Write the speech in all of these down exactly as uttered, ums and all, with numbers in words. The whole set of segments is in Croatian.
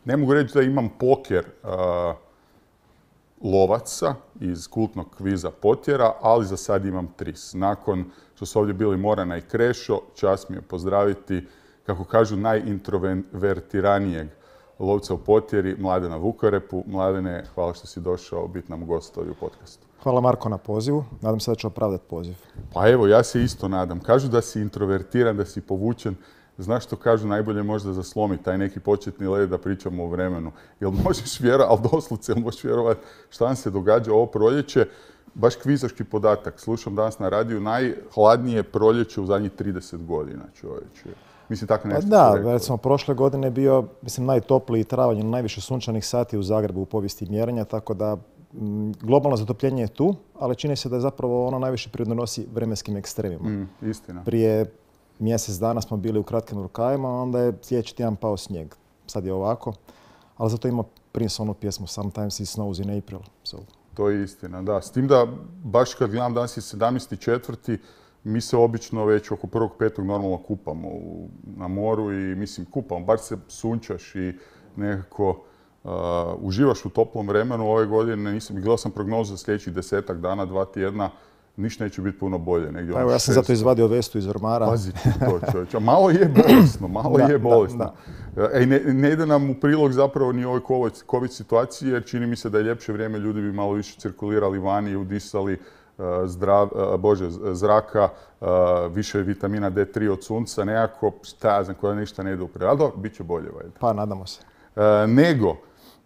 ne mogu reći da imam poker uh, lovaca iz kultnog kviza Potjera, ali za sad imam tris. Nakon što su ovdje bili Morana i Krešo, čast mi je pozdraviti, kako kažu, najintrovertiranijeg lovca u Potjeri, Mladena Vukorepu. Mladene, hvala što si došao biti nam gost ovdje u podcastu. Hvala Marko na pozivu. Nadam se da ću opravdati poziv. Pa evo, ja se isto nadam. Kažu da si introvertiran, da si povučen. Znaš što kažu, najbolje možda zaslomi taj neki početni led da pričamo o vremenu. Jel možeš vjerovati, ali doslovce, jel možeš vjerovati šta nam se događa ovo proljeće? Baš kvizaški podatak. Slušam danas na radiju, najhladnije proljeće u zadnjih trideset godina, čovječe. Mislim, tako nešto Da, recimo, prošle godine je bio, mislim, najtopliji travanj, najviše sunčanih sati u Zagrebu u povijesti mjerenja, tako da m, globalno zatopljenje je tu, ali čini se da je zapravo ono najviše pridonosi vremenskim ekstremima. Mm, istina. Prije mjesec dana smo bili u kratkim rukavima, onda je sljedeći tjedan pao snijeg. Sad je ovako, ali zato ima Prince onu pjesmu Sometimes it snows in April. So. To je istina, da. S tim da, baš kad gledam danas je sedamnaesti četvrti mi se obično već oko prvog petog normalno kupamo u, na moru i mislim kupamo, bar se sunčaš i nekako uh, uživaš u toplom vremenu. Ove godine nisam, gledao sam prognozu za sljedećih desetak dana, dva tjedna, ništa neće biti puno bolje. Negdje pa evo, ja sam zato izvadio vestu iz ormara. Pazi ti to, čovječe. Malo je bolesno, malo da, je bolesno. Da, da. E, ne, ne ide nam u prilog zapravo ni ovoj COVID situaciji, jer čini mi se da je ljepše vrijeme, ljudi bi malo više cirkulirali vani i udisali uh, zdrav, uh, bože, zraka, uh, više vitamina D tri od sunca, nekako, šta ja znam, koja ništa ne ide u prilog. Ali dobro, bit će bolje, valjda. Pa, nadamo se. Uh, nego,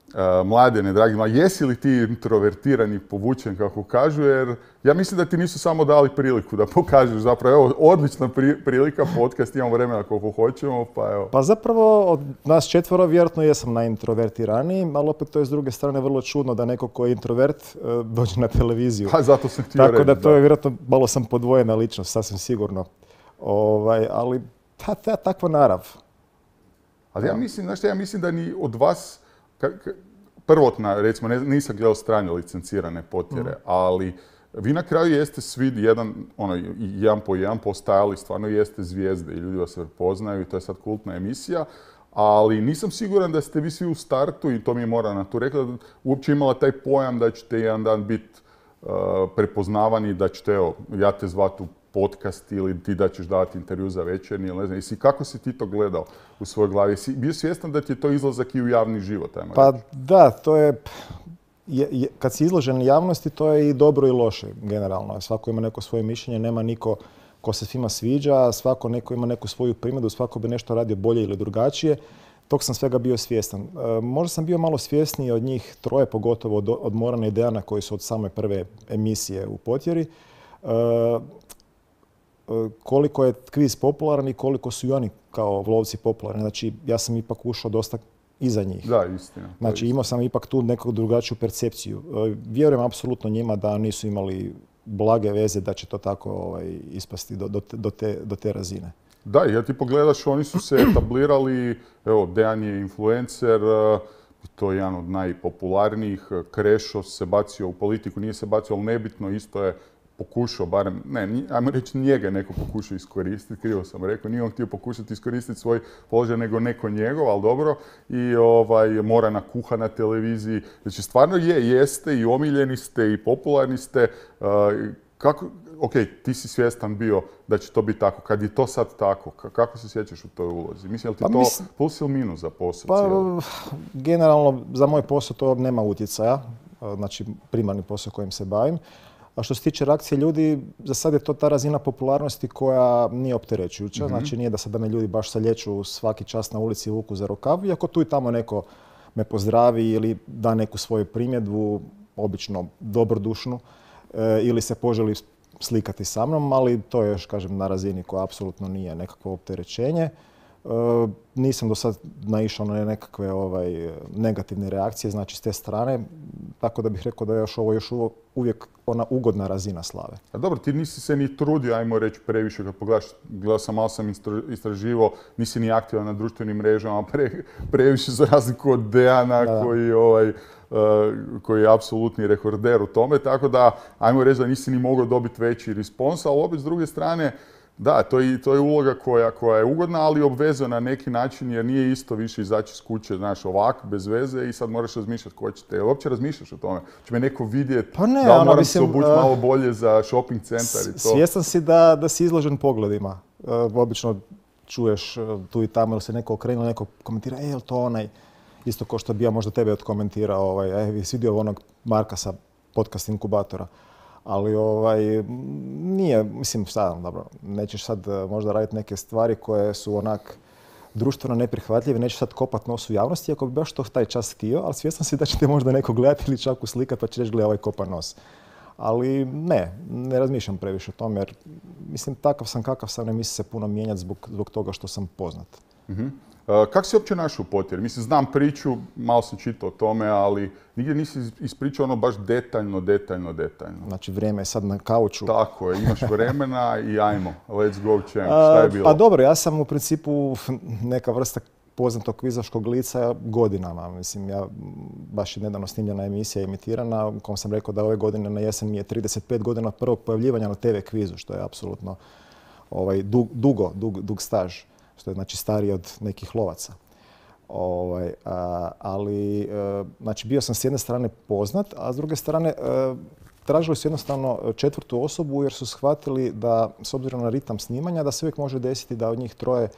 Uh, Mladene, dragi mladi, jesi li ti introvertiran i povučen, kako kažu, jer ja mislim da ti nisu samo dali priliku da pokažeš zapravo, evo, odlična pri, prilika, podcast, imamo vremena koliko hoćemo, pa evo. Pa zapravo od nas četvoro vjerojatno jesam najintrovertiraniji, ali opet to je s druge strane vrlo čudno da neko ko je introvert uh, dođe na televiziju. Pa zato sam htio Tako reći. da to je vjerojatno, malo sam podvojena ličnost, sasvim sigurno. Ovaj, ali ta, ta, takva narav. Ali ja mislim, znaš šta, ja mislim da ni od vas, ka, ka, prvotna, recimo, ne, nisam gledao strane licencirane Potjere, mm. ali vi na kraju jeste svi jedan, ono, jedan po jedan postajali, stvarno jeste zvijezde i ljudi vas prepoznaju i to je sad kultna emisija, ali nisam siguran da ste vi svi u startu, i to mi je Morana tu rekla, da uopće imala taj pojam da ćete jedan dan biti uh, prepoznavani, da ćete, evo, ja te zvat u podcast ili ti da ćeš davati intervju za Večernji, ili ne znam. Jesi, kako si ti to gledao u svojoj glavi? Jesi bio svjestan da ti je to izlazak i u javni život? Ajmo pa reći? Da, to je, je, je, kad si izložen javnosti, to je i dobro i loše generalno. Svako ima neko svoje mišljenje, nema niko ko se svima sviđa, svako neko ima neku svoju primjedbu, svako bi nešto radio bolje ili drugačije. Tog sam svega bio svjestan. E, možda sam bio malo svjesniji od njih troje, pogotovo od, od Morana i Dejana koji su od same prve emisije u Potjeri. E, koliko je kviz popularan i koliko su i oni kao lovci popularni. Znači, ja sam ipak ušao dosta iza njih. Da, istina. Znači, imao sam ipak tu neku drugačiju percepciju. Vjerujem apsolutno njima da nisu imali blage veze da će to tako ovaj, ispasti do, do, do, te, do te razine. Da, jer ti pogledaš, oni su se etablirali, evo, Dejan je influencer, to je jedan od najpopularnijih, Krešo se bacio u politiku, nije se bacio, ali nebitno, isto je pokušao, barem, ne, ajmo reći njega neko pokušao iskoristiti, krivo sam rekao, nije on htio pokušati iskoristiti svoj položaj, nego neko njegov, ali dobro, i ovaj, Morana kuha na televiziji. Znači, stvarno je, jeste i omiljeni ste i popularni ste. Uh, kako, ok, ti si svjestan bio da će to biti tako. Kad je to sad tako, kako se sjećaš u toj ulozi? Mislim, je li ti pa, to mislim, plus ili minus za posao? Pa, generalno, za moj posao to nema utjecaja, znači primarni posao kojim se bavim. A što se tiče reakcije ljudi, za sad je to ta razina popularnosti koja nije opterećujuća. Mm-hmm. Znači nije da sad da me ljudi baš salječu svaki čas na ulici i vuku za rukav. Iako tu i tamo neko me pozdravi ili da neku svoju primjedbu, obično dobrodušnu, e, ili se poželi slikati sa mnom, ali to je još, kažem, na razini koja apsolutno nije nekakvo opterećenje. E, nisam do sad naišao na nekakve ovaj, negativne reakcije, znači s te strane, tako da bih rekao da je još ovo još uvijek ona ugodna razina slave. A dobro, ti nisi se ni trudio, ajmo reći, previše kad pogledaš, gledao sam, malo sam istraživao, nisi ni aktivan na društvenim mrežama, pre, previše za razliku od Dejana da, da. koji ovaj, Uh, koji je apsolutni rekorder u tome, tako da, ajmo reći da nisi ni mogao dobiti veći respons, ali opet s druge strane, Da, to je, to je uloga koja, koja je ugodna, ali obvezuje na neki način jer nije isto više izaći iz kuće, znaš, ovak, bez veze i sad moraš razmišljati ko će te. Jel uopće razmišljaš o tome? Će me neko vidjeti, pa ne, da li ono, moram mislim, se obući uh, malo bolje za shopping centar i to? Svjestan si da, da si izložen pogledima. Uh, obično čuješ uh, tu i tamo ili se neko okrenuo, neko komentira, e, je li to onaj, isto ko što bi ja možda tebe odkomentirao, ovaj, e, vi si vidio onog Marka sa podcast inkubatora. Ali ovaj, nije, mislim, sad, dobro, nećeš sad možda raditi neke stvari koje su onak društveno neprihvatljive, nećeš sad kopat nos u javnosti, ako bi baš to taj čas htio, ali svjestan si da će te možda neko gledati ili čak uslikati pa će reći, gleda ovaj kopa nos. Ali ne, ne razmišljam previše o tome jer, mislim, takav sam kakav sam, ne mislim se puno mijenjati zbog, zbog toga što sam poznat. Uh-huh. Uh, kako si uopće našao u Potjeri? Mislim, znam priču, malo sam čitao o tome, ali nigdje nisi ispričao ono baš detaljno, detaljno, detaljno. Znači, vrijeme je sad na kauču. Tako je, imaš vremena i ajmo, let's go champ. Šta je bilo? Pa dobro, ja sam u principu neka vrsta poznatog kvizaškog lica godinama. Mislim, ja baš je nedavno snimljena emisija emitirana, u kom sam rekao da ove godine na jesen mi je trideset pet godina prvog pojavljivanja na te ve kvizu, što je apsolutno ovaj, dug, dugo, dug, dug staž. Što je znači stariji od nekih lovaca. Ovaj, a, ali, e, znači bio sam s jedne strane poznat, a s druge strane e, tražili su jednostavno četvrtu osobu jer su shvatili da, s obzirom na ritam snimanja, da se uvijek može desiti da od njih troje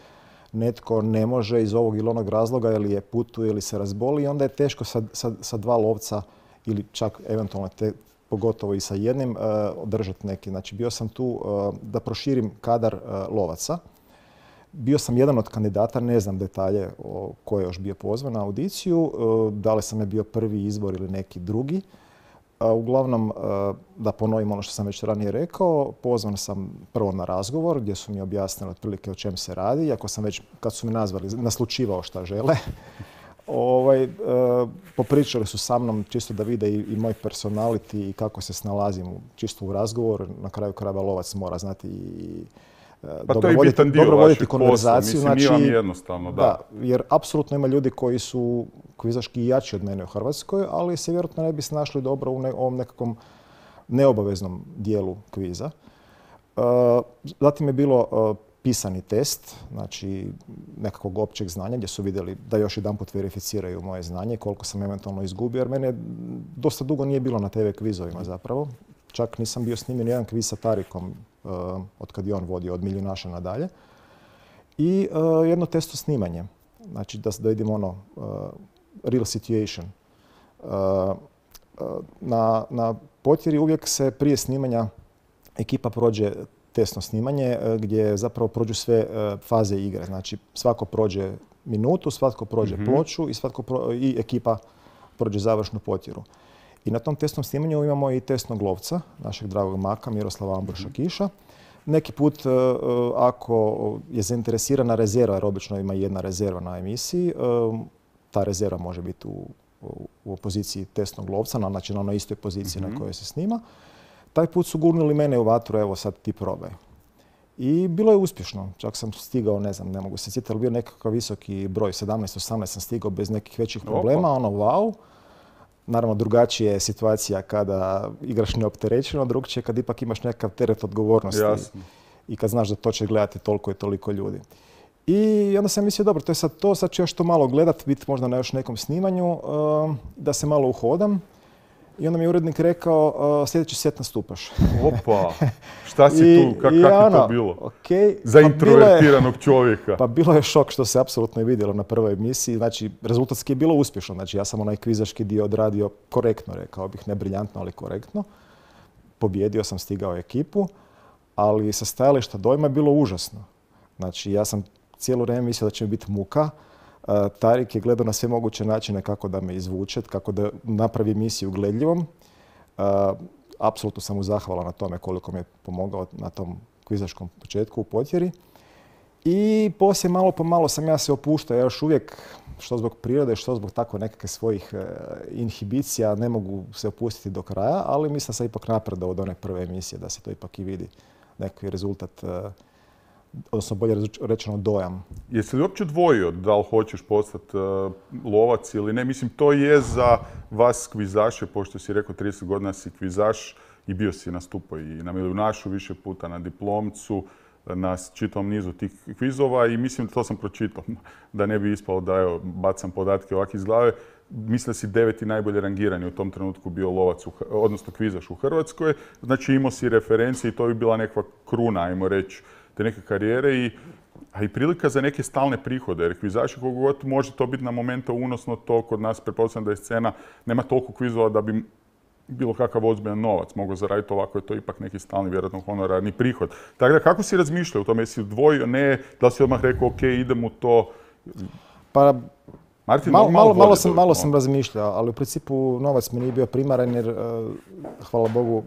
netko ne može iz ovog ili onog razloga ili je putuje ili se razboli i onda je teško sa, sa, sa dva lovca ili čak eventualno te, pogotovo i sa jednim e, održati neki. Znači bio sam tu e, da proširim kadar e, lovaca. Bio sam jedan od kandidata, ne znam detalje o ko je još bio pozvan na audiciju, da li sam je bio prvi izbor ili neki drugi. Uglavnom, da ponovim ono što sam već ranije rekao, pozvan sam prvo na razgovor gdje su mi objasnili otprilike o čem se radi, iako sam već, kad su mi nazvali, naslučivao šta žele. Ovaj, e, popričali su sa mnom čisto da vide i, i moj personality i kako se snalazim čisto u razgovor. Na kraju krajeva lovac mora znati i Pa dobro to je voditi, bitan dio dobro voditi vašeg konverzaciju. posla. Mislim, znači, nije vam jednostavno, da. da. Jer apsolutno ima ljudi koji su kvizaški jači od mene u Hrvatskoj, ali se vjerojatno ne bi snašli dobro u ne, ovom nekakvom neobaveznom dijelu kviza. Uh, zatim je bilo uh, pisani test, znači nekakvog općeg znanja gdje su vidjeli da još jedanput verificiraju moje znanje, koliko sam eventualno izgubio, jer mene dosta dugo nije bilo na te ve kvizovima zapravo. Čak nisam bio snimljen jedan kviz sa Tarikom uh, od kad je on vodio, od Miljunaša nadalje. I uh, jedno testo snimanje. Znači da, da vidimo ono, uh, real situation. Uh, uh, na, na Potjeri uvijek se prije snimanja ekipa prođe testno snimanje uh, gdje zapravo prođu sve uh, faze igre. Znači svako prođe minutu, svatko prođe mm-hmm. ploču i, svatko pro, i ekipa prođe završnu Potjeru. I na tom testnom snimanju imamo i testnog lovca, našeg dragog maka Miroslava Ambroša Kiša. Neki put, uh, ako je zainteresirana rezerva, jer obično ima jedna rezerva na emisiji, uh, ta rezerva može biti u, u, u poziciji testnog lovca, znači na onoj istoj poziciji mm-hmm. na kojoj se snima. Taj put su gurnuli mene u vatru, evo sad ti probaj. I bilo je uspješno. Čak sam stigao, ne znam, ne mogu se sjetiti, ali bio nekakav visoki broj, sedamnaest osamnaest sam stigao bez nekih većih problema, ono wow. Naravno, drugačija je situacija kada igraš neopterećeno, drugčije kad ipak imaš nekakav teret odgovornosti. Jasno. I kad znaš da to će gledati toliko i toliko ljudi. I onda sam mislio, dobro, to je sad to, sad ću još to malo gledat, biti možda na još nekom snimanju, uh, da se malo uhodam. I onda mi je urednik rekao, uh, sljedeći set nastupaš. Opa, šta si I, tu, Kak, i kako je ono, to bilo? Okay, za pa introvertiranog je, čovjeka. Pa bilo je šok što se apsolutno i vidjelo na prvoj emisiji. Znači, rezultatski je bilo uspješno. Znači, ja sam onaj kvizaški dio odradio korektno, rekao bih, ne briljantno, ali korektno. Pobjedio sam, stigao ekipu, ali sa stajališta dojma je bilo užasno. Znači, ja sam cijelo vrijeme mislio da će mi biti muka. Uh, Tarik je gledao na sve moguće načine kako da me izvuče, kako da napravi emisiju gledljivom. Uh, apsolutno sam mu zahvalan na tome koliko mi je pomogao na tom kvizaškom početku u Potjeri. I poslije malo po malo sam ja se opuštao. Ja još uvijek, što zbog prirode, što zbog tako nekakve svojih uh, inhibicija, ne mogu se opustiti do kraja, ali mislim da sam ipak napredao od one prve emisije, da se to ipak i vidi neki rezultat, uh, odnosno bolje rečeno dojam. Jesi li uopće dvojio da li hoćeš postati uh, lovac ili ne? Mislim, to je za vas kvizaše, pošto si rekao trideset godina si kvizaš i bio si nastupao i na Miljunašu više puta, na Diplomcu. Uh, na čitavom nizu tih kvizova i mislim da to sam pročitao, da ne bi ispalo da evo, bacam podatke ovak iz glave. Mislim da si deveti najbolje rangirani u tom trenutku bio lovac, u, odnosno kvizaš u Hrvatskoj. Znači imao si referencije i to bi bila nekakva kruna, ajmo reći, te neke karijere i, a i prilika za neke stalne prihode. Jer kvizaši koliko god može to biti na momente unosno, to kod nas pretpostavljam da je scena, nema toliko kvizova da bi bilo kakav ozbiljan novac mogao zaraditi, ovako je to ipak neki stalni, vjerojatno honorarni prihod. Tako da, kako si razmišljao o tome? Jesi dvojio, ne, da li si odmah rekao, ok, idem u to? Pa, Martin, malo, malo, malo, sam, malo to. sam razmišljao, ali u principu novac mi nije bio primaran jer, hvala Bogu,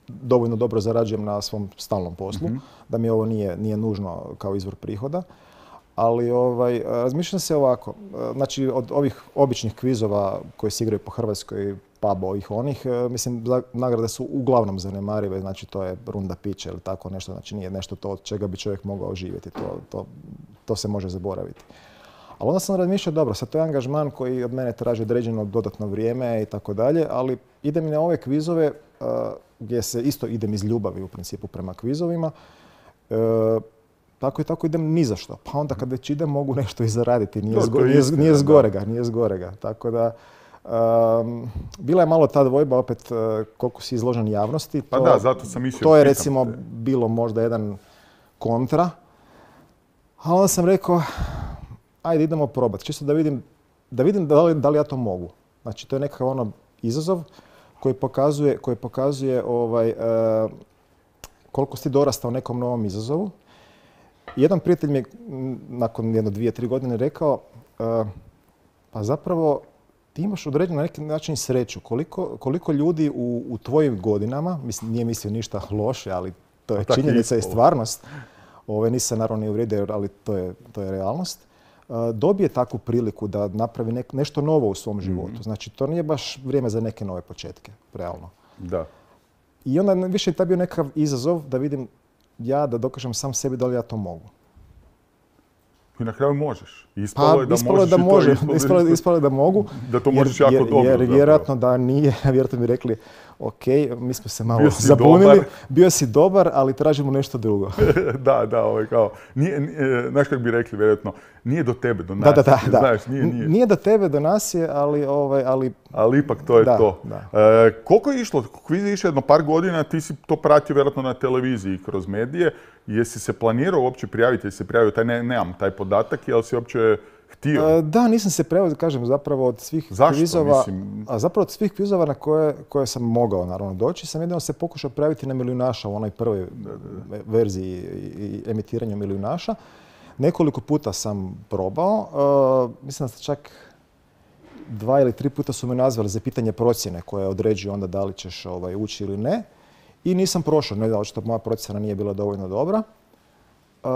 dovoljno dobro zarađujem na svom stalnom poslu, mm-hmm. da mi ovo nije, nije nužno kao izvor prihoda. Ali ovaj, razmišljam se ovako, znači od ovih običnih kvizova koji se igraju po Hrvatskoj, pub ovih onih, mislim nagrade su uglavnom zanemarive, znači to je runda pića ili tako nešto, znači nije nešto to od čega bi čovjek mogao živjeti, to, to, to se može zaboraviti. Ali onda sam razmišljao, dobro, sad to je angažman koji od mene traži određeno dodatno vrijeme i tako dalje, ali idem i na ove kvizove uh, gdje se isto idem iz ljubavi u principu prema kvizovima. Uh, Tako i tako idem ni za što. Pa onda kad već idem mogu nešto i zaraditi. Nije, zgo, nije, nije zgorega, nije zgorega. Tako da, um, bila je malo ta dvojba opet uh, koliko si izložen javnosti. To, pa da, zato sam mislio. To je recimo te. bilo možda jedan kontra. A onda sam rekao, ajde idemo probati. Čisto da vidim, da vidim da li, da li ja to mogu. Znači to je nekakav ono izazov koji pokazuje, koji pokazuje ovaj, uh, koliko si dorastao nekom novom izazovu. Jedan prijatelj mi je nakon jedno dvije, tri godine rekao, uh, pa zapravo ti imaš određen na neki način sreću. Koliko, koliko ljudi u, u tvojim godinama, mislim, nije mislio ništa loše, ali to je činjenica i stvarnost, ove, nisam naravno ni uvrijedio, ali to je, to je realnost, uh, dobije takvu priliku da napravi nek, nešto novo u svom životu. Mm-hmm. Znači, to nije baš vrijeme za neke nove početke, realno. Da. I onda više je taj bio nekakav izazov da vidim ja da dokažem sam sebi da li ja to mogu. I na kraju možeš. Ispalo je da ispalo možeš da i to može, ispalo, ispalo, ispalo je da mogu. Da to možeš jer, jako jer, dobro. Jer zapravo. vjerojatno da nije, vjerojatno mi rekli, ok, mi smo se malo zabunili, dobar. bio si dobar, ali tražimo nešto drugo. da, da, ovaj, kao, nije, nije, znaš kako bi rekli, vjerojatno, nije do tebe, do nas. Da, da, da, da. Znaš, nije, nije. nije do tebe, do nas je, ali... Ovaj, ali... ali ipak to je da, to. Da. E, koliko je išlo? Kviz je išlo jedno par godina, ti si to pratio vjerojatno na televiziji kroz medije. Jesi se planirao uopće prijaviti, jesi se prijavio, taj, ne, nemam taj podatak, jel si uopće htio? E, da, nisam se prijavio, kažem, zapravo od svih Zašto? kvizova, Mislim... a zapravo od svih kvizova na koje, koje sam mogao naravno doći, sam jedino se pokušao prijaviti na Milijunaša u onoj prvoj da, da, da. verziji i emitiranju Milijunaša. Nekoliko puta sam probao, e, mislim da ste čak dva ili tri puta su me nazvali za pitanje procjene koje određuje onda da li ćeš ovaj, ući ili ne. I nisam prošao, ne da očito moja procjena nije bila dovoljno dobra. Uh,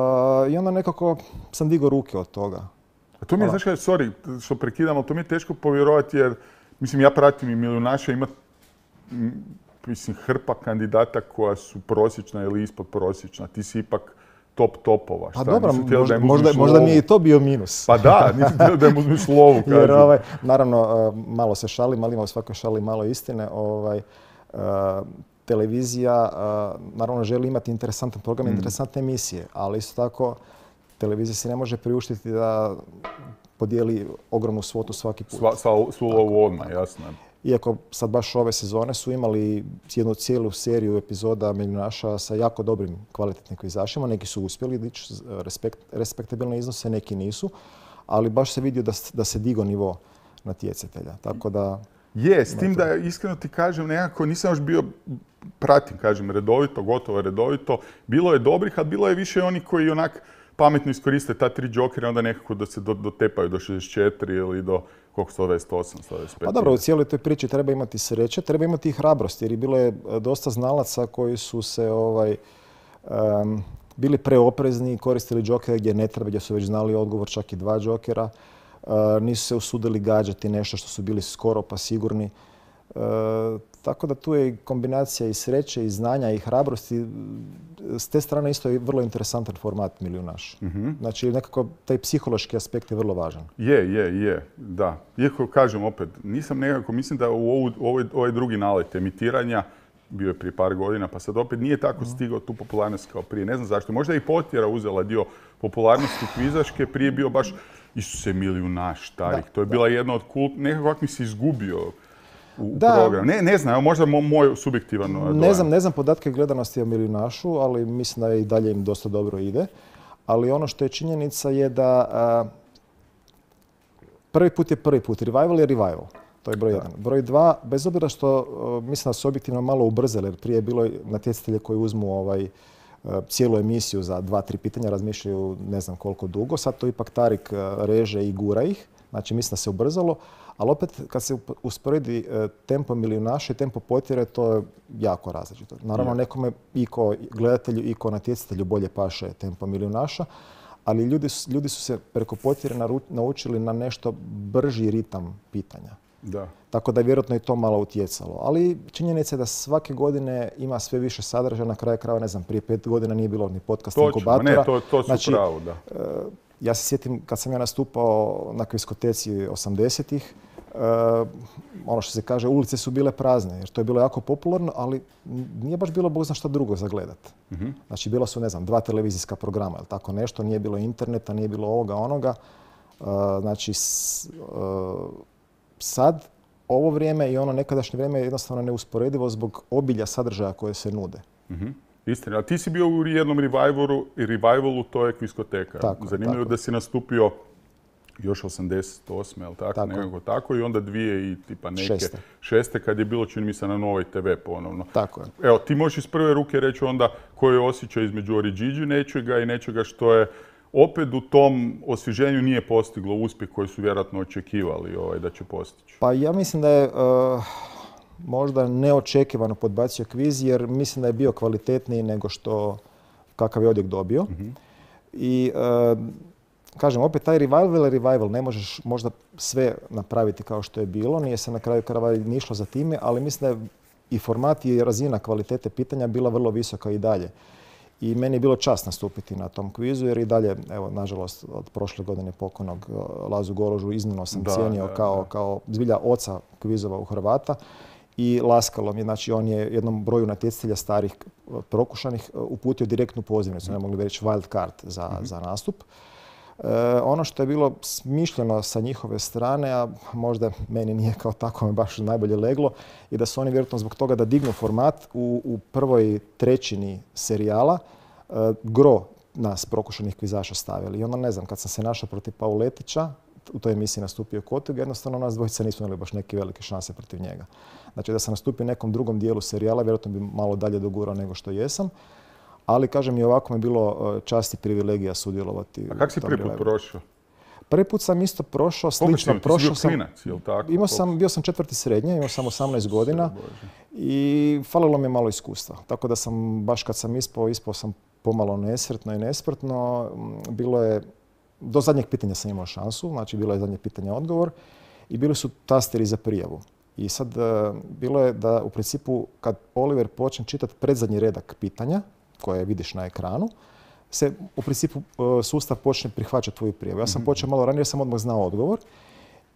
I onda nekako sam digao ruke od toga. A to mi je, znaš kaj, sorry što prekidam, ali to mi je teško povjerovati jer, mislim, ja pratim i Milijunaša, ima, mislim, hrpa kandidata koja su prosječna ili ispod prosječna. Ti si ipak top topova. Pa dobro, možda, možda, možda mi je i to bio minus. Pa da, nisam htio da im uzmiš lovu, kažem. Jer, ovaj, naravno, malo se šalim, ali ima u svakoj šali malo istine. Ovaj, uh, televizija, uh, naravno, želi imati interesantan program, mm. interesantne emisije, ali isto tako televizija se ne može priuštiti da podijeli ogromnu svotu svaki put. Sva, sva, svu lovu odmah, jasno. Iako sad baš ove sezone su imali jednu cijelu seriju epizoda Milijunaša sa jako dobrim kvalitetnim kvizašima. Neki su uspjeli dići respekt, respektabilne iznose, neki nisu. Ali baš se vidio da, da se digo nivo natjecatelja. Tako da... Je, s tim da iskreno ti kažem, nekako nisam još bio, pratim, kažem, redovito, gotovo redovito. Bilo je dobrih, ali bilo je više oni koji onak pametno iskoriste ta tri džokera, onda nekako da se dotepaju do šezdeset četiri ili do koliko, sto dvadeset osam, sto dvadeset pet. Pa dobro, u cijeloj toj priči treba imati sreće, treba imati i hrabrost, jer je bilo je dosta znalaca koji su se ovaj, um, bili preoprezni, koristili džokere gdje ne treba, gdje su već znali odgovor, čak i dva džokera. Uh, nisu se usudili gađati nešto što su bili skoro pa sigurni. Uh, tako da tu je i kombinacija i sreće, i znanja, i hrabrosti. S te strane isto je vrlo interesantan format Milijunaš. Mm-hmm. Znači, nekako taj psihološki aspekt je vrlo važan. Je, je, je, da. Iako kažem opet, nisam nekako, mislim da u ovu, ovaj, ovaj drugi nalet emitiranja bio je prije par godina, pa sad opet nije tako stigao tu popularnost kao prije. Ne znam zašto. Možda je i Potjera uzela dio popularnosti kvizaške, prije bio baš Isuse milijunaš starih. To je bila jedna od kult... Nekako mi se izgubio u Da. program. Ne, ne znam, evo možda mo- moj subjektivan dojam. Ne znam, ne znam podatke gledanosti o milijunašu, ali mislim da i dalje im dosta dobro ide. Ali ono što je činjenica je da a, prvi put je prvi put. Revival je revival. To je broj jedan. Broj dva, bez obzira što uh, mislim da su objektivno malo ubrzali, jer prije je bilo natjecatelje koji uzmu ovaj, uh, cijelu emisiju za dva, tri pitanja, razmišljaju ne znam koliko dugo. Sad to ipak Tarik uh, reže i gura ih. Znači mislim da se ubrzalo. Ali opet kad se usporedi uh, tempo milijunaša i tempo Potjere, to je jako različito. Naravno Je. nekome i ko gledatelju i ko natjecatelju bolje paše tempo milijunaša. Ali ljudi, su- ljudi su se preko Potjere naru- naučili na nešto brži ritam pitanja. Da. Tako da je vjerojatno i to malo utjecalo. Ali činjenica je da svake godine ima sve više sadržaja. Na kraju krajeva, ne znam, prije pet godina nije bilo ni podcast Točno, inkubatora. ne, to, to su Znači, pravo, da. e, ja se sjetim kad sam ja nastupao na kviskoteci osamdesetih, e, ono što se kaže, ulice su bile prazne, jer to je bilo jako popularno, ali nije baš bilo bog zna šta drugo za gledat. Mhm. Znači, bila su, ne znam, dva televizijska programa, ili tako nešto, nije bilo interneta, nije bilo ovoga, onoga. E, znači, s- e, sad ovo vrijeme i ono nekadašnje vrijeme je jednostavno neusporedivo zbog obilja sadržaja koje se nude. Mhm. Istina. A ti si bio u jednom revivalu, i revivalu to je kviskoteka. Tako je, Zanimljivo tako da si nastupio još osamdeset osme, jel tako? Tako je. Nekako tako. I onda dvije i tipa neke Šeste. šeste kad je bilo, čini mi se, na Novoj te ve ponovno. Tako je. Evo, ti možeš iz prve ruke reći onda koji je osjećaj između Oriđiđi nečega i nečega što je opet u tom osvježenju nije postiglo uspjeh koji su vjerojatno očekivali ovaj, da će postići. Pa ja mislim da je e, možda neočekivano podbacio kviz jer mislim da je bio kvalitetniji nego što kakav je odjek dobio. I e, kažem, opet taj revival je revival. Ne možeš možda sve napraviti kao što je bilo. Nije se na kraju krajeva ni išlo za time, ali mislim da je i format i razina kvalitete pitanja bila vrlo visoka i dalje. I meni je bilo čast nastupiti na tom kvizu jer i dalje, evo, nažalost, od prošle godine pokojnog uh, Lazu Goložu iznimno sam Da, cijenio da, kao, da. kao zbilja oca kvizova u Hrvata i laskalo mi. Znači, on je jednom broju natjecatelja starih uh, prokušanih uh, uputio direktnu pozivnicu, ne mogli bi reći wild card za, za nastup. E, ono što je bilo smišljeno sa njihove strane, a možda meni nije kao tako me baš najbolje leglo, i da su oni vjerojatno zbog toga da dignu format u, u prvoj trećini serijala e, gro nas prokušanih kvizaša stavili. I onda ne znam, kad sam se našao protiv Pauletića, u toj emisiji nastupio Kotug, jednostavno nas dvojica nismo imali baš neke velike šanse protiv njega. Znači da sam nastupio u nekom drugom dijelu serijala, vjerojatno bi malo dalje dogurao nego što jesam. Ali, kažem, i ovako mi je bilo e, čast i privilegija sudjelovati. A kako si u tom prvi put revivalu. prošao? Prvi put sam isto prošao, Koliko si slično imao? Ti si prošao bio sam. klinac, jel tako? Imao sam, bio sam četvrti srednje, imao sam osamnaest godina Bože. i falilo mi je malo iskustva. Tako da sam, baš kad sam ispao, ispao sam pomalo nesretno i nesprtno. Mm, Bilo je, do zadnjeg pitanja sam imao šansu, znači bilo je zadnje pitanje odgovor i bili su tasteri za prijavu. I sad e, bilo je da u principu kad Oliver počne čitati predzadnji redak pitanja, koje vidiš na ekranu, se u principu e, sustav počne prihvaćati tvoju prijavu. Ja sam počeo malo ranije jer sam odmah znao odgovor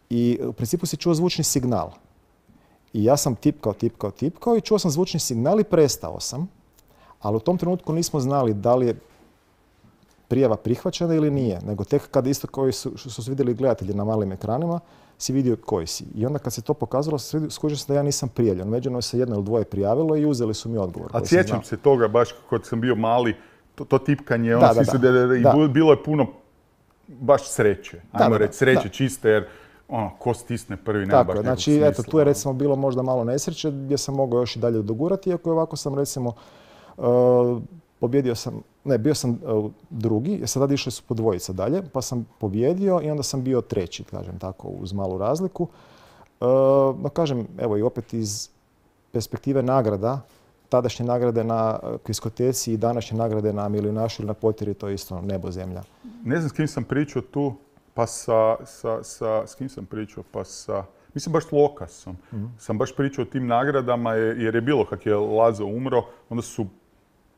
i u principu si čuo zvučni signal. I ja sam tipkao, tipkao, tipkao i čuo sam zvučni signal i prestao sam. Ali u tom trenutku nismo znali da li je prijava prihvaćena ili nije, nego tek kad isto koji su, što su vidjeli gledatelji na malim ekranima, si vidio koji si. I onda kad se to pokazalo, skužio sam da ja nisam prijavljen. Međutim, se jedno ili dvoje prijavilo i uzeli su mi odgovor. A koji sam sjećam znao. se toga baš kad sam bio mali, to, to tipkanje, Da, ono, da, svi su da. da- i Da. bilo je puno baš sreće. Da, Ajmo da, da. reći sreće Da. čiste jer ono, ko stisne prvi nema Tako baš je, nekog znači smisla, eto, tu je ono. recimo bilo možda malo nesreće gdje sam mogao još i dalje dogurati, iako je ovako sam recimo uh, pobjedio sam, ne, bio sam uh, drugi, jer sad išli su po dvojica dalje, pa sam pobjedio i onda sam bio treći, kažem tako, uz malu razliku. Uh, no kažem, evo i opet iz perspektive nagrada, tadašnje nagrade na uh, kviskoteci i današnje nagrade na milijunašu ili na Potjeri, to je isto nebo zemlja. Ne znam s kim sam pričao tu, pa sa, sa, sa, s kim sam pričao, pa sa, mislim baš s Lokasom. Sam baš pričao o tim nagradama je- jer je bilo kak je Lazo umro, onda su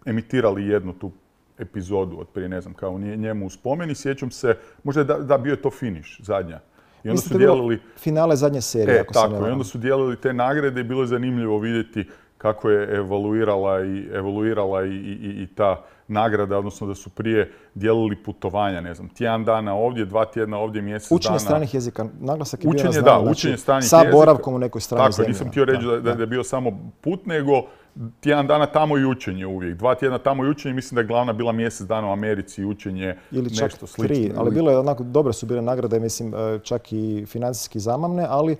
emitirali jednu tu epizodu od prije, ne znam, kao nje- njemu u spomen i sjećam se, možda je da, da bio je to finish, zadnja. I onda Mislim su da je bilo dijelili, finale zadnje serije, e, ako se ne tako, i varam. onda su dijelili te nagrade i bilo je zanimljivo vidjeti kako je evoluirala i, evoluirala i, i, i ta nagrada, odnosno da su prije dijelili putovanja, ne znam, tjedan dana ovdje, dva tjedna ovdje, mjesec učenje dana. Učenje stranih jezika, naglasak je učenje, bio na znanje, da, učenje znači, stranih sa jezika. boravkom u nekoj stranoj Tako, zemlji. nisam htio reći da, da, da je bio samo put, nego tjedan dana tamo i učenje uvijek. Dva tjedna tamo i učenje, mislim da je glavna bila mjesec dana u Americi i učenje ili čak nešto slično. Tri, ali bilo je onako, dobre su bile nagrade, mislim, čak i financijski zamamne, ali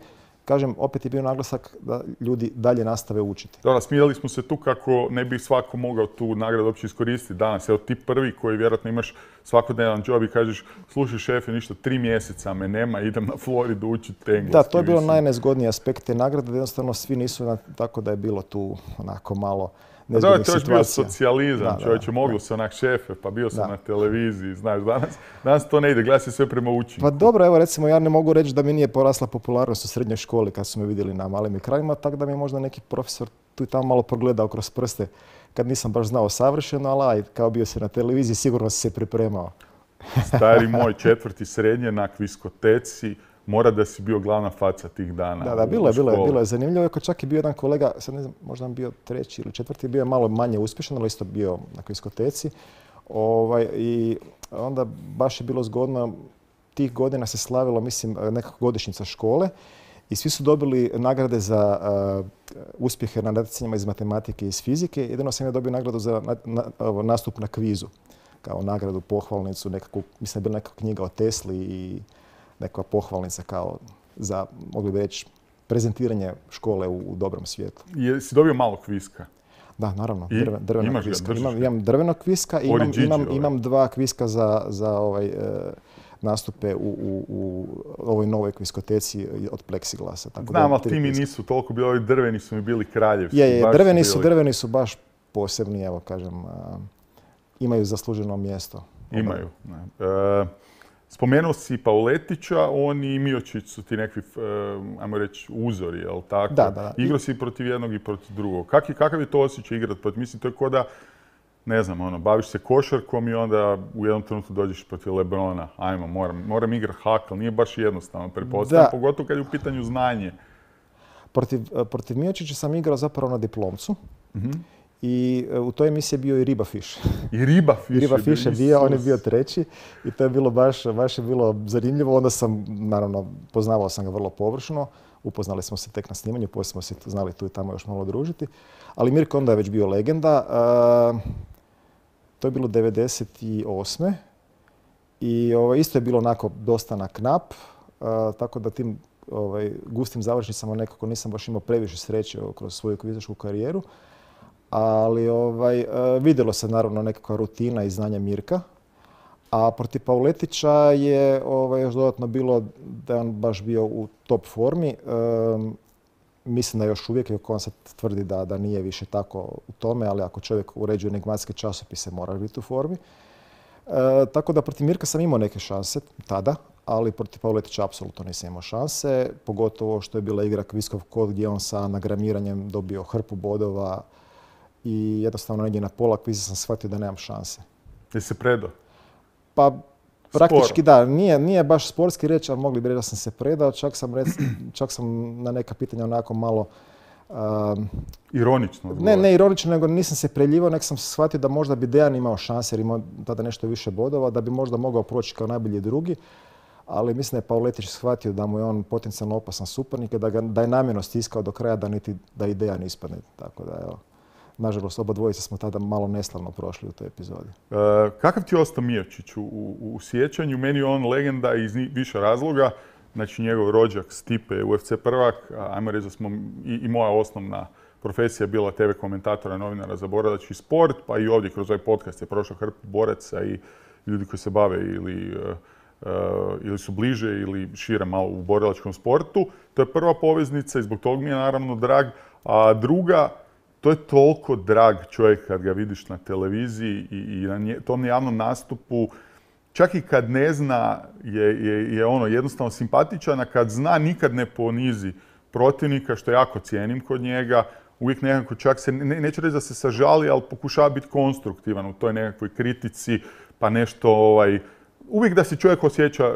kažem, opet je bio naglasak da ljudi dalje nastave učiti. Dobro, smijali smo se tu kako ne bi svako mogao tu nagradu uopće iskoristiti danas. Evo ti prvi koji vjerojatno imaš svakodnevan job i kažeš, slušaj šefe, ništa, tri mjeseca me nema, idem na Floridu učiti engleski. Da, to je bilo najnezgodniji aspekt te nagrade, da jednostavno svi nisu, na, tako da je bilo tu onako malo nezgodnih situacija. Da, to je bio socijalizam, čovječe, moglo da. se onak šefe, pa bio sam da. na televiziji, znaš, danas, danas to ne ide, gleda se sve prema učinku. Pa dobro, evo recimo ja ne mogu reći da mi nije porasla popularnost u srednjoj školi kad su me vidjeli na malim ekranima, tako da mi je možda neki profesor tu i tamo malo progledao kroz prste kad nisam baš znao savršeno, ali aj, kao bio se na televiziji, sigurno si se pripremao. Stari moj, četvrti srednje na kviskoteci, mora da si bio glavna faca tih dana. Da, da, bilo je, bilo je, bilo je zanimljivo. Iako čak je bio jedan kolega, sad ne znam, možda on bio treći ili četvrti, bio je malo manje uspješan, ali isto bio na kviskoteci. Ovaj, I onda baš je bilo zgodno, tih godina se slavilo, mislim, nekako godišnjica škole i svi su dobili nagrade za uh, uspjehe na natjecanjima iz matematike i iz fizike. Jedino sam ja dobio nagradu za na, na, nastup na kvizu, kao nagradu, pohvalnicu, nekakvu, mislim da je bila neka knjiga o Tesli i neka pohvalnica kao za, mogli bi reći, prezentiranje škole u, u dobrom svijetu. Jesi dobio malo kviska? Da, naravno, I? drve, drvenog Imaš kviska. Ga, imam, imam drvenog kviska i imam, Gigi, imam, ovaj. imam dva kviska za, za ovaj, e, nastupe u, u, u ovoj novoj kviskoteci od pleksiglasa. Tako Znam, da, ali ti mi nisu toliko bili, ovi drveni su mi bili kraljevski. Je, je, drveni su, bili... drveni su baš posebni, evo kažem, a, imaju zasluženo mjesto. Imaju. Ne. E, Spomenuo si Pauletića, on i Miočić su ti nekakvi, ajmo reći, uzori, jel tako? Da, da. Igrao si protiv jednog i protiv drugog. Kak je, kakav je to osjećaj igrati protiv? Mislim, to je ko da, ne znam, ono, baviš se košarkom i onda u jednom trenutku dođeš protiv Lebrona. Ajmo, moram, moram igrati hakl. Nije baš jednostavno, pretpostavljam, pogotovo kad je u pitanju znanje. Protiv, protiv Miočića sam igrao zapravo na diplomcu. Mm-hmm. I u toj emisiji je bio i Riba Fiš. I Riba Fiš, Riba Fiš je bio, on je bio treći i to je bilo baš, baš je bilo zanimljivo. Onda sam, naravno, poznavao sam ga vrlo površno. Upoznali smo se tek na snimanju, poslije smo se znali tu i tamo još malo družiti. Ali Mirko onda je već bio legenda. Uh, to je bilo devedeset osme I ovaj, isto je bilo onako dosta na knap. Uh, tako da tim ovaj, gustim završnicama nekako nisam baš imao previše sreće kroz svoju kvizašku karijeru. Ali ovaj, vidjelo se naravno nekakva rutina i znanje Mirka. A protiv Pauletića je ovaj, još dodatno bilo da je on baš bio u top formi. Um, mislim da još uvijek, iako on sad tvrdi da, da nije više tako u tome, ali ako čovjek uređuje enigmatske časopise, mora biti u formi. E, tako da protiv Mirka sam imao neke šanse tada, ali protiv Pauletića apsolutno nisam imao šanse. Pogotovo što je bila igra Kviskov kod gdje on sa nagramiranjem dobio hrpu bodova. I jednostavno negdje na pola kviza sam shvatio da nemam šanse. Jesi se predao? Pa praktički Sporo. da, nije, nije baš sportski reći, ali mogli bi reći da sam se predao. Čak sam, rec, čak sam na neka pitanja onako malo... Um, ironično odgovor. Ne, ne ironično, nego nisam se preljivao, nek sam shvatio da možda bi Dejan imao šanse jer imao tada nešto više bodova, da bi možda mogao proći kao najbolji drugi. Ali mislim da je Pauletić shvatio da mu je on potencijalno opasan suparnik, da, ga, da je namjerno stiskao do kraja da, niti, da i Dejan ispadne. Tako da, evo. Nažalost, oba dvojica smo tada malo neslavno prošli u toj epizodi. E, kakav ti je ostao Miočić u, u, u sjećanju? Meni je on legenda iz više razloga. Znači, njegov rođak Stipe je U F C prvak. Ajmo reći da smo i, i moja osnovna profesija bila te ve komentatora, novinara za borilački sport, pa i ovdje kroz ovaj podcast je prošao hrpu boraca i ljudi koji se bave ili, uh, ili su bliže ili šire malo u borilačkom sportu. To je prva poveznica i zbog toga mi je naravno drag. A druga, to je toliko drag čovjek kad ga vidiš na televiziji i, i na nje, tom javnom nastupu. Čak i kad ne zna je, je, je ono jednostavno simpatičan, a kad zna nikad ne ponizi protivnika, što jako cijenim kod njega. Uvijek nekako čak se, ne, neću reći da se sažali, ali pokušava biti konstruktivan u toj nekakvoj kritici, pa nešto ovaj... Uvijek da se čovjek osjeća uh,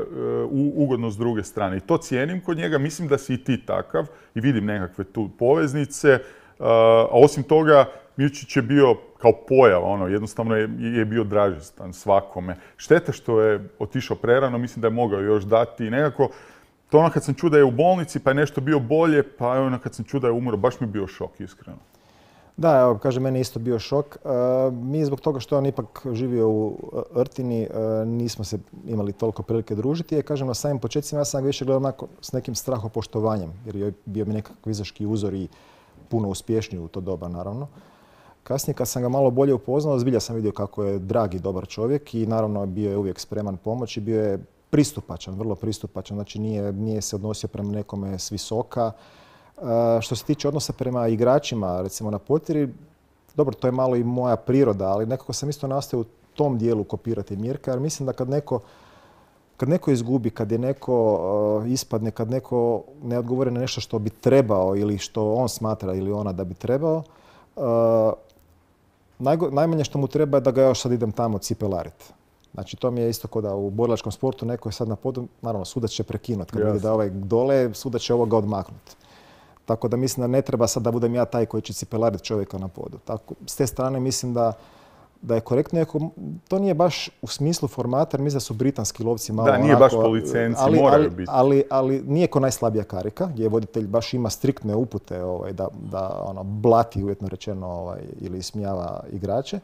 ugodno s druge strane. I to cijenim kod njega. Mislim da si i ti takav i vidim nekakve tu poveznice. a osim toga, Milčić je bio kao pojava, ono, jednostavno je, je bio dražestan svakome. Šteta što je otišao prerano, mislim da je mogao još dati i nekako, to ono kad sam čuo da je u bolnici pa je nešto bio bolje, pa ono kad sam čuo da je umro, baš mi je bio šok, iskreno. Da, evo, kaže, meni je isto bio šok. E, mi zbog toga što je on ipak živio u Rtini, e, nismo se imali toliko prilike družiti. I kažem, na samim početcima ja sam ga više gledao onako s nekim strahopoštovanjem, jer je bio mi nekakav vizaški uzor i puno uspješniji u to doba, naravno. Kasnije, kad sam ga malo bolje upoznao, zbilja sam vidio kako je drag i dobar čovjek i naravno bio je uvijek spreman pomoći, bio je pristupačan, vrlo pristupačan, znači nije, nije se odnosio prema nekome s visoka. Uh, što se tiče odnosa prema igračima, recimo na potjeri, dobro, to je malo i moja priroda, ali nekako sam isto nastavio u tom dijelu kopirati Mirka, jer mislim da kad neko, kad neko izgubi, kad je neko uh, ispadne, kad neko ne odgovori na nešto što bi trebao ili što on smatra ili ona da bi trebao, uh, najgo, najmanje što mu treba je da ga još sad idem tamo cipelariti. Znači, to mi je isto kao da u borilačkom sportu neko je sad na podu, naravno, sudac će prekinuti. Kad vidi da ovaj dole, sudac će ovoga odmaknuti. Tako da mislim da ne treba sad da budem ja taj koji će cipelariti čovjeka na podu. Tako, s te strane mislim da, da je korektno. To nije baš u smislu formata, jer mislim da su britanski lovci malo da, nije onako, baš po licenci, ali, moraju ali, biti. Ali, ali nije ko najslabija karika, gdje voditelj baš ima striktne upute ovaj, da, da ono, blati, uvjetno rečeno, ovaj, ili ismijava igrače.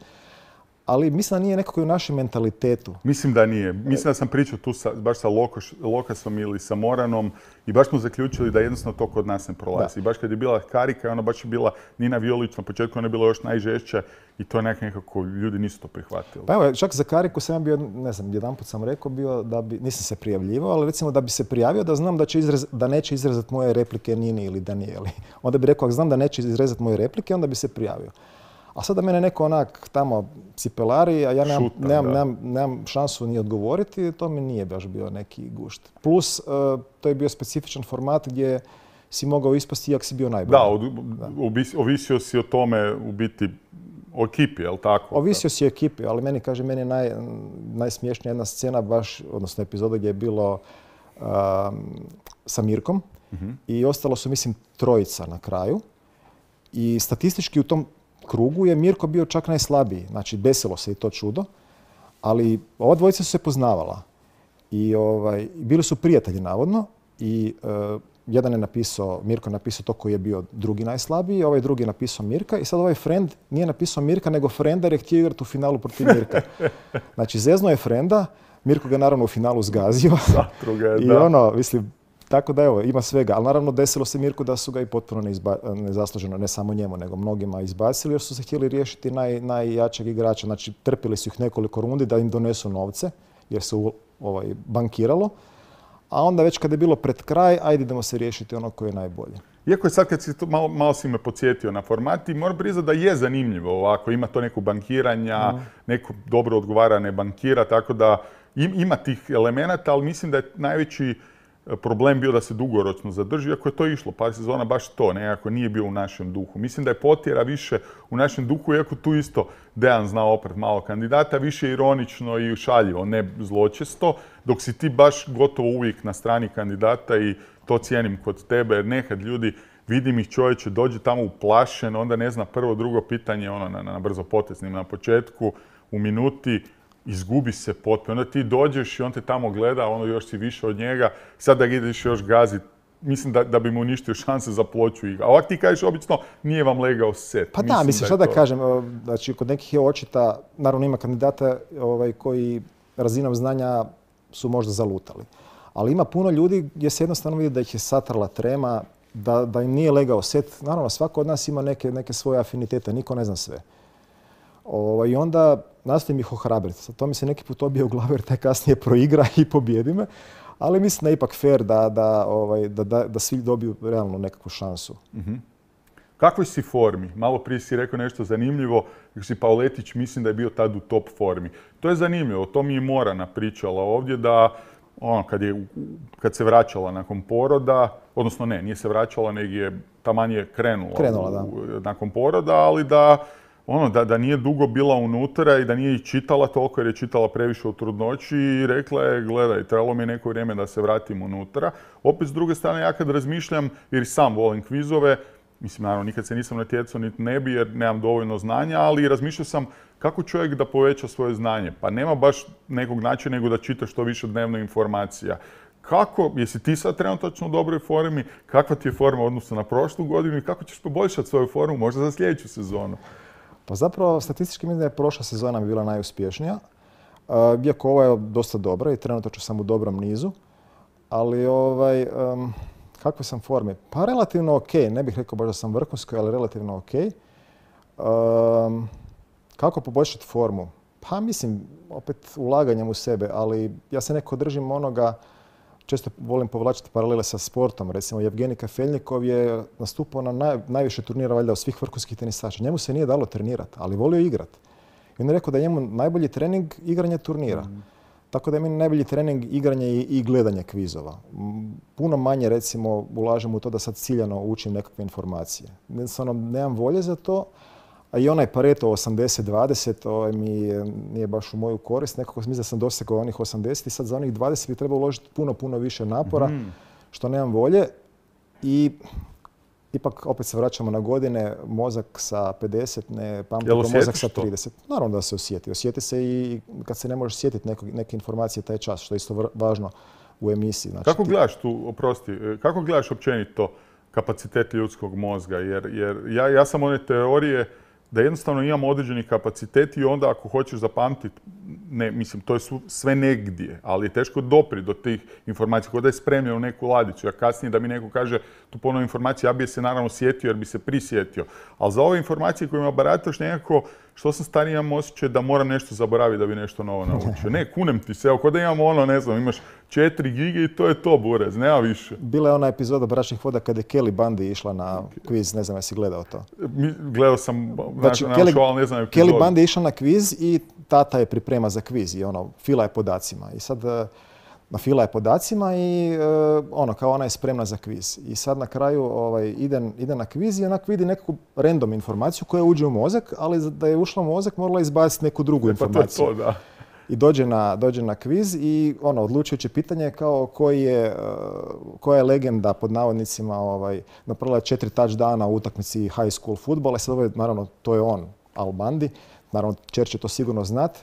Ali mislim da nije nekako i u našem mentalitetu. Mislim da nije. Mislim da sam pričao tu sa, baš sa Lokoš, Lokasom ili sa Moranom i baš smo zaključili da jednostavno to kod nas ne prolazi. I baš kad je bila karika, ona baš je bila Nina Violić, na početku ona je bila još najžešća i to je nekako, ljudi nisu to prihvatili. Pa evo, čak za kariku sam ja bio, ne znam, jedanput sam rekao bio da bi, nisam se prijavljivao, ali recimo da bi se prijavio da znam da, će izrez, da neće izrezati moje replike Nini ili Danijeli. Onda bi rekao, ako znam da neće izrezati moje replike, onda bi se prijavio. A sada mene neko onak tamo cipelari, a ja nemam, Šutam, nemam, nemam, nemam šansu ni odgovoriti, to mi nije baš bio neki gušt. Plus, uh, to je bio specifičan format gdje si mogao ispasti iako si bio najbolji. Da, od, da. Ovisio si o tome u biti o ekipi, je li tako? Ovisio si o ekipi, ali meni, kaže, meni je naj, najsmiješnija jedna scena baš, odnosno epizoda gdje je bilo um, sa Mirkom uh-huh. i ostalo su, mislim, trojica na kraju. I statistički u tom krugu je Mirko bio čak najslabiji. Znači, desilo se i to čudo, ali ova dvojica su se poznavala. I ovaj, bili su prijatelji, navodno, i uh, jedan je napisao, Mirko je napisao to koji je bio drugi najslabiji, ovaj drugi je napisao Mirka i sad ovaj friend nije napisao Mirka, nego Frenda jer je htio igrati u finalu protiv Mirka. Znači, zezno je Frenda, Mirko ga naravno u finalu zgazio. Zatruga, I da. ono, mislim, tako da evo, ima svega. Ali naravno desilo se Mirku da su ga i potpuno neizba, nezasluženo, ne samo njemu, nego mnogima izbacili jer su se htjeli riješiti naj, najjačeg igrača. Znači, trpili su ih nekoliko rundi da im donesu novce jer se ovaj, bankiralo. A onda već kad je bilo pred kraj, ajde idemo se riješiti ono koje je najbolje. Iako je sad kad si to, malo, malo si me podsjetio na format i moram priznati da je zanimljivo ovako. Ima to neko bankiranja, mm. neko dobro odgovara ne bankira, tako da im, ima tih elemenata, ali mislim da je najveći problem bio da se dugoročno zadrži, iako je to išlo par sezona baš to, nekako nije bio u našem duhu. Mislim da je potjera više u našem duhu, iako tu isto Dejan zna opret malo kandidata, više ironično i šaljivo, ne zločesto, dok si ti baš gotovo uvijek na strani kandidata i to cijenim kod tebe, jer nekad ljudi, vidim ih čovječe, dođe tamo uplašen, onda ne zna prvo, drugo pitanje, ono na, na brzo poteznim na početku, u minuti, izgubi se potpuno. Onda ti dođeš i on te tamo gleda, ono još si više od njega. Sad da ga ideš još gaziti, mislim da, da bi mu uništio šanse za ploču igra. A ovak ti kažeš, obično nije vam legao set. Pa mislim da, mislim šta da, da kažem, znači kod nekih je očita, naravno ima kandidata ovaj, koji razinom znanja su možda zalutali. Ali ima puno ljudi gdje se jednostavno vidi da ih je satrala trema, da, da im nije legao set. Naravno, svako od nas ima neke, neke svoje afinitete, niko ne zna sve. Ovaj, I onda nastojim ih ohrabriti. To mi se neki put obije u glavu jer taj kasnije proigra i pobjedi me. Ali mislim da je ipak fair da, da, ovaj, da, da, da svi dobiju realno nekakvu šansu. Mm-hmm. Kakvoj si formi? Malo prije si rekao nešto zanimljivo. Kako si Pauletić, mislim da je bio tad u top formi. To je zanimljivo. To mi je Morana pričala ovdje da ono, kad, je, kad se vraćala nakon poroda, odnosno ne, nije se vraćala, nego je taman je krenula, krenula da. U, nakon poroda, ali da Ono, da, da nije dugo bila unutra i da nije i čitala toliko jer je čitala previše u trudnoći i rekla je, gledaj, trebalo mi je neko vrijeme da se vratim unutra. Opet, s druge strane, ja kad razmišljam, jer sam volim kvizove, mislim, naravno, nikad se nisam natjecao, niti ne bi jer nemam dovoljno znanja, ali razmišljao sam kako čovjek da poveća svoje znanje. Pa nema baš nekog načina nego da čita što više dnevno informacija. Kako, jesi ti sad trenutačno u dobroj formi, kakva ti je forma u odnosu na prošlu godinu i kako ćeš poboljšati svoju formu možda za sljedeću sezonu? Pa zapravo, statistički mislim da je prošla sezona bila najuspješnija. Iako ova je dosta dobra i trenutačno sam u dobrom nizu. Ali ovaj, um, kakve sam forme? Pa relativno ok. Ne bih rekao baš da sam vrhunski, ali relativno ok. Um, kako poboljšati formu? Pa mislim, opet ulaganjem u sebe, ali ja se neko držim onoga, često volim povlačiti paralele sa sportom. Recimo, Jevgenij Kafeljnikov je nastupao na naj, najviše turnira valjda od svih vrhunskih tenisača. Njemu se nije dalo trenirati, ali volio igrati. I on je rekao da je njemu najbolji trening igranje turnira. Mm. Tako da je meni najbolji trening igranje i, i gledanje kvizova. Puno manje, recimo, ulažem u to da sad ciljano učim nekakve informacije. Jednostavno, nemam volje za to. A i onaj Pareto osamdeset dvadeset ovaj, mi nije baš u moju korist. Nekako mislim da sam dosegao onih osamdeset i sad za onih dvadeset bi trebalo uložiti puno, puno više napora, mm. što nemam volje. I ipak opet se vraćamo na godine, mozak sa pedeset ne pamti kao mozak sa trideset. To? Naravno da se osjeti. Osjeti se i kad se ne možeš sjetiti neke, neke informacije taj čas, što je isto važno u emisiji. Znači, kako gledaš tu, oprosti, kako gledaš općenito kapacitet ljudskog mozga? Jer, jer ja, ja sam one teorije da jednostavno imamo određeni kapacitet i onda ako hoćeš zapamtiti, ne, mislim, to je sve negdje, ali je teško doprijeti do tih informacija, kao da je spremljeno u neku ladicu. Ja kasnije da mi neko kaže tu ponovno informaciju, ja bi se naravno sjetio jer bi se prisjetio. Ali za ove informacije kojima barataš nekako, što sam stariji imam osjećaj da moram nešto zaboraviti da bi nešto novo naučio. Ne, kunem ti se, evo, kao da imamo ono, ne znam, imaš četiri gige i to je to, burez, nema više. Bila je ona epizoda Bračnih voda kada je Kelly Bundy išla na kviz, ne znam jesi gledao to. Gledao sam, znači, na, Kelly, show, ali ne znam epizodu. Kelly Bundy je išla na kviz i tata je priprema za kviz i ono, fila je podacima. I sad, na fila je podacima i ono, kao ona je spremna za kviz. I sad na kraju ovaj, ide, ide na kviz i onak vidi neku random informaciju koja uđe u mozak, ali da je ušla u mozak morala izbaciti neku drugu informaciju. Pa to, da. I dođe na, dođe na kviz i ono, odlučujuće pitanje je kao koji je, koja je legenda pod navodnicima ovaj, napravila četiri touchdowna u utakmici high school futbola. Sad ovaj, naravno, to je on, Al Bundy. Naravno, Čer će to sigurno znati.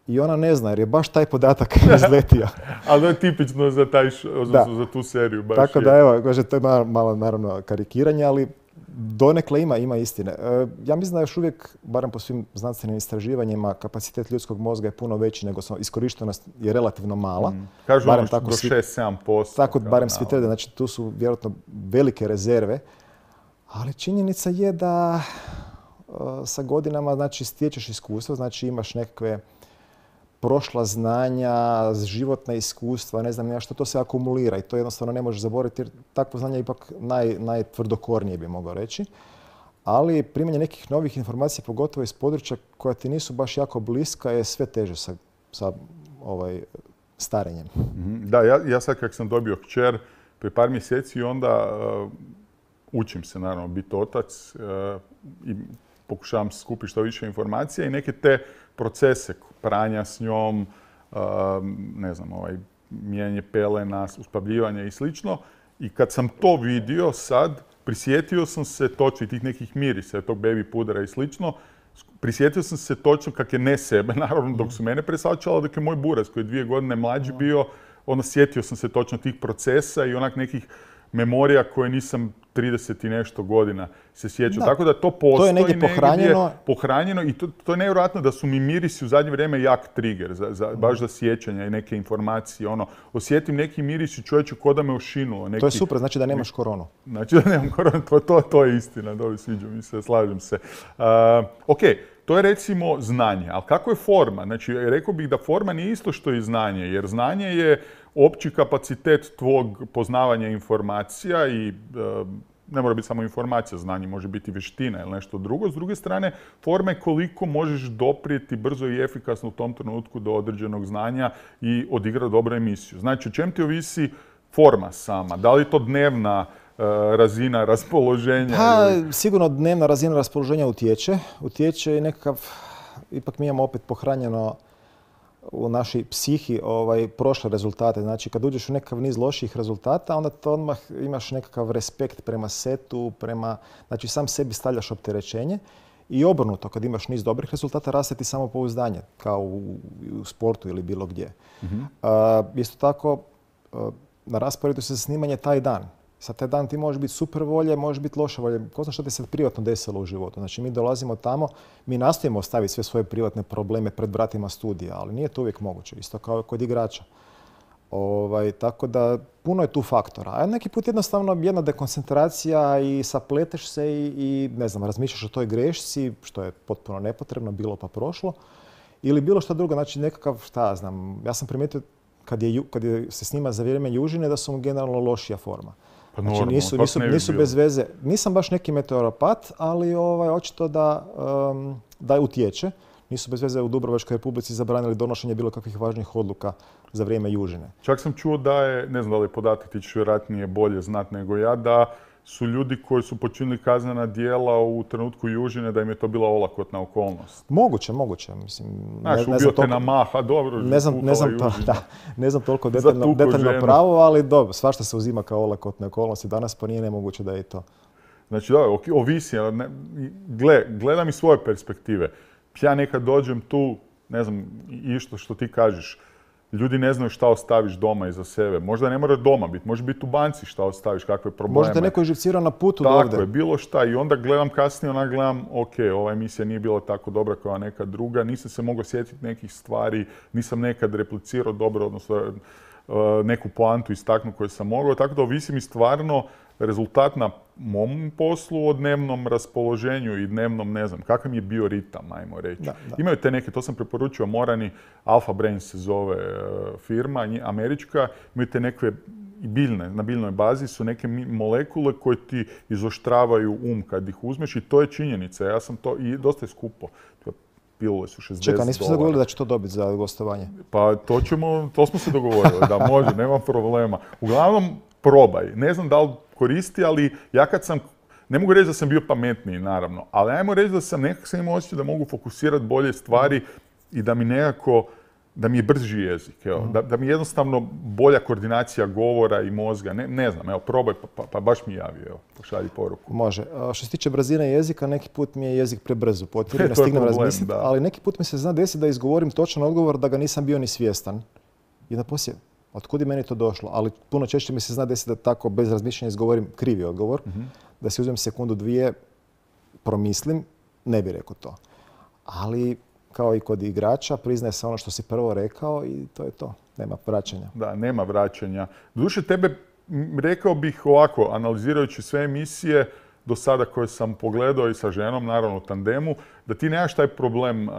I ona ne zna jer je baš taj podatak izletio. Ali to je tipično za, taj, za, za tu seriju. Baš tako je. Da evo, kaže, to je malo, malo naravno karikiranje, ali donekle ima, ima istine. E, ja mislim da još uvijek, barem po svim znanstvenim istraživanjima, kapacitet ljudskog mozga je puno veći nego iskorištenost je relativno mala. Mm. Kažu barem ono tako do šest do sedam posto. Tako barem svi tvrde, znači tu su vjerojatno velike rezerve. Ali činjenica je da uh, sa godinama znači, stječeš iskustvo, znači imaš nekakve prošla znanja, životna iskustva, ne znam ja što, to se akumulira i to jednostavno ne možeš zaboraviti jer takvo znanje je ipak naj, najtvrdokornije bi mogao reći. Ali primanje nekih novih informacija, pogotovo iz područja koja ti nisu baš jako bliska, je sve teže sa, sa ovaj, starenjem. Da, ja, ja sad kak sam dobio kćer prije par mjeseci onda uh, učim se naravno biti otac uh, i pokušavam skupiti što više informacija i neke te procese pranja s njom, ne znam, ovaj, mijenjanje pelena, uspavljivanja i slično. I kad sam to vidio sad, prisjetio sam se točno i tih nekih mirisa, tog baby pudra i slično, prisjetio sam se točno kak je ne sebe, naravno dok su mene presačala, dok je moj buraz koji je dvije godine mlađi bio, onda sjetio sam se točno tih procesa i onak nekih memorija koje nisam trideset i nešto godina se sjećam. Da. Tako da to postoji to je negdje pohranjeno. Negdje pohranjeno i to, to je nevjerojatno da su mi mirisi u zadnje vrijeme jak trigger, za, za, baš za sjećanja i neke informacije. Ono, osjetim neki miris i čovječe ko da me ošinulo. Neki, to je super, znači da nemaš koronu. Znači da nemam koronu, to, to, to je istina, dobro, sviđa mi se, slažem se. Uh, ok, to je recimo znanje, ali kako je forma? Znači, rekao bih da forma nije isto što i znanje, jer znanje je opći kapacitet tvog poznavanja informacija i e, ne mora biti samo informacija, znanje može biti vještina ili nešto drugo. S druge strane, forma je koliko možeš doprijeti brzo i efikasno u tom trenutku do određenog znanja i odigrati dobru emisiju. Znači, o čem ti ovisi forma sama? Da li je to dnevna e, razina raspoloženja? Pa, ili... sigurno dnevna razina raspoloženja utječe. Utječe i nekakav, ipak mi imamo opet pohranjeno u našoj psihi ovaj, prošle rezultate. Znači, kad uđeš u nekakav niz loših rezultata, onda to odmah imaš nekakav respekt prema setu, prema, znači sam sebi stavljaš opterećenje. I obrnuto, kad imaš niz dobrih rezultata, raste ti samopouzdanje, kao u, u sportu ili bilo gdje. Mm-hmm. Uh, isto tako, uh, na rasporedu se snimanje taj dan. Sad taj dan ti možeš biti super volje, možeš biti loše volje. Ko zna što ti se privatno desilo u životu. Znači mi dolazimo tamo, mi nastojimo ostaviti sve svoje privatne probleme pred vratima studija, ali nije to uvijek moguće. Isto kao kod igrača. Ovaj, tako da puno je tu faktora. A neki put jednostavno jedna dekoncentracija i sapleteš se i, i ne znam, razmišljaš o toj grešci, što je potpuno nepotrebno, bilo pa prošlo. Ili bilo što drugo, znači nekakav, šta ja znam, ja sam primijetio kad, je, kad je, se snima za vrijeme južine da su mu generalno lošija forma. Pa znači normalno, nisu, nisu, nisu bez veze. Nisam baš neki meteoropat, ali ovaj, očito da, um, da utječe. Nisu bez veze u Dubrovačkoj Republici zabranili donošenje bilo kakvih važnih odluka za vrijeme južine. Čak sam čuo da je, ne znam da li je podatak, ti ćeš vjerojatnije bolje znat nego ja, da su ljudi koji su počinili kaznena djela u trenutku južine, da im je to bila olakotna okolnost. Moguće, moguće. Mislim, Znaš, ne, ubio te na maha, dobro, ne znam, ne znam, to, da, ne znam toliko detaljno, detaljno pravo, ali dobro, svašta se uzima kao olakotne okolnosti danas, pa nije nemoguće da je to. Znači, da, ovisi. Gle, gledam iz svoje perspektive. Ja nekad dođem tu, ne znam, išto što ti kažeš, ljudi ne znaju šta ostaviš doma iza sebe. Možda ne mora doma biti, može biti u banci šta ostaviš, kakve probleme. Možda te neko je živcirao na putu do ovdje. Tako je, bilo šta. I onda gledam kasnije, onda gledam, ok, ova emisija nije bila tako dobra kao neka druga, nisam se mogao sjetiti nekih stvari, nisam nekad replicirao dobro, odnosno neku poantu istaknu koju sam mogao. Tako da ovisi mi stvarno rezultat na mom poslu o dnevnom raspoloženju i dnevnom, ne znam, kakav mi je bio ritam, ajmo reći. Da, da. Imaju te neke, to sam preporučio, Morani, Alpha Brains se zove firma, američka, imaju te neke biljne, na biljnoj bazi su neke molekule koje ti izoštravaju um kad ih uzmeš i to je činjenica. Ja sam to, i dosta je skupo. Pilule su šezdeset dolara. Čekaj, nismo se dogovorili da će to dobiti za gostovanje? Pa to ćemo, to smo se dogovorili, da može, nema problema. Uglavnom, probaj. Ne znam da li koristi, ali ja kad sam, ne mogu reći da sam bio pametniji, naravno, ali ajmo reći da sam nekako sam imao osjećaj da mogu fokusirati bolje stvari i da mi nekako, da mi je brži jezik, evo. Mm. Da, da mi je jednostavno bolja koordinacija govora i mozga. Ne, ne znam, evo, probaj, pa, pa, pa baš mi javi, evo, pošalji poruku. Može. A što se tiče brzine jezika, neki put mi je jezik prebrzo potvrdi, ne stignem razmisliti, ali neki put mi se zna desiti da izgovorim točan odgovor da ga nisam bio ni svjestan. I da poslije, otkud je meni to došlo? Ali puno češće mi se zna desiti da tako bez razmišljanja izgovorim krivi odgovor, mm-hmm. da si uzmem sekundu, dvije, promislim, ne bi rekao to. Ali kao i kod igrača, priznaje se ono što si prvo rekao i to je to. Nema vraćanja. Da, nema vraćanja. Doduše, tebe, rekao bih ovako, analizirajući sve emisije do sada koje sam pogledao i sa ženom, naravno u tandemu, da ti nemaš taj problem uh,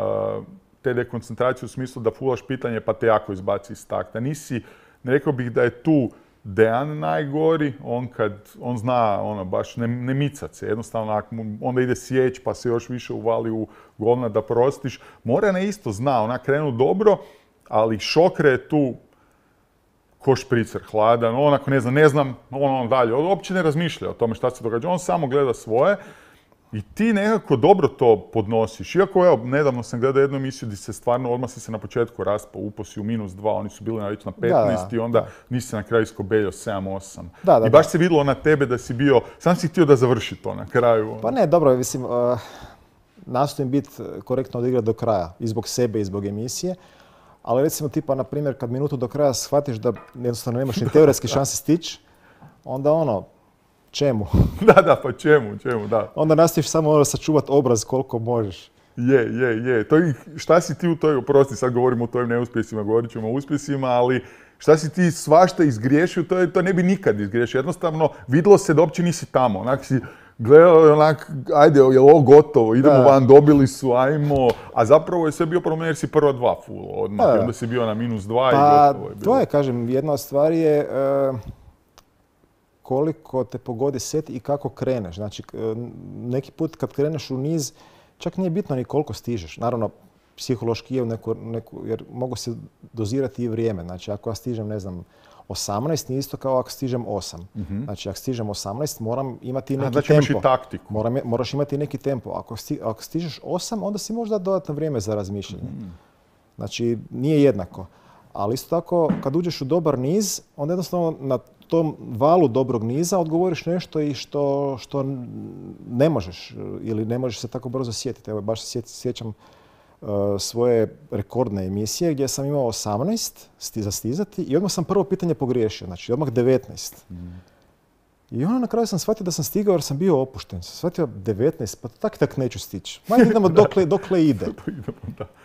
te dekoncentracije u smislu da fulaš pitanje pa te jako izbaci iz takta. Nisi, rekao bih da je tu Dejan najgori, on kad, on zna ono, baš ne, ne micat se, jednostavno onda ide sjeć pa se još više uvali u govna da prostiš. Morana isto zna, ona krenu dobro, ali Šokre je tu ko špricer hladan, onako ne znam, ne znam, on, on dalje, on uopće ne razmišlja o tome šta se događa, on samo gleda svoje. I ti nekako dobro to podnosiš. Iako, evo, nedavno sam gledao jednu emisiju gdje se stvarno odmah si se na početku raspao, upao si u minus dva, oni su bili već na petnaest da, i onda da. nisi se na kraju iskobeljao sedam osam. Da, da, I baš da. se vidjelo na tebe da si bio, sam si htio da završi to na kraju. Pa ne, dobro, mislim, uh, nastojim biti korektno odigrati do kraja, i zbog sebe i zbog emisije. Ali recimo tipa, na primjer, kad minutu do kraja shvatiš da jednostavno nemaš ni teoretski šanse stići, onda ono, čemu? Da, da, pa čemu, čemu, da. Onda nastaviš samo ono sačuvati obraz koliko možeš. Je, je, je. To, šta si ti u toj, oprosti, sad govorimo o tojim neuspjesima, govorit ćemo o uspjesima, ali šta si ti svašta izgriješio, to, to ne bi nikad izgriješio. Jednostavno, vidjelo se da uopće nisi tamo. Onak si gledao, onak, ajde, je ovo gotovo, idemo da. van, dobili su, ajmo. A zapravo je sve bio problem jer si prva dva fulo odmah. Da. I onda si bio na minus dva pa, i gotovo je bilo. To je, kažem, jedna od stvari je uh, koliko te pogodi set i kako kreneš. Znači, neki put kad kreneš u niz, čak nije bitno ni koliko stižeš. Naravno, psihološki je u neku, neku, jer mogu se dozirati i vrijeme. Znači, ako ja stižem, ne znam, osamnaest, nije isto kao ako stižem osam. Mm-hmm. Znači, ako stižem osamnaest, moram imati neki A, znači tempo. Imaš i taktiku. Moram, moraš imati neki tempo. Ako, sti, ako stižeš osam, onda si možda dodatno vrijeme za razmišljanje. Mm-hmm. Znači, nije jednako. Ali isto tako, kad uđeš u dobar niz, onda jednostavno na tom valu dobrog niza odgovoriš nešto i što, što ne možeš ili ne možeš se tako brzo sjetiti. Evo, baš se sjećam uh, svoje rekordne emisije gdje sam imao osamnaest za stizati i odmah sam prvo pitanje pogriješio, znači odmah devetnaest. Mm. I onda na kraju sam shvatio da sam stigao jer sam bio opušten. Sam shvatio devetnaest, pa tak tak neću stići. Manje idemo dokle, dokle ide.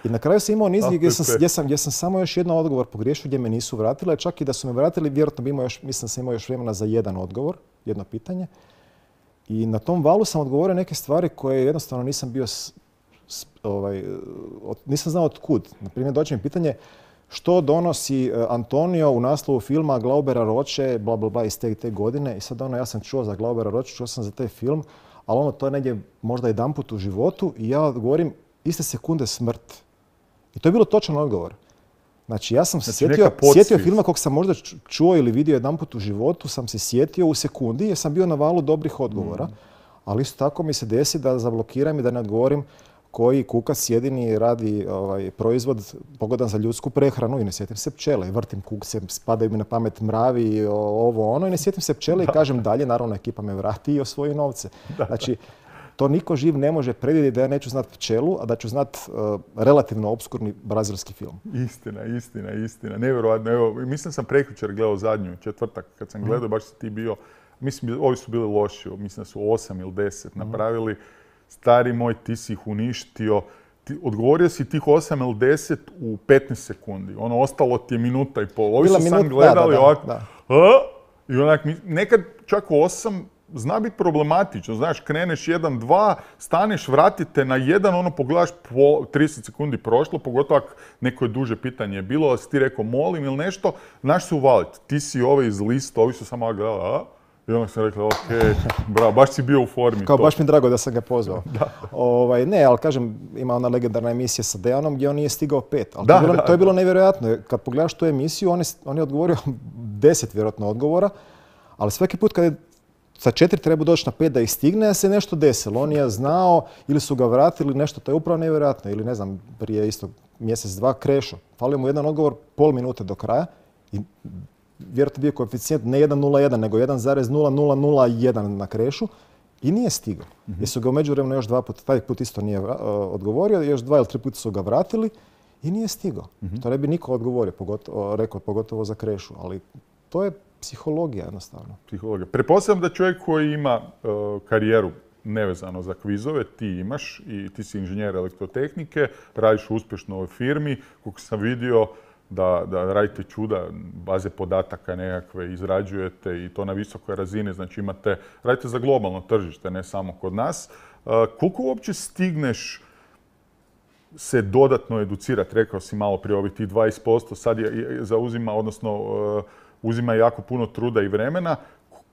I na kraju sam imao niz gdje sam, gdje, sam, gdje sam samo još jedan odgovor pogriješio gdje me nisu vratili. Čak i da su me vratili, vjerojatno bi imao još, mislim da sam imao još vremena za jedan odgovor, jedno pitanje. I na tom valu sam odgovorio neke stvari koje jednostavno nisam bio, s, s, ovaj, od, nisam znao od kud. Naprimjer, dođe mi pitanje što donosi Antonio u naslovu filma Glaubera Roće, bla, bla, bla, iz te, te godine. I sad ono, ja sam čuo za Glaubera Roće, čuo sam za taj film, ali ono, to je negdje možda jedanput u životu i ja govorim iste sekunde smrt. I to je bilo točan odgovor. Znači, ja sam se znači, sjetio, sjetio filma kog sam možda čuo ili vidio jedanput u životu, sam se sjetio u sekundi jer sam bio na valu dobrih odgovora. Mm. Ali isto tako mi se desi da zablokiram i da ne odgovorim koji kukac jedini radi ovaj, proizvod pogodan za ljudsku prehranu i ne sjetim se pčele. Vrtim kukce, spadaju mi na pamet mravi, ovo ono i ne sjetim se pčele da. I kažem dalje, naravno ekipa me vrati i osvoji novce. Da. Znači, to niko živ ne može predvidjeti da ja neću znat pčelu, a da ću znat uh, relativno obskurni brazilski film. Istina, istina, istina. Nevjerojatno. Evo, mislim sam prekjučer gledao zadnju četvrtak kad sam gledao, mm. baš si ti bio, mislim, ovi su bili loši, mislim da su osam ili deset mm. napravili. Stari moj, ti si ih uništio. Ti, odgovorio si tih osam ili deset u petnaest sekundi. Ono, ostalo ti je minuta i pol. Ovi su sam gledali ovako. I onak, nekad čak u osam zna biti problematično. Znaš, kreneš jedan, dva, staneš, vratite na jedan, ono pogledaš, po trideset sekundi prošlo, pogotovo ako neko je duže pitanje bilo, ali si ti rekao molim ili nešto, znaš se uvaliti. Ti si ove iz lista, ovi su samo gledali, a? I onda sam rekla, ok, bravo, baš si bio u formi. Kao to. Baš mi drago da sam ga pozvao. Da. Ovaj, ne, ali kažem, ima ona legendarna emisija sa Dejanom gdje on nije stigao pet. Ali da, to, je bilo, da, to je bilo nevjerojatno. Kad pogledaš tu emisiju, on je, on je odgovorio deset vjerojatno odgovora, ali svaki put kad je sa četiri treba doći na pet da ih stigne, se nešto desilo. On je znao ili su ga vratili nešto, to je upravo nevjerojatno. Ili ne znam, prije isto mjesec, dva krešo. Falio mu jedan odgovor pol minute do kraja i vjerojatno bio koeficijent ne jedan nula jedan, nego jedan zarez nula nula nula jedan na krešu i nije stigao. Mm-hmm. Jer su ga u međuvremenu još dva puta, taj put isto nije uh, odgovorio, još dva ili tri puta su ga vratili i nije stigao. Mm-hmm. To ne bi niko odgovorio, pogotovo, rekao, pogotovo za krešu, ali to je psihologija jednostavno. Psihologija. Pretpostavljam da čovjek koji ima uh, karijeru nevezano za kvizove, ti imaš i ti si inženjer elektrotehnike, radiš uspješno u ovoj firmi, koliko sam vidio, Da, da radite čuda, baze podataka nekakve izrađujete i to na visokoj razini, znači imate, radite za globalno tržište, ne samo kod nas. Uh, koliko uopće stigneš se dodatno educirati? Rekao si malo prije ovih tih dvadeset posto, sad je, je zauzima, odnosno uh, uzima jako puno truda i vremena.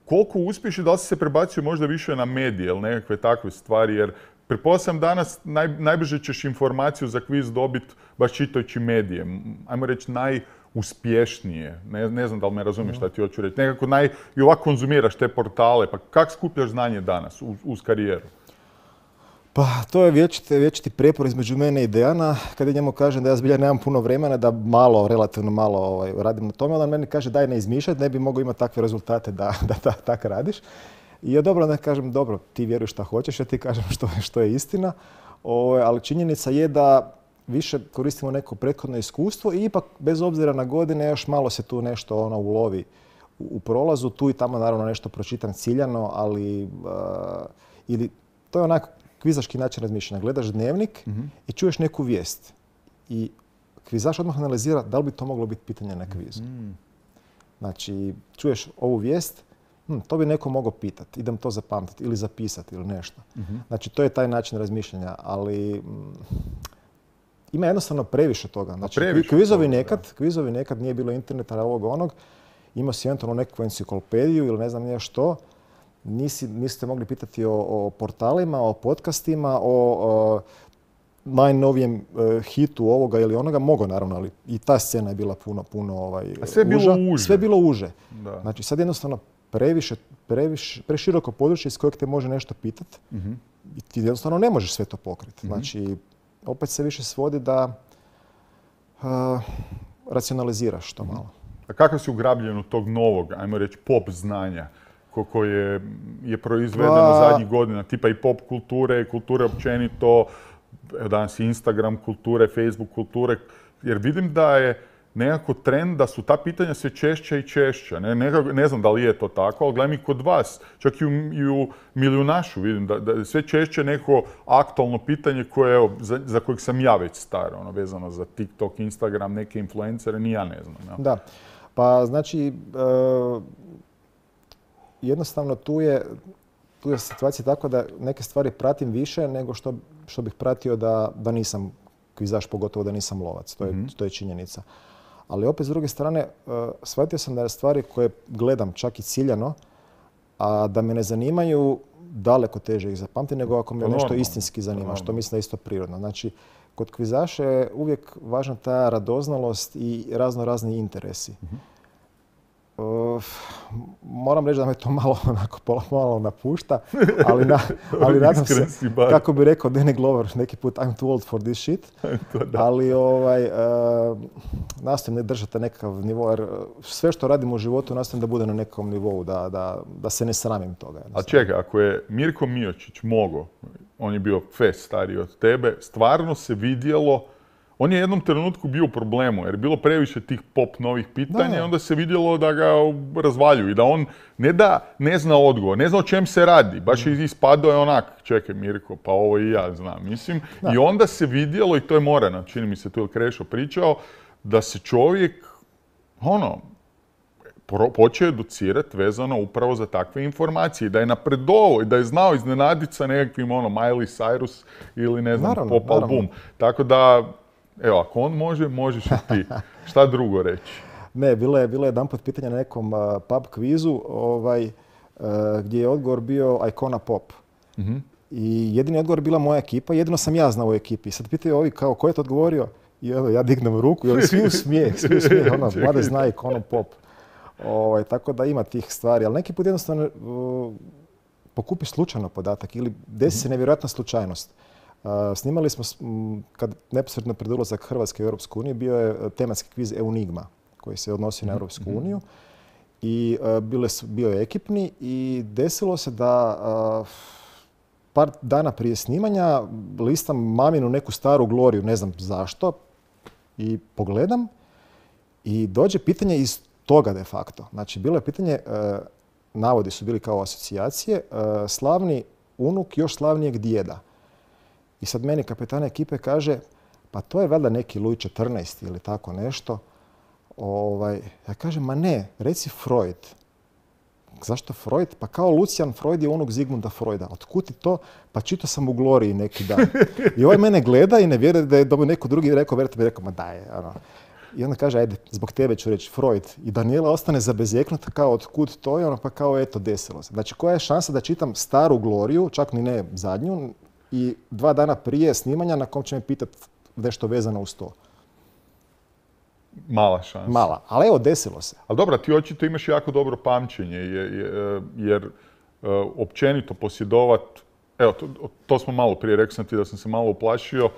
Koliko uspješ i da li si se prebacio možda više na medije ili nekakve takve stvari, jer pretpostavljam danas naj, najbrže ćeš informaciju za kviz dobiti baš čitajući medije. Ajmo reći najuspješnije. Ne, ne znam da li me razumiješ šta ti hoću reći. Nekako naj, i ovako konzumiraš te portale. Pa kako skupljaš znanje danas uz, uz karijeru? Pa to je vječiti, vječiti prijepor između mene i Dejana. Kad ja njemu kažem da ja zbilja nemam puno vremena, da malo, relativno malo ovaj, radim na tome, on meni kaže daj ne izmišljati, ne bi mogao imati takve rezultate da, da, da tako radiš. I ja dobro, ne kažem, dobro, ti vjeruješ šta hoćeš, ja ti kažem što, što je istina, o, ali činjenica je da više koristimo neko prethodno iskustvo i ipak, bez obzira na godine, još malo se tu nešto ono, ulovi u, u prolazu. Tu i tamo naravno nešto pročitam ciljano, ali uh, ili, to je onako kvizaški način razmišljanja. Gledaš dnevnik mm-hmm. i čuješ neku vijest. I kvizaš odmah analizira da li bi to moglo biti pitanje na kvizu. Mm-hmm. Znači, čuješ ovu vijest, Hm, to bi neko mogao pitati, idem to zapamtiti ili zapisati ili nešto. Mm-hmm. Znači, to je taj način razmišljanja, ali mm, ima jednostavno previše toga. Znači, previše kvizovi, toga, nekad, kvizovi nekad nije bilo interneta, ovog onog, imao si eventualno nekakvu enciklopediju ili ne znam nije što, Nisi, niste mogli pitati o, o portalima, o podcastima, o, o najnovijem uh, hitu ovoga ili onoga, mogo naravno, ali i ta scena je bila puno, puno ovaj, A sve je uža. bilo uže. Sve je bilo uže. Da. Znači, sad jednostavno previše, previše, preširoko područje iz kojeg te može nešto pitati mm-hmm. i ti jednostavno ne možeš sve to pokriti. Mm-hmm. Znači, opet se više svodi da uh, racionaliziraš to malo. A kakav si ugrabljen od tog novog, ajmo reći, pop znanja ko- koje je proizvedeno Pa- zadnjih godina, tipa i pop kulture, kulture općenito, evo danas i Instagram kulture, Facebook kulture, jer vidim da je nekako trend da su ta pitanja sve češća i češća. Ne, nekako, ne znam da li je to tako, ali gledam i kod vas, čak i u, i u Milijunašu vidim da, da je sve češće neko aktualno pitanje koje, evo, za, za kojeg sam ja već star, ono, vezano za TikTok, Instagram, neke influencere, ni ja ne znam. Ja. Da, pa znači e, jednostavno tu je, tu je situacija tako da neke stvari pratim više nego što, što bih pratio da, da nisam kvizaš, pogotovo da nisam lovac. To je, mm-hmm. to je činjenica. Ali opet s druge strane, uh, shvatio sam da je stvari koje gledam čak i ciljano, a da me ne zanimaju, daleko teže ih zapamti nego ako me To nešto normalno. istinski zanima, Normalno. što mislim da je isto prirodno. Znači, kod kvizaša je uvijek važna ta radoznalost i razno razni interesi. Mm-hmm. Uh, moram reći da me to malo, onako, pola malo napušta, ali, na, ali nadam se, kako bi rekao Danny Glover neki put, I'm too old for this shit. Ali ovaj, uh, nastojim ne držati nekakav nivo, jer sve što radim u životu nastojim da bude na nekom nivou, da, da, da se ne sramim toga. A čekaj, ako je Mirko Miočić mogao, on je bio fest stariji od tebe, stvarno se vidjelo. On je u jednom trenutku bio u problemu jer je bilo previše tih pop novih pitanja i onda se vidjelo da ga razvaljuju i da on ne da ne zna odgovor, ne zna o čem se radi. Baš je ispadao je onak, čekaj Mirko, pa ovo i ja znam, mislim. Da. I onda se vidjelo, i to je Morana, čini mi se tu je Krešo pričao, da se čovjek, ono, počeo educirati vezano upravo za takve informacije. Da je napredovao i da je znao iznenaditi sa nekakvim, ono, Miley Cyrus ili ne znam, naravno, pop album. Naravno. Tako da, evo, ako on može, možeš i ti. Šta drugo reći? Ne, bilo je, bilo je jedanput pitanje na nekom uh, pub kvizu ovaj, uh, gdje je odgovor bio Icona Pop. Mm-hmm. I jedini odgovor je bila moja ekipa, jedino sam ja znao u ekipi. Sad pitaju ovi kao ko je to odgovorio i evo, ja dignem ruku i ovi svi u smijeh, svi u smijeh, ono, mlade zna Icona Pop. Ovaj, tako da ima tih stvari, ali neki put jednostavno uh, pokupiš slučajno podatak ili desi se nevjerojatna slučajnost. Uh, snimali smo, m, kad neposredno pred ulazak Hrvatske u Europsku uniju, bio je tematski kviz Eunigma, koji se odnosi na Europsku uniju. I uh, bile su, bio je ekipni i desilo se da uh, par dana prije snimanja listam maminu neku staru Gloriju, ne znam zašto, i pogledam i dođe pitanje iz toga de facto. Znači, bilo je pitanje, uh, navodi su bili kao asocijacije, uh, slavni unuk još slavnijeg djeda. I sad meni kapetan ekipe kaže, pa to je valjda neki Luj četrnaesti ili tako nešto. Ovaj, ja kažem, ma ne, reci Freud. Zašto Freud? Pa kao Lucian Freud je unuk Zigmunda Freuda. Otkud ti to? Pa čitao sam u Gloriji neki dan. I ovaj mene gleda i ne vjeruje da je dobio neko drugi rekao, vjerujte mi, rekao, ma daj. Ano. I onda kaže, ajde, zbog tebe ću reći Freud. I Daniela ostane zabezeknuta kao otkud to je, ono, pa kao eto, desilo se. Znači, koja je šansa da čitam staru Gloriju, čak ni ne zadnju, i dva dana prije snimanja na kom će me pitati nešto vezano uz to? Mala šansa. Mala, ali evo, desilo se. Ali dobro, ti očito imaš jako dobro pamćenje, jer, jer općenito posjedovat, evo, to, to smo malo prije, rekao sam ti da sam se malo uplašio,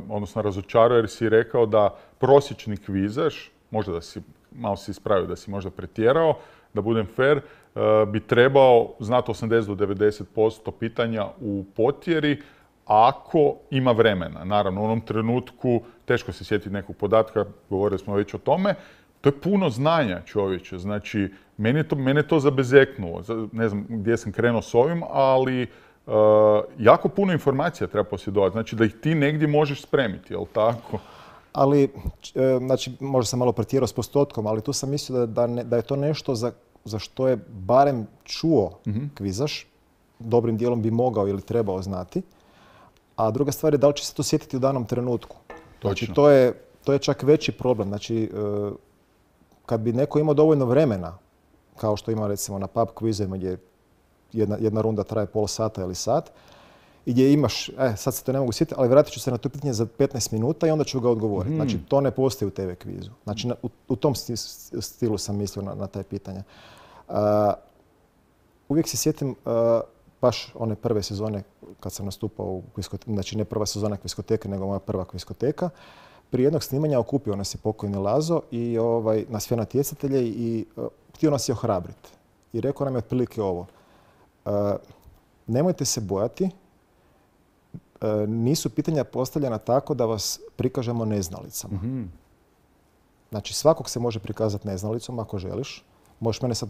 odnosno razočarao jer si rekao da prosječni kvizaš, možda da si, malo si ispravio da si možda pretjerao, da budem fair, bi trebao znati osamdeset do devedeset posto pitanja u potjeri ako ima vremena. Naravno, u onom trenutku teško se sjetiti nekog podatka, govorili smo već o tome. To je puno znanja, čovječe. Znači, mene to, mene to zabezeknulo. Ne znam gdje sam krenuo s ovim, ali uh, jako puno informacija treba posjedovati. Znači, da ih ti negdje možeš spremiti, jel tako? Ali, znači, možda sam malo pretjerao s postotkom, ali tu sam mislio da, da, ne, da je to nešto za, za što je barem čuo mm-hmm. kvizaš. Dobrim dijelom bi mogao ili trebao znati. A druga stvar je da li će se to sjetiti u danom trenutku. Znači, to je, to je čak veći problem. Znači, kad bi neko imao dovoljno vremena, kao što ima recimo na pub kvizovima gdje jedna, jedna runda traje pol sata ili sat, i gdje imaš, e, sad se to ne mogu sjetiti, ali vratit ću se na to pitanje za petnaest minuta i onda ću ga odgovoriti. Mm. Znači, to ne postoji u te ve kvizu. Znači, na, u, u tom stilu sam mislio na, na taj pitanja. Uh, uvijek se sjetim uh, baš one prve sezone kad sam nastupao u kviskoteka, znači ne prva sezona kviskoteke, nego moja prva kviskoteka, prije jednog snimanja okupio nas je pokojni Lazo i ovaj, na sve natjecatelje i uh, htio nas je ohrabriti. I rekao nam je otprilike ovo. Uh, nemojte se bojati, uh, nisu pitanja postavljena tako da vas prikažemo neznalicama. Mm-hmm. Znači, svakog se može prikazati neznalicom ako želiš. Možeš mene sad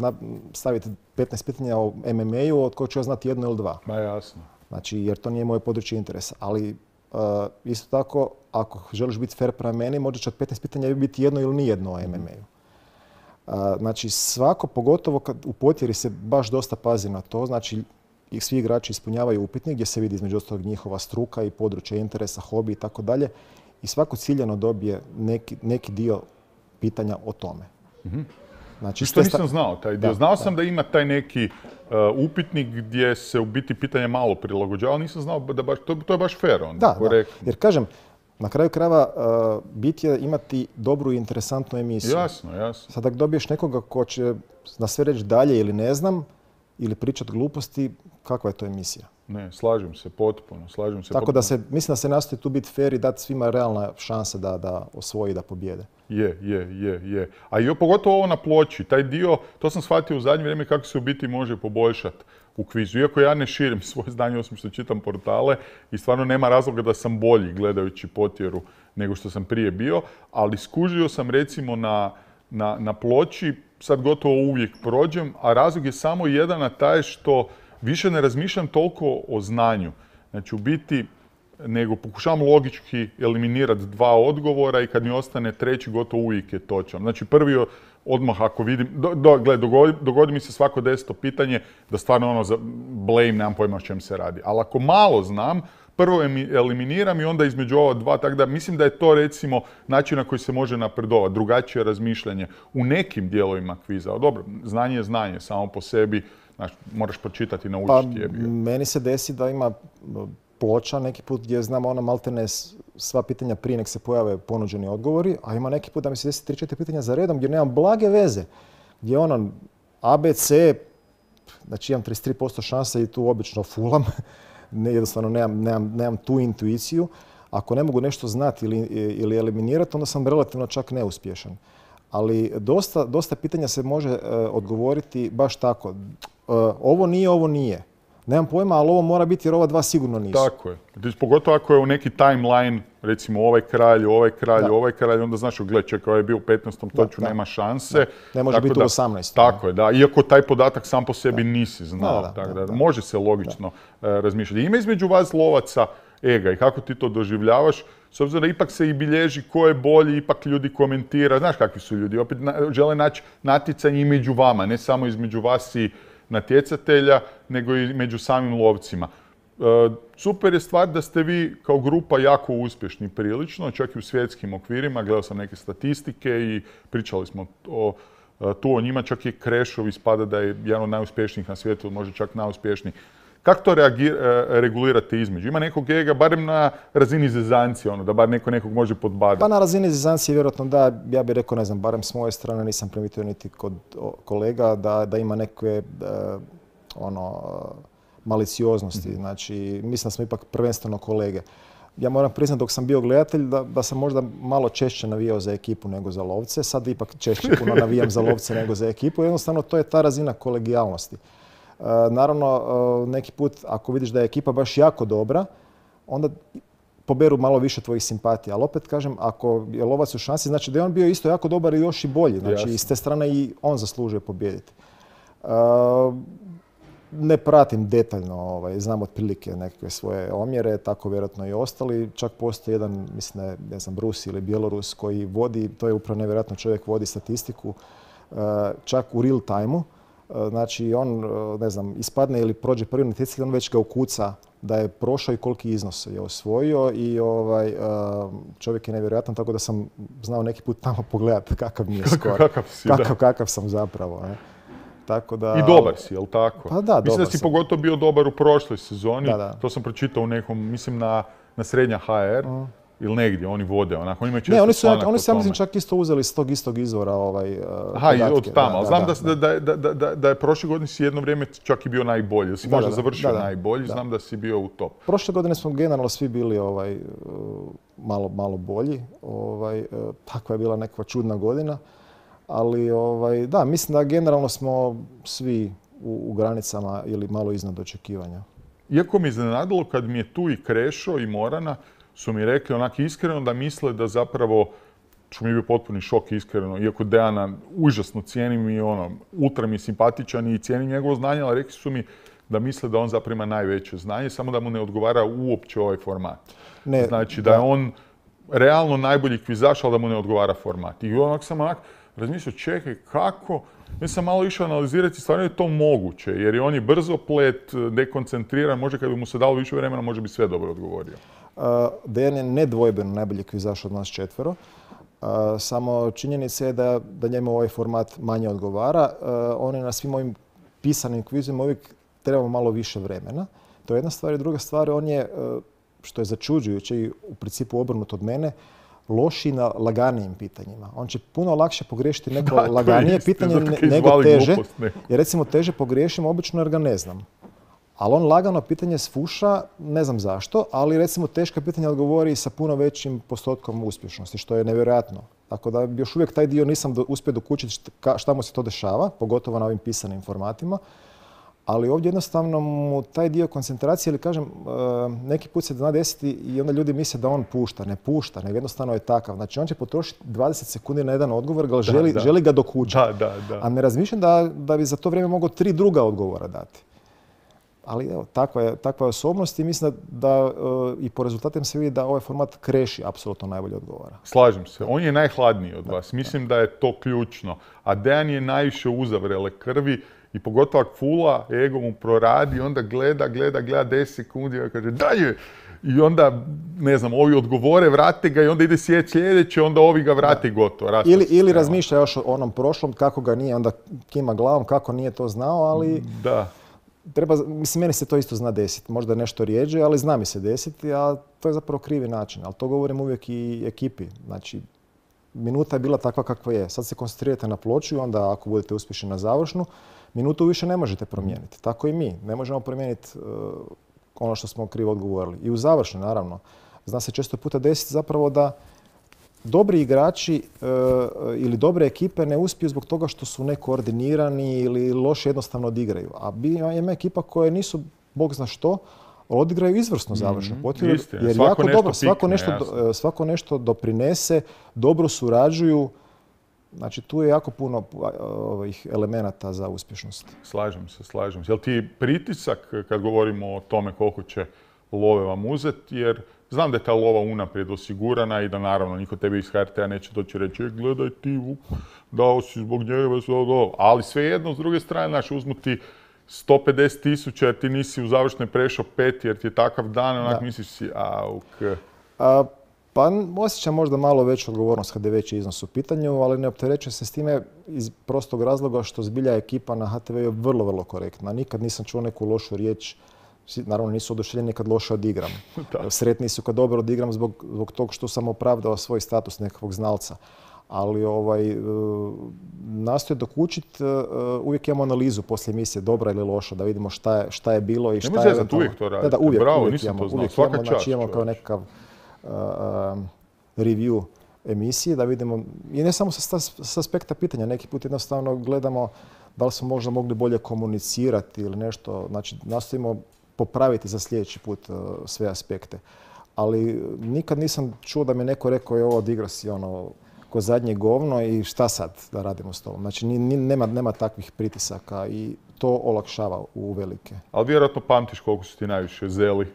staviti petnaest pitanja o M M A-u od kojeg ću ja znati jedno ili dva. Ma jasno. Znači, jer to nije moje područje interesa. Ali uh, isto tako, ako želiš biti fair prema meni, možda će od petnaest pitanja biti jedno ili nijedno o M M A-u. Uh, znači, svako, pogotovo kad u potjeri se baš dosta pazi na to, znači, svi igrači ispunjavaju upitnik gdje se vidi između ostalog njihova struka i područje interesa, hobi i tako dalje. I svako ciljano dobije neki, neki dio pitanja o tome. Mm-hmm. Znači, što nisam znao taj dio. Da, znao sam da. da ima taj neki uh, upitnik gdje se u biti pitanje malo prilagođava, ali nisam znao da baš, to, to je baš fair onda. Da, da, jer kažem, na kraju krajeva uh, bit je imati dobru i interesantnu emisiju. Jasno, jasno. Sad ako dobiješ nekoga ko će na sve reći dalje ili ne znam, ili pričati gluposti, kakva je to emisija? Ne, slažem se potpuno, slažem se Tako potpuno. da se, mislim da se nastoji tu biti fair i dati svima realna šansa da, da osvoji, da pobjede. Je, je, je, je. A i pogotovo ovo na ploči, taj dio, to sam shvatio u zadnje vrijeme kako se u biti može poboljšati u kvizu. Iako ja ne širim svoje znanje osim što čitam portale i stvarno nema razloga da sam bolji gledajući potjeru nego što sam prije bio, ali skužio sam recimo na, na, na ploči, sad gotovo uvijek prođem, a razlog je samo jedan, a taj što više ne razmišljam toliko o znanju. Znači, u biti, nego pokušavam logički eliminirati dva odgovora i kad mi ostane treći, gotovo uvijek je točan. Znači, prvi odmah ako vidim, do, do, gled, dogodi, dogodi mi se svako deseto pitanje da stvarno ono za blame, nemam pojma o čem se radi. Ali ako malo znam, prvo eliminiram i onda između ova dva, tako da mislim da je to recimo način na koji se može napredovati, drugačije razmišljanje u nekim dijelovima kviza. O, dobro, znanje je znanje, samo po sebi, znači, moraš pročitati i naučiti. Pa, meni se desi da ima ploča neki put gdje znam ono maltene sva pitanja prije nek se pojave ponuđeni odgovori, a ima neki put da mi se desi tri četiri pitanja za redom gdje nemam blage veze. Gdje ono A, B, C, znači imam trideset tri posto šanse i tu obično fulam. Ne, jednostavno nemam, nemam, nemam tu intuiciju. Ako ne mogu nešto znati ili, ili eliminirati, onda sam relativno čak neuspješan. Ali dosta, dosta pitanja se može uh, odgovoriti baš tako. Uh, ovo nije, ovo nije. Nemam pojma, ali ovo mora biti jer ova dva sigurno nisu. Tako je. Pogotovo ako je u neki timeline, recimo ovaj kralj, ovaj kralj, da. ovaj kralj, onda znaš, gled, čekaj, ovaj je bio u petnaestom toču, nema šanse. Da. Ne može tako biti da, u osamnaestom. Tako je, da. Iako taj podatak sam po sebi da. nisi znao. Da, da, tako da, da, da. Može se logično da. Uh, razmišljati. Ima između vas lovaca ega i kako ti to doživljavaš? S obzirom da ipak se i bilježi ko je bolji, ipak ljudi komentira. Znaš kakvi su ljudi? Opet na, žele naći natjecanje i među vama, ne samo između vas i natjecatelja, nego i među samim lovcima. E, super je stvar da ste vi kao grupa jako uspješni prilično, čak i u svjetskim okvirima. Gledao sam neke statistike i pričali smo o, tu o njima. Čak i Krešov ispada da je jedan od najuspješnijih na svijetu, možda čak najuspješniji. Kako to reagir, regulirate između? Ima nekog ega, barem na razini zezancije, ono, da bar neko nekog može podbadati? Pa na razini zezancije vjerojatno da, ja bih rekao, ne znam, barem s moje strane nisam primijetio niti kod kolega da, da ima neke uh, ono, malicioznosti. Mm-hmm. Znači, mislim da smo ipak prvenstveno kolege. Ja moram priznati dok sam bio gledatelj da, da sam možda malo češće navijao za ekipu nego za lovce. Sad ipak češće puno navijam za lovce nego za ekipu. Jednostavno, to je ta razina kolegijalnosti. Uh, naravno, uh, neki put ako vidiš da je ekipa baš jako dobra, onda poberu malo više tvojih simpatija. Ali opet kažem, ako je lovac u šansi, znači da je on bio isto jako dobar i još i bolji. Znači, yes. i s te strane i on zaslužuje pobijediti. Uh, ne pratim detaljno, ovaj, znam otprilike nekakve svoje omjere, tako vjerojatno i ostali. Čak postoji jedan, mislim da je, ne znam, Rus ili Bjelorus koji vodi, to je upravo nevjerojatno, čovjek vodi statistiku, uh, čak u real time-u. Znači, on, ne znam, ispadne ili prođe prvi natjecatelj, on već ga ukuca da je prošao i koliki iznos je osvojio i ovaj, čovjek je nevjerojatan, tako da sam znao neki put tamo pogledati kakav mi je skor. Kakav si, kakav, da. Kakav sam zapravo. Ne? Tako da, I dobar si, jel tako? Pa da, mislim da si sam. pogotovo bio dobar u prošloj sezoni. Da, da. To sam pročitao u nekom, mislim na, na Srednja ha er. Mm. ili negdje, oni vode, onako, oni imaju često Ne, oni su, članak oni o su ja mislim tome. čak isto uzeli iz tog istog izvora ovaj, Aha, i podatke. od tamo, ali znam da, da, da, da, da, da, da je prošle godine si jedno vrijeme čak i bio najbolji, da si Da, možda da, završio da, da, najbolji, da. znam da si bio u top. Prošle godine smo generalno svi bili ovaj, malo, malo bolji. Ovaj, takva je bila nekakva čudna godina. Ali ovaj, da, mislim da generalno smo svi u, u granicama ili malo iznad očekivanja. Iako mi iznenadilo kad mi je tu i Krešo i Morana su mi rekli onak iskreno da misle da zapravo, što mi je bio potpuni šok iskreno, iako Dejana užasno cijenim i ono, ultra mi je simpatičan i cijenim njegovo znanje, ali rekli su mi da misle da on zapravo ima najveće znanje, samo da mu ne odgovara uopće ovaj format. Ne, Znači da je on realno najbolji kvizaš, ali da mu ne odgovara format. I onak sam onak razmišljao, čekaj, kako? Ja sam malo išao analizirati, stvarno je to moguće, jer je on je brzoplet, dekoncentriran, može kad bi mu se dalo više vremena, može bi sve dobro odgovorio. Uh, Dejan je nedvojbeno najbolji kvizaš od nas četvero. Uh, samo činjenica je da, da njemu ovaj format manje odgovara. Uh, on je na svim ovim pisanim kvizima uvijek trebamo malo više vremena. To je jedna stvar. I druga stvar, on je, uh, što je začuđujuće i u principu obrnut od mene, loši na laganijim pitanjima. On će puno lakše pogriješiti neko da, laganije isti, pitanje nego teže. Jer recimo teže pogriješim obično jer ga ne znam. Ali on lagano pitanje sfuša, ne znam zašto, ali recimo teška pitanja odgovori sa puno većim postotkom uspješnosti, što je nevjerojatno. Tako da još uvijek taj dio nisam do, uspio dokučiti šta mu se to dešava, pogotovo na ovim pisanim formatima. Ali ovdje jednostavno mu taj dio koncentracije, ili kažem, neki put se zna desiti i onda ljudi misle da on pušta. Ne pušta, nego jednostavno je takav. Znači on će potrošiti dvadeset sekundi na jedan odgovor, ga želi, da, želi ga dokučiti. Da, da, da. A ne razmišljam da, da bi za to vrijeme mogao tri druga odgovora dati. Ali evo, takva je, takva je osobnost i mislim da, da uh, i po rezultatima se vidi da ovaj format Kreši apsolutno najbolje odgovara. Slažem se. On je najhladniji od vas. Mislim da je to ključno. A Dejan je najviše uzavrele krvi i pogotovo ako fula, ego mu proradi, onda gleda, gleda, gleda deset sekundi i kaže dalje. I onda, ne znam, ovi odgovore, vrate ga i onda ide svijet sljedeće, onda ovi ga vrate i gotovo. Ili, ili razmišlja još o onom prošlom, kako ga nije, onda kima glavom, kako nije to znao, ali... Da. Treba, mislim, meni se to isto zna desiti. Možda nešto rijeđe, ali zna mi se desiti, a to je zapravo krivi način. Ali to govorim uvijek i ekipi. Znači, minuta je bila takva kakva je. Sad se koncentrirate na ploču i onda ako budete uspješni na završnu, minutu više ne možete promijeniti. Tako i mi. Ne možemo promijeniti uh, ono što smo krivo odgovorili. I u završnoj, naravno. Zna se često puta desiti zapravo da dobri igrači uh, ili dobre ekipe ne uspiju zbog toga što su nekoordinirani ili loše jednostavno odigraju. A ima ekipa koje nisu, bog zna što, odigraju izvrsno završno. Mm-hmm. Istina, jer svako jako nešto dobro, pikne, svako, nešto, do, svako nešto doprinese, dobro surađuju. Znači tu je jako puno ovih elemenata za uspješnost. Slažem se, slažem se. Jel ti pritisak kad govorimo o tome koliko će love vam uzeti, jer znam da je ta lova unaprijed osigurana i da naravno niko tebi iz H R T-a neće doći reći e, gledaj ti, dao si zbog njega, ali svejedno s druge strane, znaš, uzmu ti sto pedeset tisuća jer ti nisi u završnoj prešao pet jer ti je takav dan, onak misliš si, auk. A, pa osjećam možda malo veću odgovornost kad je veći iznos u pitanju, ali ne opterećujem se s time iz prostog razloga što zbilja ekipa na H T V je vrlo, vrlo korektna. Nikad nisam čuo neku lošu riječ. Naravno nisu oduševljeni kad loše odigram. Sretni su kad dobro odigram zbog, zbog tog što sam opravdao svoj status nekakvog znalca. Ali ovaj, nastoje dokučiti, uvijek imamo analizu poslije emisije, dobra ili loša, da vidimo šta je, šta je bilo i šta je... Ne može uvijek to raditi. Da, da, uvijek, Bravo, uvijek nisam imamo, to znao. uvijek Svaka imamo, čast. Znači imamo kao nekakav uh, um, review emisije, da vidimo, i ne samo sa, sa aspekta pitanja, neki put jednostavno gledamo da li smo možda mogli bolje komunicirati ili nešto, znači nastojimo popraviti za sljedeći put uh, sve aspekte. Ali nikad nisam čuo da mi neko rekao je ovo odigra si ono ko zadnje govno i šta sad da radimo s tobom. Znači ni, ni, nema, nema takvih pritisaka i to olakšava u velike. Ali vjerojatno pamtiš koliko su ti najviše zeli?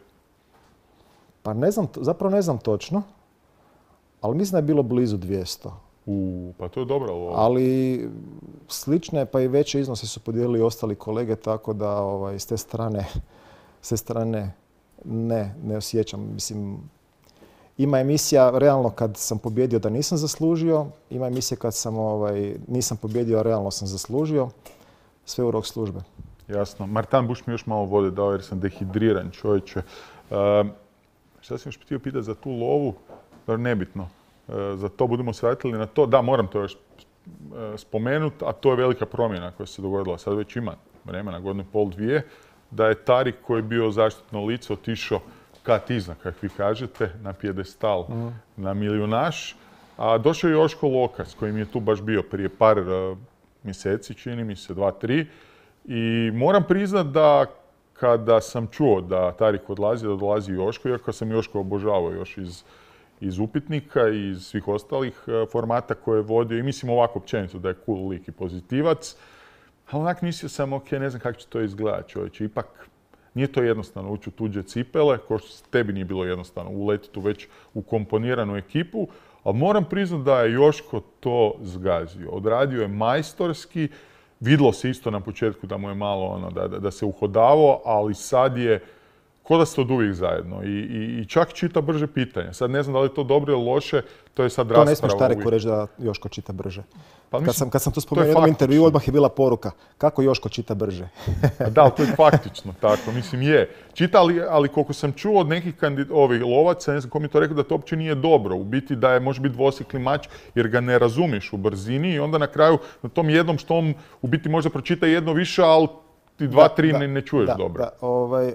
Pa ne znam, zapravo ne znam točno, ali mislim da je bilo blizu dvjesto. U, pa to je dobro lova. Ali slične pa i veće iznose su podijelili ostali kolege, tako da ovaj, s te strane, s te strane ne, ne osjećam. Mislim, ima emisija realno kad sam pobjedio da nisam zaslužio, ima emisija kad sam ovaj, nisam pobjedio, a realno sam zaslužio. Sve u rok službe. Jasno. Martan, buš mi još malo vode dao jer sam dehidriran, čovječe. Uh, šta sam još htio pitati za tu lovu? da nebitno. Za to budemo se vratili na to. Da, moram to još spomenuti, a to je velika promjena koja se dogodila. Sad već ima vremena, godinu i pol, dvije, da je Tarik koji je bio zaštitno lice otišao kat iznad, kako vi kažete, na pijedestal, mm. na milijunaš. A došao je Joško Lokas, koji mi je tu baš bio prije par uh, mjeseci, čini mi se, dva, tri. I moram priznat da kada sam čuo da Tarik odlazi, da dolazi Joško, iako sam Joško obožavao još iz, iz upitnika i iz svih ostalih uh, formata koje je vodio. I mislim ovako općenito da je cool lik i pozitivac. Ali onak mislio sam, ok, ne znam kako će to izgledati, čovječe. Ipak nije to jednostavno ući u tuđe cipele, kao što tebi nije bilo jednostavno uletiti u već ukomponiranu ekipu. Ali moram priznati da je Joško to zgazio. Odradio je majstorski, vidjelo se isto na početku da mu je malo ono, da, da, da se uhodavao, ali sad je ko da ste od uvijek zajedno. I, i, i čak čita brže pitanja. Sad ne znam da li je to dobro ili loše, to je sad rasprava. To ne smiješ Tariku reći da Joško čita brže. Pa mislim, kad, sam, kad sam to spomenuo u jednom intervju, odmah je bila poruka. Kako Joško čita brže? Da, ali to je faktično tako. Mislim, je. Čita, ali, ali koliko sam čuo od nekih kandid, ovih lovaca, ne znam ko mi to rekao, da to uopće nije dobro. U biti da je može biti dvosjekli mač jer ga ne razumiješ u brzini i onda na kraju na tom jednom što on u biti možda pročita jedno više, ali ti dva, da, tri da, ne, ne čuješ da, dobro. Da, ovaj,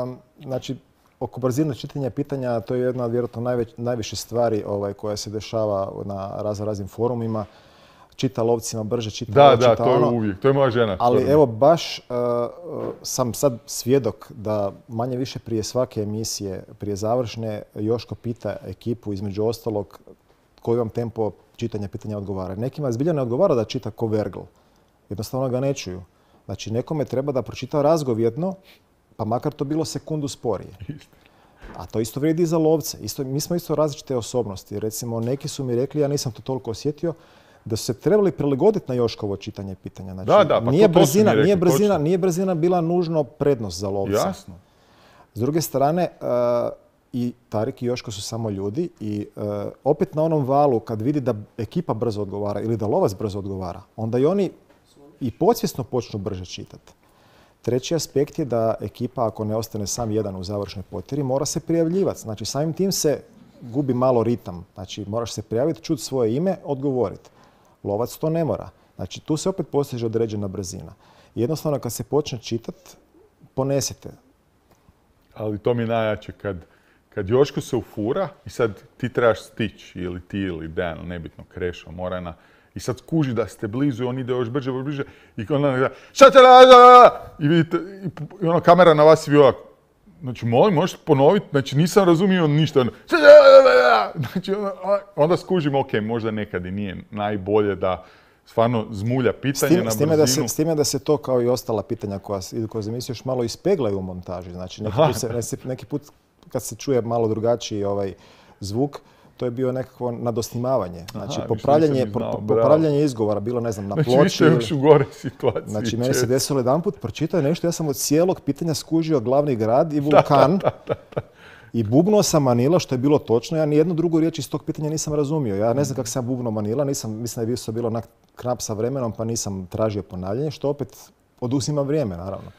um, znači, oko brzine čitanja pitanja, to je jedna od vjerojatno najveć, najviše stvari ovaj, koja se dešava na razno raznim forumima. Čita lovcima brže, čita da, ovo, da, čita to ono. je uvijek, to je moja žena. Ali evo, baš uh, sam sad svjedok da manje više prije svake emisije, prije završne, Joško pita ekipu, između ostalog, koji vam tempo čitanja pitanja odgovara. Nekima zbilja ne odgovara da čita ko vergl. Jednostavno ga ne čuju. Znači, nekome treba da pročita razgovjetno, pa makar to bilo sekundu sporije. A to isto vrijedi i za lovce. Isto, mi smo isto različite osobnosti. Recimo, neki su mi rekli, ja nisam to toliko osjetio, da su se trebali prilagoditi na Joškovo čitanje pitanja. Znači, da, da, pa nije, to, to brzina, rekli, nije, brzina, nije brzina bila nužno prednost za lovce. Jasno. S druge strane, uh, i Tarik i Joško su samo ljudi i uh, opet na onom valu kad vidi da ekipa brzo odgovara ili da lovac brzo odgovara, onda i oni i podsvjesno počnu brže čitati. Treći aspekt je da ekipa, ako ne ostane sam jedan u završnoj potjeri, mora se prijavljivati. Znači, samim tim se gubi malo ritam. Znači, moraš se prijaviti, čuti svoje ime, odgovoriti. Lovac to ne mora. Znači, tu se opet postiže određena brzina. Jednostavno, kad se počne čitati, ponesete. Ali to mi je najjače kad, kad Joško se ufura i sad ti trebaš stići, ili ti ili Dejan, nebitno, Krešo, Morana, i sad skuži da ste blizu i on ide još brže, brže i onda gleda, šta će da, i vidite, i, i ono kamera na vas i vi ovako. Znači, molim, možeš ponoviti, znači nisam razumio ništa. Znači, onda skužimo, ok, možda nekad i nije najbolje da stvarno zmulja pitanje tim, na s time brzinu. Da se, s time da se to kao i ostala pitanja koja idu kroz emisiju još malo ispeglaju u montaži. Znači, neki put, se, neki put kad se čuje malo drugačiji ovaj zvuk, to je bio nekakvo nadosnimavanje. Znači, Aha, popravljanje, znao, po, popravljanje izgovora, bilo, ne znam, na znači, ploči. Znači, vi ste još u gore situaciji. Znači, meni se desilo jedan put, pročitao nešto, ja sam od cijelog pitanja skužio glavni grad i vulkan. Da, da, da, da. I bubnuo sam Manila, što je bilo točno. Ja nijednu drugu riječ iz tog pitanja nisam razumio. Ja ne znam kako sam bubnuo Manila, nisam, mislim da je to bilo onak knap sa vremenom, pa nisam tražio ponavljanje, što opet oduzima vrijeme, naravno.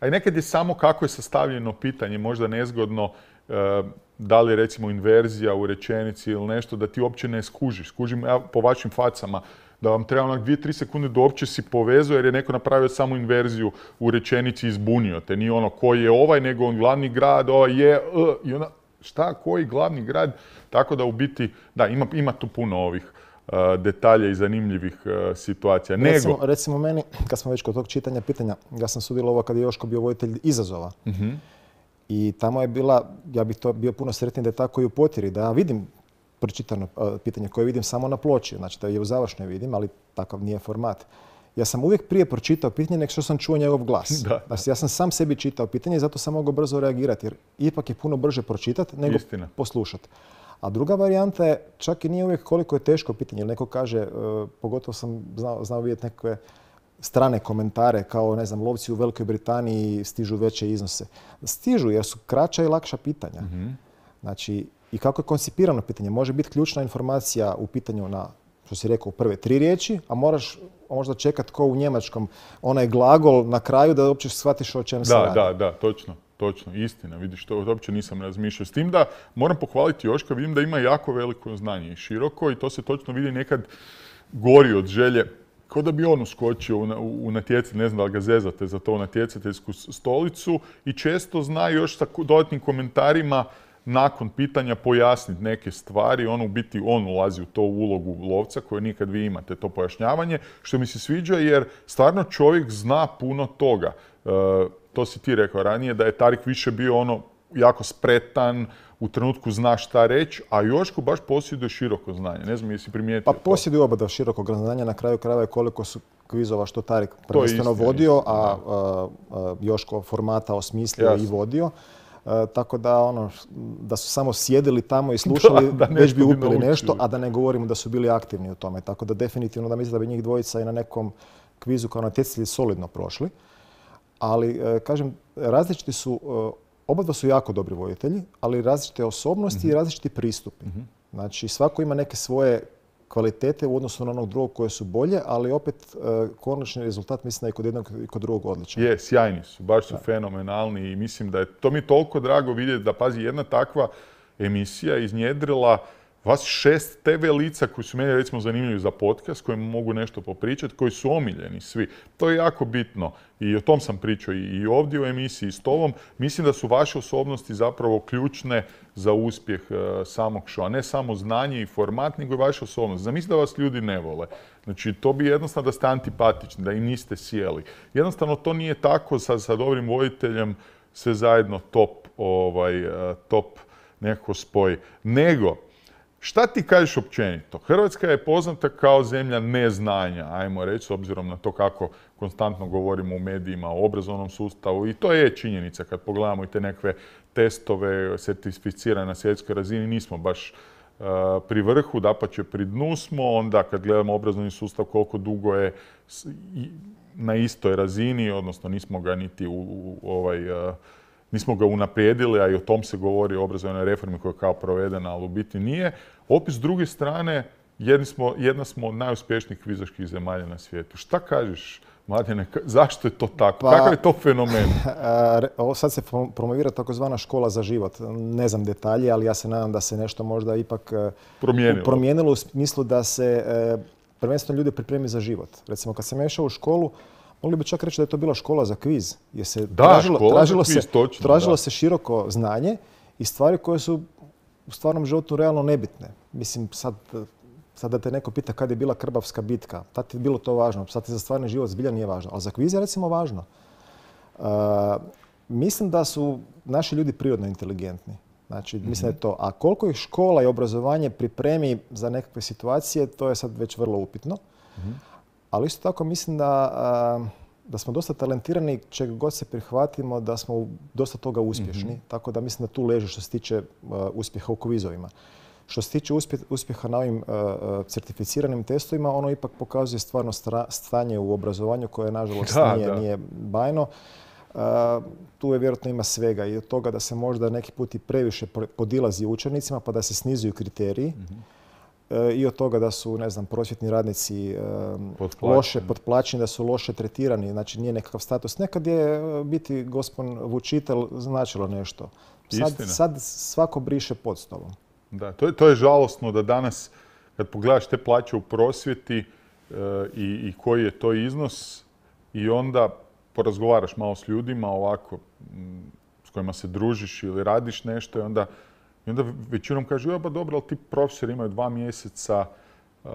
A i nekad je samo kako je sastavljeno pitanje, možda nezgodno, da li je recimo inverzija u rečenici ili nešto, da ti uopće ne skužiš. Skužim ja po vašim facama da vam treba onak dvije, tri sekunde da uopće si povezao jer je neko napravio samo inverziju u rečenici i izbunio te. Nije ono koji je ovaj, nego on glavni grad, ovaj je, uh, i onda šta, koji glavni grad? Tako da u biti, da, ima, ima tu puno ovih uh, detalja i zanimljivih uh, situacija. Nego... Recimo, recimo meni, kad smo već kod tog čitanja pitanja, ja sam sudjelovao kad je Joško bio voditelj izazova. Uh-huh. I tamo je bila, ja bih to bio puno sretniji da je tako i u potjeri, da ja vidim pročitano pitanje koje vidim samo na ploči, znači da je u završnoj vidim, ali takav nije format. Ja sam uvijek prije pročitao pitanje nego što sam čuo njegov glas. Da. Znači, ja sam sam sebi čitao pitanje i zato sam mogao brzo reagirati, jer ipak je puno brže pročitati nego Istina. poslušati. A druga varijanta je, čak i nije uvijek koliko je teško pitanje, jer neko kaže, uh, pogotovo sam znao, znao vidjeti nekakve strane komentare kao, ne znam, lovci u Velikoj Britaniji stižu veće iznose. Stižu jer su kraća i lakša pitanja. Mm-hmm. Znači, i kako je koncipirano pitanje. Može biti ključna informacija u pitanju na, što si rekao, prve tri riječi, a moraš možda čekati ko u njemačkom onaj glagol na kraju da uopće shvatiš o čem se radi. Da, da, da, točno. točno, istina. Vidiš, to uopće nisam razmišljao. S tim da moram pohvaliti Joška, vidim da ima jako veliko znanje i široko i to se točno vidi nekad gori od želje. Kao da bi on uskočio u, u, u natjecatelj, ne znam da li ga zezate za to, u natjecateljsku stolicu i često zna još sa dodatnim komentarima nakon pitanja pojasniti neke stvari. On u biti, on ulazi u to ulogu lovca koju nikad vi imate, to pojašnjavanje, što mi se sviđa jer stvarno čovjek zna puno toga. E, to si ti rekao ranije, da je Tarik više bio ono jako spretan, u trenutku zna šta reći, a Joško baš posjeduje široko znanje. Ne znam jesi primijetio. Pa posjeduje oba širokog znanja, na kraju krajeva je koliko su kvizova što Tarik prvenstveno vodio, a, a, a Joško formata osmislio Jasne. i vodio. E, tako da ono, da su samo sjedili tamo i slušali, da, da već bi upili bi nešto, a da ne govorimo da su bili aktivni u tome. Tako da definitivno da mislim da bi njih dvojica i na nekom kvizu kao natjecatelji solidno prošli. Ali, e, kažem, različiti su, e, oba su jako dobri voditelji, ali različite osobnosti mm-hmm. i različiti pristupi. Mm-hmm. Znači, svako ima neke svoje kvalitete u odnosu na onog drugog koje su bolje, ali opet e, konačni rezultat mislim da je kod jednog i kod drugog odličan. Je, sjajni su, baš su da. fenomenalni i mislim da je to mi toliko drago vidjeti da, pazi, jedna takva emisija iznjedrila vas šest te ve lica koji su meni recimo zanimljivi za podcast, kojima mogu nešto popričati, koji su omiljeni svi. To je jako bitno i o tom sam pričao i ovdje u emisiji s tobom. Mislim da su vaše osobnosti zapravo ključne za uspjeh uh, samog showa. Ne samo znanje i format, nego i vaše osobnosti. Zamislite da vas ljudi ne vole. Znači, to bi jednostavno da ste antipatični, da i niste sjeli. Jednostavno, to nije tako sa, sa dobrim voditeljem sve zajedno top, ovaj, uh, top nekako spoj. Nego, šta ti kažeš općenito? Hrvatska je poznata kao zemlja neznanja, ajmo reći, s obzirom na to kako konstantno govorimo u medijima, o obrazovnom sustavu i to je činjenica kad pogledamo i te nekakve testove certificirane na svjetskoj razini, nismo baš uh, pri vrhu, dapače pri dnu smo, onda kad gledamo obrazovni sustav koliko dugo je na istoj razini, odnosno nismo ga niti u, u ovaj... Uh, Nismo ga unaprijedili, a i o tom se govori o obrazovnoj reformi koja je kao provedena, ali u biti nije. Opet s druge strane, jedna smo, jedna smo od najuspješnijih kvizaških zemalja na svijetu. Šta kažeš, Mladene, zašto je to tako? Pa, kakav je to fenomen? Ovo sad se promovira takozvana škola za život. Ne znam detalje, ali ja se nadam da se nešto možda ipak promijenilo, promijenilo u smislu da se prvenstveno ljude pripremi za život. Recimo, kad sam išao u školu, mogli bi čak reći da je to bila škola za kviz, jer se da, tražilo, tražilo, kviz, se, točno, tražilo se široko znanje i stvari koje su u stvarnom životu realno nebitne. Mislim, sad, sad da te neko pita kad je bila Krbavska bitka, tad je bilo to važno, sad ti za stvarni život zbilja nije važno, ali za kviz je recimo važno. Uh, mislim da su naši ljudi prirodno inteligentni. Znači, mm-hmm. mislim da je to. A koliko ih škola i obrazovanje pripremi za nekakve situacije, to je sad već vrlo upitno. Mm-hmm. Ali isto tako mislim da, da smo dosta talentirani, čega god se prihvatimo, da smo dosta toga uspješni. Mm-hmm. Tako da mislim da tu leži što se tiče uspjeha u kvizovima. Što se tiče uspjeha na ovim certificiranim testovima, ono ipak pokazuje stvarno stanje u obrazovanju koje, nažalost, da, nije, da. nije bajno. Tu je vjerojatno ima svega i od toga da se možda neki put i previše podilazi učenicima pa da se snizuju kriteriji. Mm-hmm. I od toga da su, ne znam, prosvjetni radnici potplaćeni. loše potplaćeni, da su loše tretirani, znači nije nekakav status. Nekad je biti gospon vučitelj značilo nešto. Sad, sad svako briše pod stolom. Da, to je, to je žalosno da danas, kad pogledaš te plaće u prosvjeti e, i, i koji je to iznos i onda porazgovaraš malo s ljudima ovako m, s kojima se družiš ili radiš nešto i onda I onda većinom kažu, ja pa dobro, ali ti profesori imaju dva mjeseca uh,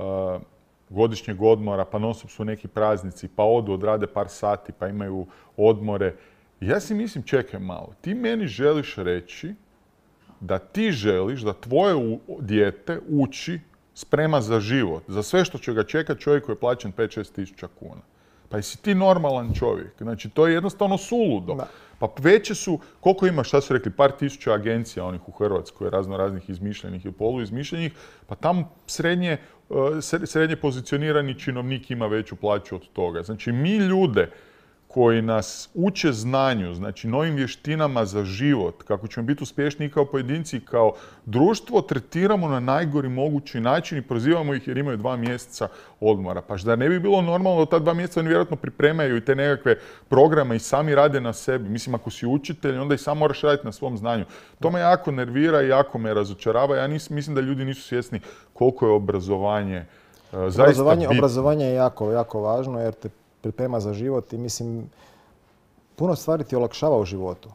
godišnjeg odmora, pa non stop su neki praznici, pa odu, odrade par sati, pa imaju odmore. I ja si mislim, čekaj malo, ti meni želiš reći da ti želiš da tvoje dijete uči, sprema za život, za sve što će ga čekati čovjek koji je plaćen pet do šest tisuća kuna. Pa jesi ti normalan čovjek? Znači, to je jednostavno suludo. Da. Pa veće su, koliko ima, šta su rekli, par tisuća agencija onih u Hrvatskoj, razno raznih izmišljenih i poluizmišljenih, pa tamo srednje, srednje pozicionirani činovnik ima veću plaću od toga. Znači, mi ljude koji nas uče znanju, znači novim vještinama za život, kako ćemo biti uspješniji kao pojedinci i kao društvo, tretiramo na najgori mogući način i prozivamo ih jer imaju dva mjeseca odmora. Pa da ne bi bilo normalno da ta dva mjeseca oni vjerojatno pripremaju i te nekakve programe i sami rade na sebi. Mislim, ako si učitelj, onda i sam moraš raditi na svom znanju. To me jako nervira i jako me razočarava. Ja nis, mislim da ljudi nisu svjesni koliko je obrazovanje uh, zaista obrazovanje, bitno. Obrazovanje je jako, jako važno jer te priprema za život i mislim, puno stvari ti olakšava u životu.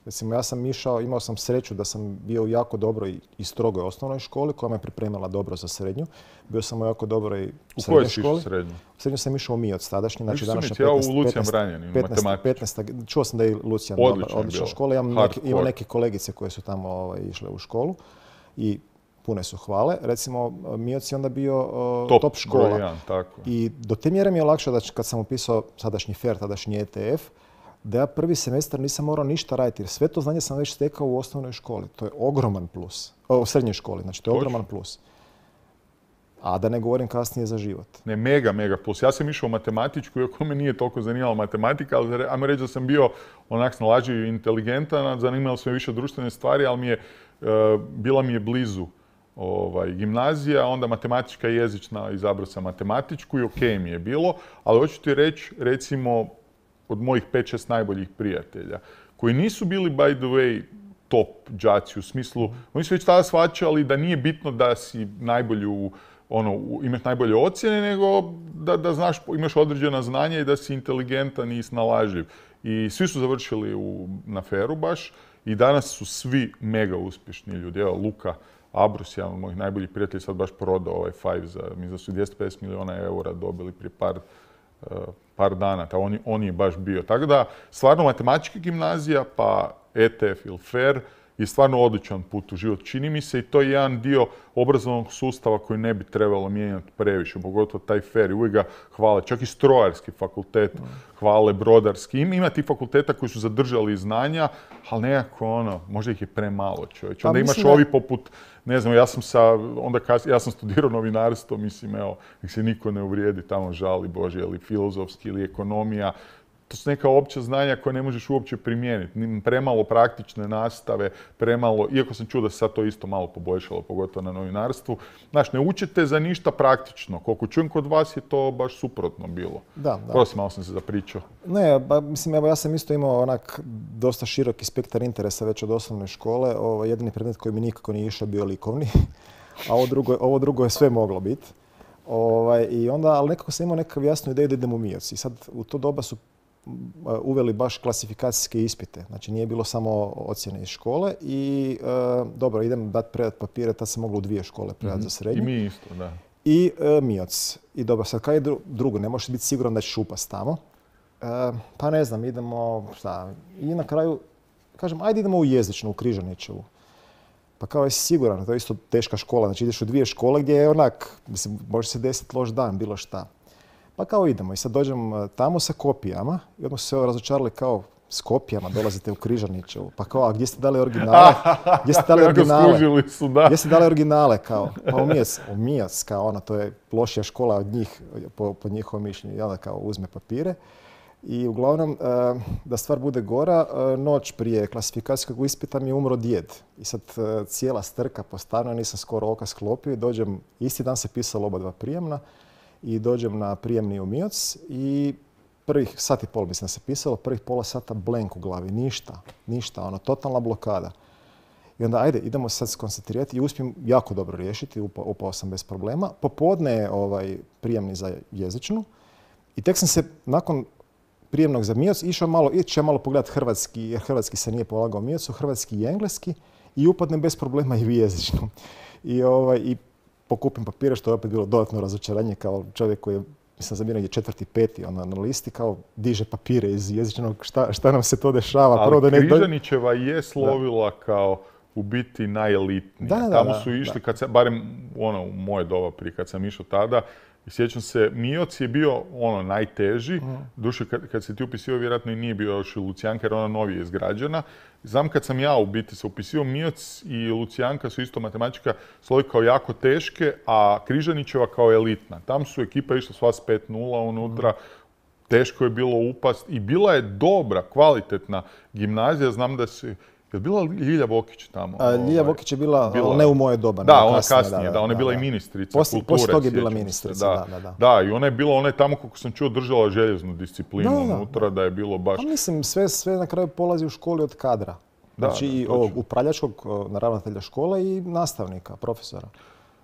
Recimo, ja sam išao, imao sam sreću da sam bio u jako dobroj i strogoj osnovnoj školi koja me pripremila dobro za srednju. Bio sam u jako dobroj srednjoj školi. U kojoj si srednju? U srednju sam išao u Mijoc tadašnji, znači današnja petnaest, u Lucijan Branjanin, petnaest, čuo sam da je Lucijan odlična, odlična škola. Imam neke, imam neke kolegice koje su tamo ovaj, išle u školu i pune su hvale. Recimo, Mijoc je onda bio uh, top, top škola. Brojan, tako. I do te mjere mi je lakše da kad sam upisao sadašnji F E R, tadašnji E T F, da ja prvi semestar nisam morao ništa raditi, jer sve to znanje sam već stekao u osnovnoj školi. To je ogroman plus. O, u srednjoj školi, znači to je ogroman plus. A da ne govorim kasnije za život. Ne, mega, mega plus. Ja sam išao u matematičku, iako me nije toliko zanimala matematika, ali ajmo reći da sam bio onak snalažljiv i inteligentan, zanimalo su me više društvene stvari, ali mi je, uh, bila mi je blizu ovaj, gimnazija, onda matematička i jezična, izabrao sam matematičku i ok mi je bilo, ali hoću ti reći, recimo, od mojih pet šest najboljih prijatelja, koji nisu bili, by the way, top đaci u smislu, oni su već tada shvaćali da nije bitno da si najbolju, ono, imaš najbolje ocjene, nego da, da znaš, imaš određena znanja i da si inteligentan i snalažljiv. I svi su završili u, na feru baš i danas su svi mega uspješni ljudi. Evo, Luka Abrus, jedan od mojih najboljih prijatelja, sad baš prodao ovaj Five za, mislim da su dvjesto pedeset milijuna eura dobili prije par Uh, par dana, ta on, on je baš bio. Tako da, stvarno matematička gimnazija, pa E T F ili F E R je stvarno odličan put u život. Čini mi se i to je jedan dio obrazovnog sustava koji ne bi trebalo mijenjati previše, pogotovo taj F E R. I uvijek ga hvale, čak i strojarski fakultet hvale, brodarski. Ima tih fakulteta koji su zadržali znanja, ali nekako ono, možda ih je premalo, čovječ. Onda imaš ovi poput, ne znam, ja sam sa, onda kas, ja sam studirao novinarstvo, mislim, evo, nek se niko ne uvrijedi, tamo žali Bože, ili filozofski, ili ekonomija. To su neka opća znanja koje ne možeš uopće primijeniti. Premalo praktične nastave, premalo, iako sam čuo da se sad to isto malo poboljšalo, pogotovo na novinarstvu. Znaš, ne učite za ništa praktično. Koliko čujem kod vas je to baš suprotno bilo. Da, da. Prosim, malo sam se zapričao. Ne, ba, mislim, evo ja sam isto imao onak dosta široki spektar interesa već od osnovne škole. Ovo, jedini predmet koji mi nikako nije išao bio likovni, a ovo drugo, ovo drugo je sve moglo biti. Ovaj, i onda, ali nekako sam imao nekakav jasnu ideju da idem u Mijoc. I sad u to doba su uveli baš klasifikacijske ispite. Znači nije bilo samo ocjene iz škole i e, dobro, idem dati predat papire, tad se moglo u dvije škole predati mm-hmm. za srednju. I mi isto, da. I e, Mijoc. I dobro, sad kaj je drugo, ne možeš biti siguran da ćeš upast tamo. E, pa ne znam, idemo, šta, i na kraju, kažem, ajde idemo u jezičnu, u Križanićevu. Pa kao jesi siguran, to je isto teška škola, znači ideš u dvije škole gdje je onak, mislim, može se desiti loš dan, bilo šta. Pa kao idemo i sad dođem tamo sa kopijama i odmah su se razočarali kao s kopijama dolazite u Križanićevu. Pa kao, a gdje ste dali originale? Gdje ste dali originale? Su, da. Gdje ste dali originale? Kao, pa u Mijoc, u Mijoc, kao ono, to je lošija škola od njih, po, po njihovom mišljenju. I onda kao uzme papire. I uglavnom, da stvar bude gora, noć prije klasifikacijskog ispita mi je umro djed. I sad cijela strka po stanu, nisam skoro oka sklopio i dođem, isti dan se pisalo oba dva prijemna. I dođem na prijemni u Mijoc i prvih sat i pol mislim da se pisalo, prvih pola sata blank u glavi, ništa, ništa, ono, totalna blokada. I onda ajde, idemo sad skoncentrirati i uspijem jako dobro riješiti, upao, upao sam bez problema. Popodne je ovaj, prijemni za jezičnu i tek sam se nakon prijemnog za Mijoc išao malo, ići malo pogledati hrvatski, jer hrvatski se nije polagao Mijocu, hrvatski i engleski i upadnem bez problema i u jezičnu. I, ovaj, i pokupim papire, što je opet bilo dodatno razočaranje kao čovjek koji je, mislim, zabio negdje četvrti, peti ona, na listi, kao diže papire iz jezičnog, šta, šta nam se to dešava. Ali Prvo da ne... Križanićeva je slovila da. Kao u biti najelitnija. Da, da, Tamo da, su išli, da. Kad se, barem ono, u moje doba prije kad sam išao tada, i sjećam se, Mijoc je bio ono najteži, mm. duše kad, kad se ti upisio vjerojatno i nije bio još i Lucijanka jer ona novije izgrađena. Znam kad sam ja u biti se upisio, Mijoc i Lucijanka su isto matematička slovi kao jako teške, a Križanićeva kao elitna. Tam su ekipa išla sva s pet nula unutra, teško je bilo upast i bila je dobra, kvalitetna gimnazija. Znam da se... Je bila Ljilja Vokić tamo? A, Ljilja ovaj, Vokić je bila, bila, ali ne u moje doba. Da, ona kasnije, kasnije da, da, da, ona je bila da, da. i ministrica Poslije, kulture. Poslije toga je bila ministrica, da, da, da. Da, i ona je bila, ona je tamo, kako sam čuo, držala željeznu disciplinu da, unutra, da je bilo baš... A mislim, sve, sve na kraju polazi u školi od kadra. Da, znači da, i ovog upravljačkog ravnatelja škole i nastavnika, profesora.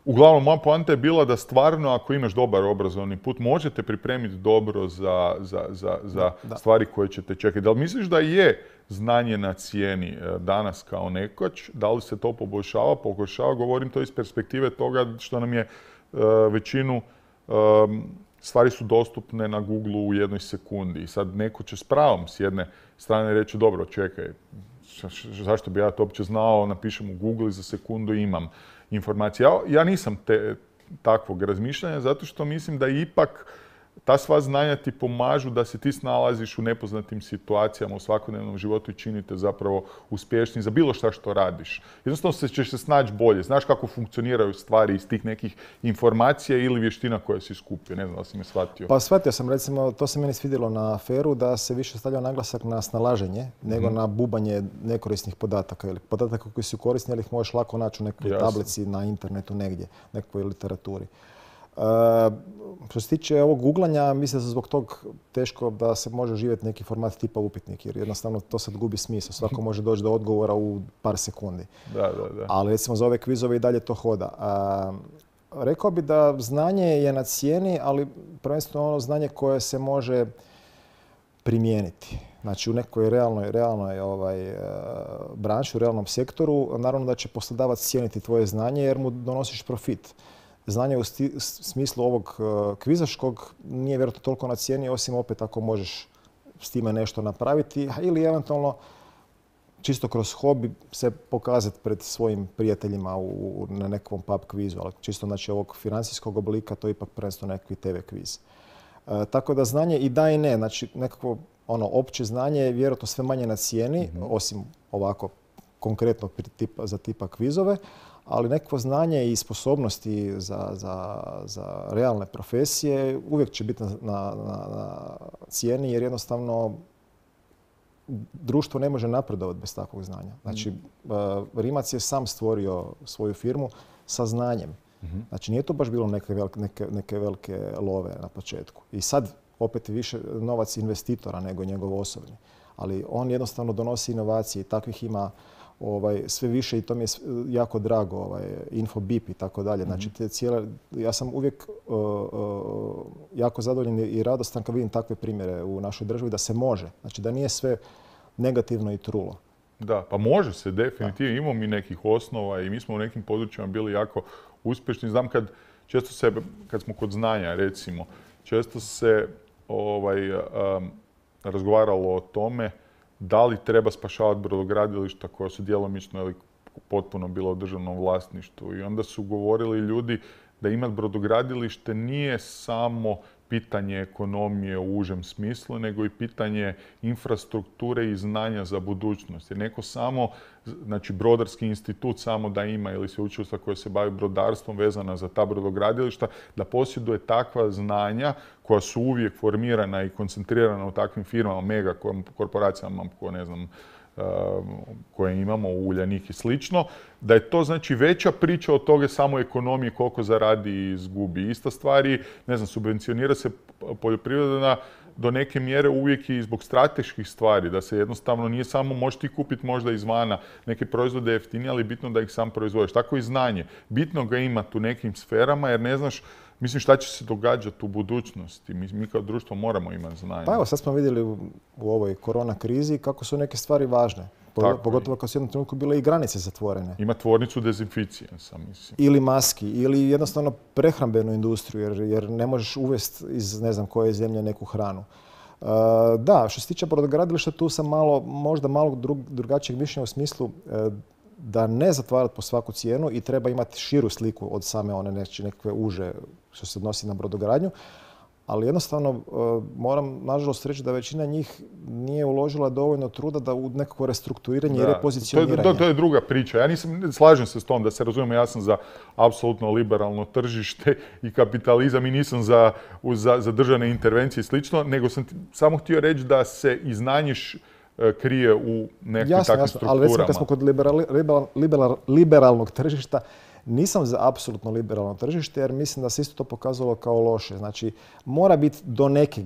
Uglavnom, moja poanta je bila da stvarno, ako imaš dobar obrazovni put, možete pripremiti dobro za, za, za, za da. stvari koje ćete čekati. Da li misliš da je znanje na cijeni danas kao nekoć? Da li se to poboljšava? Poboljšava, govorim to iz perspektive toga što nam je uh, većinu um, stvari su dostupne na Google u jednoj sekundi. I sad neko će s pravom s jedne strane reći, dobro, čekaj, zašto bi ja to uopće znao, napišem u Google i za sekundu imam informacije. Ja, ja nisam te, takvog razmišljanja zato što mislim da ipak ta sva znanja ti pomažu da se ti snalaziš u nepoznatim situacijama u svakodnevnom životu i činite zapravo uspješni za bilo šta što radiš. Jednostavno se ćeš se snaći bolje. Znaš kako funkcioniraju stvari iz tih nekih informacija ili vještina koje si skupio. Ne znam da si me shvatio. Pa shvatio sam, recimo, to se meni svidjelo na aferu da se više stavlja naglasak na snalaženje nego hmm. na bubanje nekorisnih podataka ili podataka koji su korisni, ali ih možeš lako naći u nekoj Jasne. tablici na internetu negdje, nekoj literaturi. Uh, što se tiče ovog googlanja, mislim da se zbog tog teško da se može živjeti neki format tipa upitnik, jer jednostavno to sad gubi smisao. Svako može doći do odgovora u par sekundi. Da, da, da. Ali recimo za ove kvizove i dalje to hoda. Uh, rekao bi da znanje je na cijeni, ali prvenstveno ono znanje koje se može primijeniti. Znači u nekoj realnoj, realnoj ovaj, uh, branši, u realnom sektoru, naravno da će poslodavac cijeniti tvoje znanje jer mu donosiš profit. Znanje u sti, smislu ovog uh, kvizaškog nije vjerojatno toliko na cijeni, osim opet ako možeš s time nešto napraviti ili eventualno čisto kroz hobi se pokazati pred svojim prijateljima u, u, na nekom pub kvizu. Ali čisto znači ovog financijskog oblika to je ipak prvenstveno nekakvi te ve kviz. Uh, tako da znanje i da i ne. Znači nekako ono opće znanje je vjerojatno sve manje na cijeni, mm-hmm. osim ovako konkretno tipa, za tipa kvizove. Ali neko znanje i sposobnosti za, za, za realne profesije uvijek će biti na, na, na cijeni jer jednostavno društvo ne može napredovati bez takvog znanja. Znači, mm. Rimac je sam stvorio svoju firmu sa znanjem. Mm-hmm. Znači, nije to baš bilo neke velike, neke, neke velike love na početku. I sad opet više novac investitora nego njegov osobni. Ali on jednostavno donosi inovacije i takvih ima Ovaj, sve više i to mi je jako drago, ovaj, Infobip i tako dalje. Znači, te cijele, ja sam uvijek uh, uh, jako zadovoljan i radostan kad vidim takve primjere u našoj državi da se može. Znači, da nije sve negativno i trulo. Da, pa može se definitivno. Imamo mi nekih osnova i mi smo u nekim područjima bili jako uspješni. Znam kad često se, kad smo kod znanja recimo, često se ovaj, um, razgovaralo o tome da li treba spašavati brodogradilišta koja su djelomično ili potpuno bila u državnom vlasništvu. I onda su govorili ljudi da imati brodogradilište nije samo pitanje ekonomije u užem smislu, nego i pitanje infrastrukture i znanja za budućnost. Jer neko samo, znači Brodarski institut samo da ima ili sveučilišta koje se bavi brodarstvom vezana za ta brodogradilišta, da posjeduje takva znanja koja su uvijek formirana i koncentrirana u takvim firmama, mega korporacijama, koje ne znam, koje imamo u Uljanik i slično, da je to znači veća priča od toga samo ekonomije koliko zaradi i izgubi. Ista stvari, ne znam, subvencionira se poljoprivreda do neke mjere uvijek i zbog strateških stvari, da se jednostavno nije samo možeš ti kupiti možda izvana neke proizvode jeftinije, ali bitno da ih sam proizvodiš. Tako i znanje. Bitno ga imati u nekim sferama jer ne znaš, mislim šta će se događati u budućnosti. Mi, mi kao društvo moramo imati znanje. Pa evo, sad smo vidjeli u, u ovoj korona krizi kako su neke stvari važne. Tako Pogotovo kad su u jednom trenutku bile i granice zatvorene. Ima tvornicu dezinficije, sam mislim. Ili maski, ili jednostavno prehrambenu industriju, jer, jer ne možeš uvesti iz ne znam koje zemlje neku hranu. Uh, da, što se tiče brodogradilišta, tu sam malo, možda malo drug, drugačijeg mišljenja u smislu uh, da ne zatvarati po svaku cijenu i treba imati širu sliku od same one neće, nekakve uže što se odnosi na brodogradnju. ali jednostavno moram nažalost reći da većina njih nije uložila dovoljno truda da u nekako restrukturiranje i repozicioniranje. To, to, to je druga priča. Ja nisam, slažem se s tom da se razumijemo, ja sam za apsolutno liberalno tržište i kapitalizam i nisam za, za, za državne intervencije i slično, nego sam samo htio reći da se i znanje krije u nekim jasno, takvim jasno, strukturama. Ali recimo kad smo kod liberali, liberal, liberal, liberalnog tržišta, nisam za apsolutno liberalno tržište jer mislim da se isto to pokazalo kao loše. Znači, mora biti do neke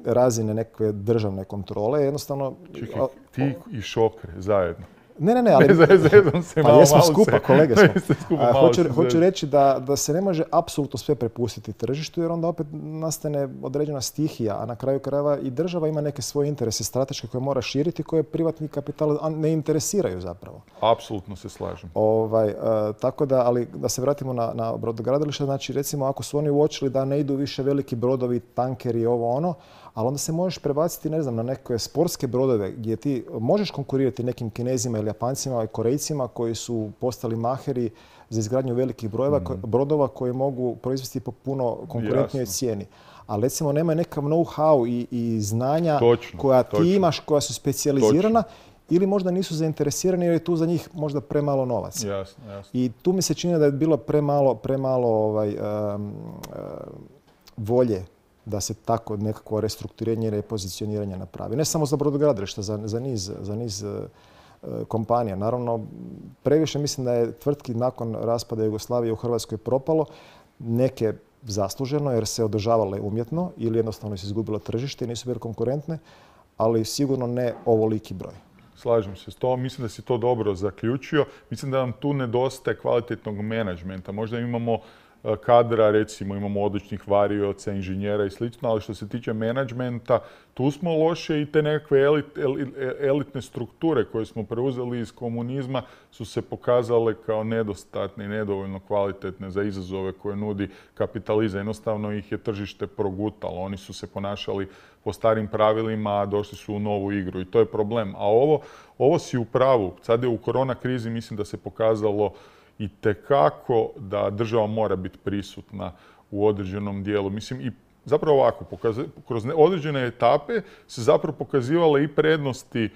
razine neke državne kontrole. Jednostavno... Čekaj, ti i Šokre zajedno. Ne, ne, ne, ali... Zezam se pa malo, jesmo malo skupa, se, kolege smo. skupa, A, hoću, se hoću reći da, da se ne može apsolutno sve prepustiti tržištu jer onda opet nastane određena stihija, a na kraju krajeva i država ima neke svoje interese strateške koje mora širiti, koje privatni kapital ne interesiraju zapravo. Apsolutno se slažem. Ovaj, uh, tako da, ali da se vratimo na, na brodogradilište, znači recimo ako su oni uočili da ne idu više veliki brodovi, tankeri, ovo ono, ali onda se možeš prebaciti, ne znam, na neke sportske brodove gdje ti možeš konkurirati nekim Kinezima ili Japancima i Korejcima koji su postali maheri za izgradnju velikih brojeva, mm. brodova koji mogu proizvesti po puno konkurentnijoj cijeni. Ali recimo nema nekav know-how i, i znanja točno, koja točno. ti imaš, koja su specijalizirana ili možda nisu zainteresirani jer je tu za njih možda premalo novaca. Jasno, jasno. I tu mi se čini da je bilo premalo, premalo ovaj, um, um, volje da se tako nekako restrukturiranje i repozicioniranje napravi. Ne samo za brodogradilišta, za, za niz, za niz uh, kompanija. Naravno, previše mislim da je tvrtki nakon raspada Jugoslavije u Hrvatskoj propalo. Neke zasluženo jer se održavale umjetno ili jednostavno se izgubilo tržište i nisu bile konkurentne, ali sigurno ne ovoliki broj. Slažem se s tom. Mislim da si to dobro zaključio. Mislim da nam tu nedostaje kvalitetnog menadžmenta. Možda imamo kadra, recimo imamo odličnih varioca, inženjera i slično, ali što se tiče menadžmenta, tu smo loše i te nekakve elit, elit, elitne strukture koje smo preuzeli iz komunizma su se pokazale kao nedostatne i nedovoljno kvalitetne za izazove koje nudi kapitalizam. Jednostavno ih je tržište progutalo. Oni su se ponašali po starim pravilima, a došli su u novu igru i to je problem. A ovo, ovo si u pravu. Sad je u korona krizi, mislim da se pokazalo i tekako da država mora biti prisutna u određenom dijelu. Mislim, i zapravo ovako, kroz određene etape se zapravo pokazivale i prednosti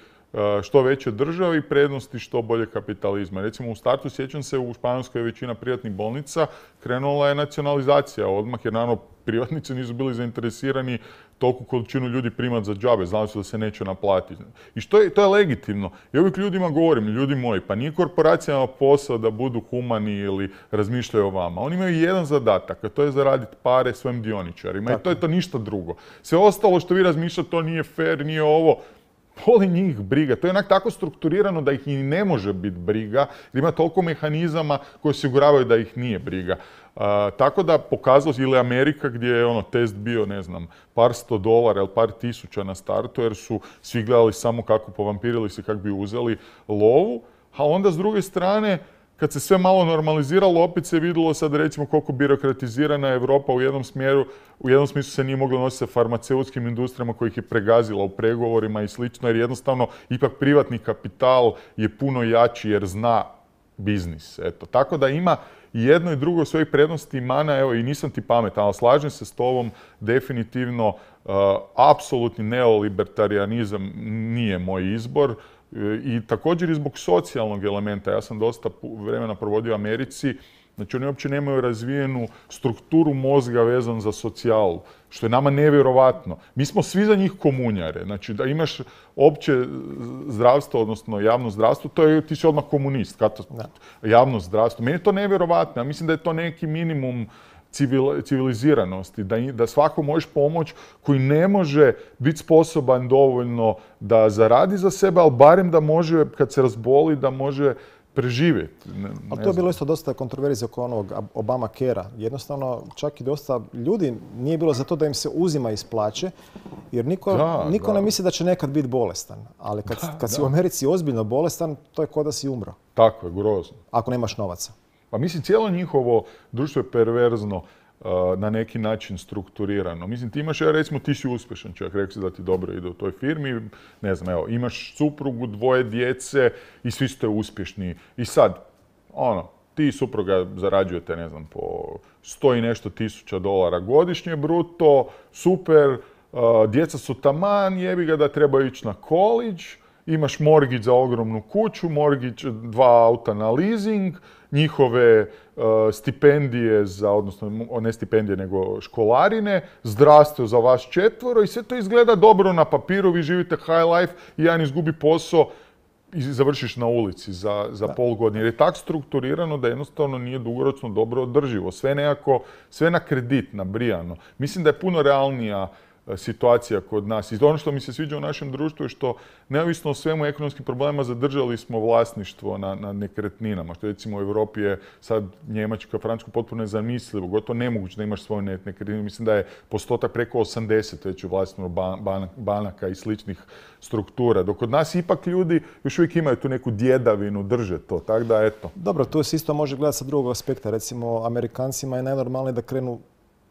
što veće države i prednosti što bolje kapitalizma. Recimo u startu, sjećam se, u Španjolskoj većina privatnih bolnica krenula je nacionalizacija odmah, jer naravno privatnici nisu bili zainteresirani toliku količinu ljudi primati za džabe, znali su da se neće naplatiti. I što je, to je legitimno. I uvijek ljudima govorim, ljudi moji, pa nije korporacijama posao da budu humani ili razmišljaju o vama. Oni imaju jedan zadatak, a to je zaraditi pare svojim dioničarima. Tako. I to je to ništa drugo. Sve ostalo što vi razmišljate, to nije fair, nije ovo, boli njih briga. To je onak tako strukturirano da ih i ne može biti briga, jer ima toliko mehanizama koji osiguravaju da ih nije briga. Uh, tako da pokazalo, ili Amerika gdje je ono test bio, ne znam, par sto dolara ili par tisuća na startu, jer su svi gledali samo kako povampirili se, kako bi uzeli lovu, a onda s druge strane, kad se sve malo normaliziralo, opet se vidjelo sad recimo koliko birokratizirana je Europa u jednom smjeru, u jednom smislu se nije moglo nositi sa farmaceutskim industrijama kojih je pregazila u pregovorima i slično, jer jednostavno ipak privatni kapital je puno jači jer zna biznis. Eto. Tako da ima i jedno i drugo svojih prednosti i mana, evo i nisam ti pametan, ali slažem se s tobom, definitivno uh, apsolutni neolibertarijanizam nije moj izbor. I također i zbog socijalnog elementa. Ja sam dosta vremena provodio u Americi. Znači oni uopće nemaju razvijenu strukturu mozga vezan za socijalu, što je nama nevjerovatno. Mi smo svi za njih komunjare. Znači da imaš opće zdravstvo, odnosno javno zdravstvo, to je, ti si odmah komunist. Javno zdravstvo. Meni je to nevjerovatno. Ja mislim da je to neki minimum civiliziranosti, da, da svako možeš pomoći koji ne može biti sposoban dovoljno da zaradi za sebe, ali barem da može, kad se razboli, da može preživjeti. Ne, ne ali to je bilo isto dosta kontroverzije oko onog Obama Care-a. Jednostavno, čak i dosta ljudi nije bilo za to da im se uzima iz plaće, jer niko, da, niko da. ne misli da će nekad biti bolestan. Ali kad, da, kad si da. u Americi ozbiljno bolestan, to je kao da si umro. Tako je, grozno. Ako nemaš novaca. Pa mislim, cijelo njihovo društvo je perverzno uh, na neki način strukturirano. Mislim, ti imaš, ja recimo, ti si uspješan čovjek, rekli si da ti dobro ide u toj firmi, ne znam, evo, imaš suprugu, dvoje djece i svi ste uspješni. I sad, ono, ti i supruga zarađujete, ne znam, po sto i nešto tisuća dolara godišnje bruto, super, djeca su taman, jebi ga da treba ići na college, imaš mortgage za ogromnu kuću, mortgage dva auta na leasing, njihove uh, stipendije za, odnosno ne stipendije nego školarine, zdravstvo za vas četvoro i sve to izgleda dobro na papiru, vi živite high life i jedan izgubi posao i završiš na ulici za, za pol godine. Jer je tako strukturirano da jednostavno nije dugoročno dobro održivo. Sve nekako, sve na kredit, nabrijano. Mislim da je puno realnija situacija kod nas. I ono što mi se sviđa u našem društvu je što, neovisno o svemu ekonomskim problemima, zadržali smo vlasništvo na, na nekretninama. Što recimo u Europi je sad Njemačka, Francuska potpuno nezamislivo, gotovo nemoguće da imaš svoju nekretninu. Mislim da je postotak preko osamdeset već u vlasništvu ban, banaka i sličnih struktura. Dok kod nas ipak ljudi još uvijek imaju tu neku djedavinu, drže to. Tako da, eto. Dobro, to se isto može gledati sa drugog aspekta. Recimo, Amerikancima je najnormalnije da krenu